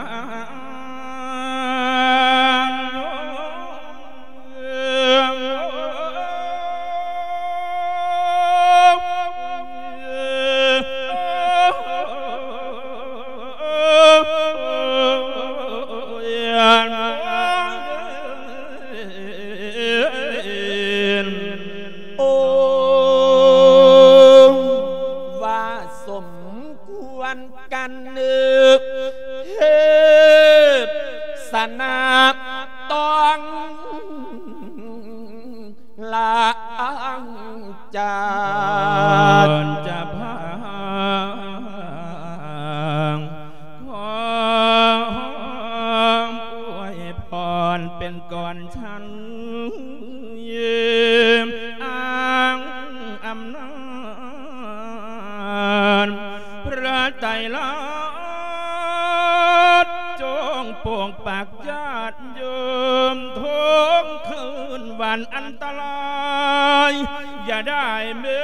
ນ ໂອ້ ວ່າສົມຄວນ ອະນາຕ້ອງລາຈາກ ກ່ອນຈະພາງ ຂໍອວຍພອນເປັນກ່ອນ ທ່ານອ້າງອຳນາດ ພະໄຕລະ ຈົ່ງປົກປັກຍາດໂຍມ ທົນຄືນວັນອັນຕະລາຍ ຢ່າໄດ້ເມີ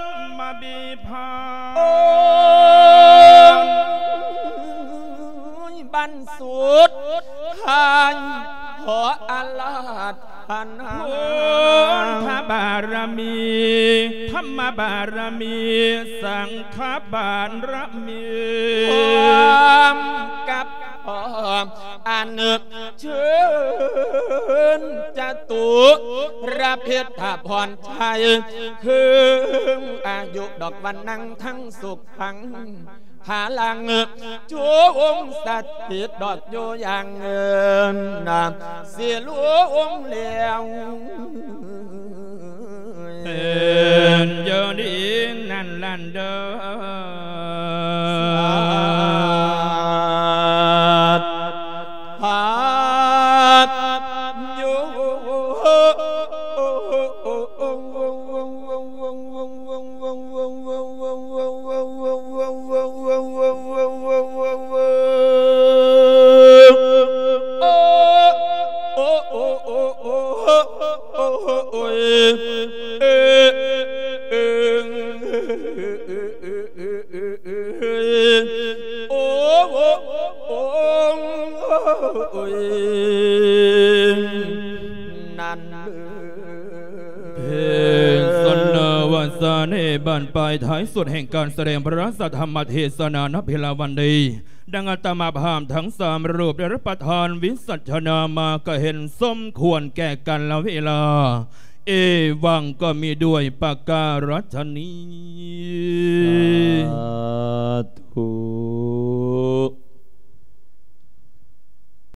ນມາບີບພາ ໂອ້ຍ ບັນສຸດທ້າຍ ຂໍອາລາທະນາ ພຸດທະບາລະມີ ທຳມະບາລະມີ ສັງຄະບາລະມີ ພ້ອມກັບພ້ອມອັນເຊີນຈະຕຸລະພິດທະພອນໄທ ເຄິ່ງອາຍຸດອກວັນນັງທັງສຸກທັງ ພະລັງ ຈົ່ງສະຖິດດອກຢູ່ຢ່າງເງິນນາ ສິລວງແລ້ວ ເປັນຢູ່ດີນັ້ນລະເດີ ສາທຸ ໂອ້ ໂອ້ ໂອ້ ໂອ້ຍ ນັ້ນເລີຍ ເປັນສັນນະວາສາເນ ບັ້ນປາຍທ້າຍສຸດແຫ່ງການສະແດງພະລາຊະທຳມະເທສະນາໃນເວລາວັນນີ້ ດັ່ງອາດຕະມາພາບທັງສາມຮູບໄດ້ຮັບປະທານວິສັດຊະນາມາ ກະເຫັນສົມຄວນແກ່ການລະເວລາ ເອວັງກໍມີດ້ວຍປະກາລະຊະນີ ສາທຸ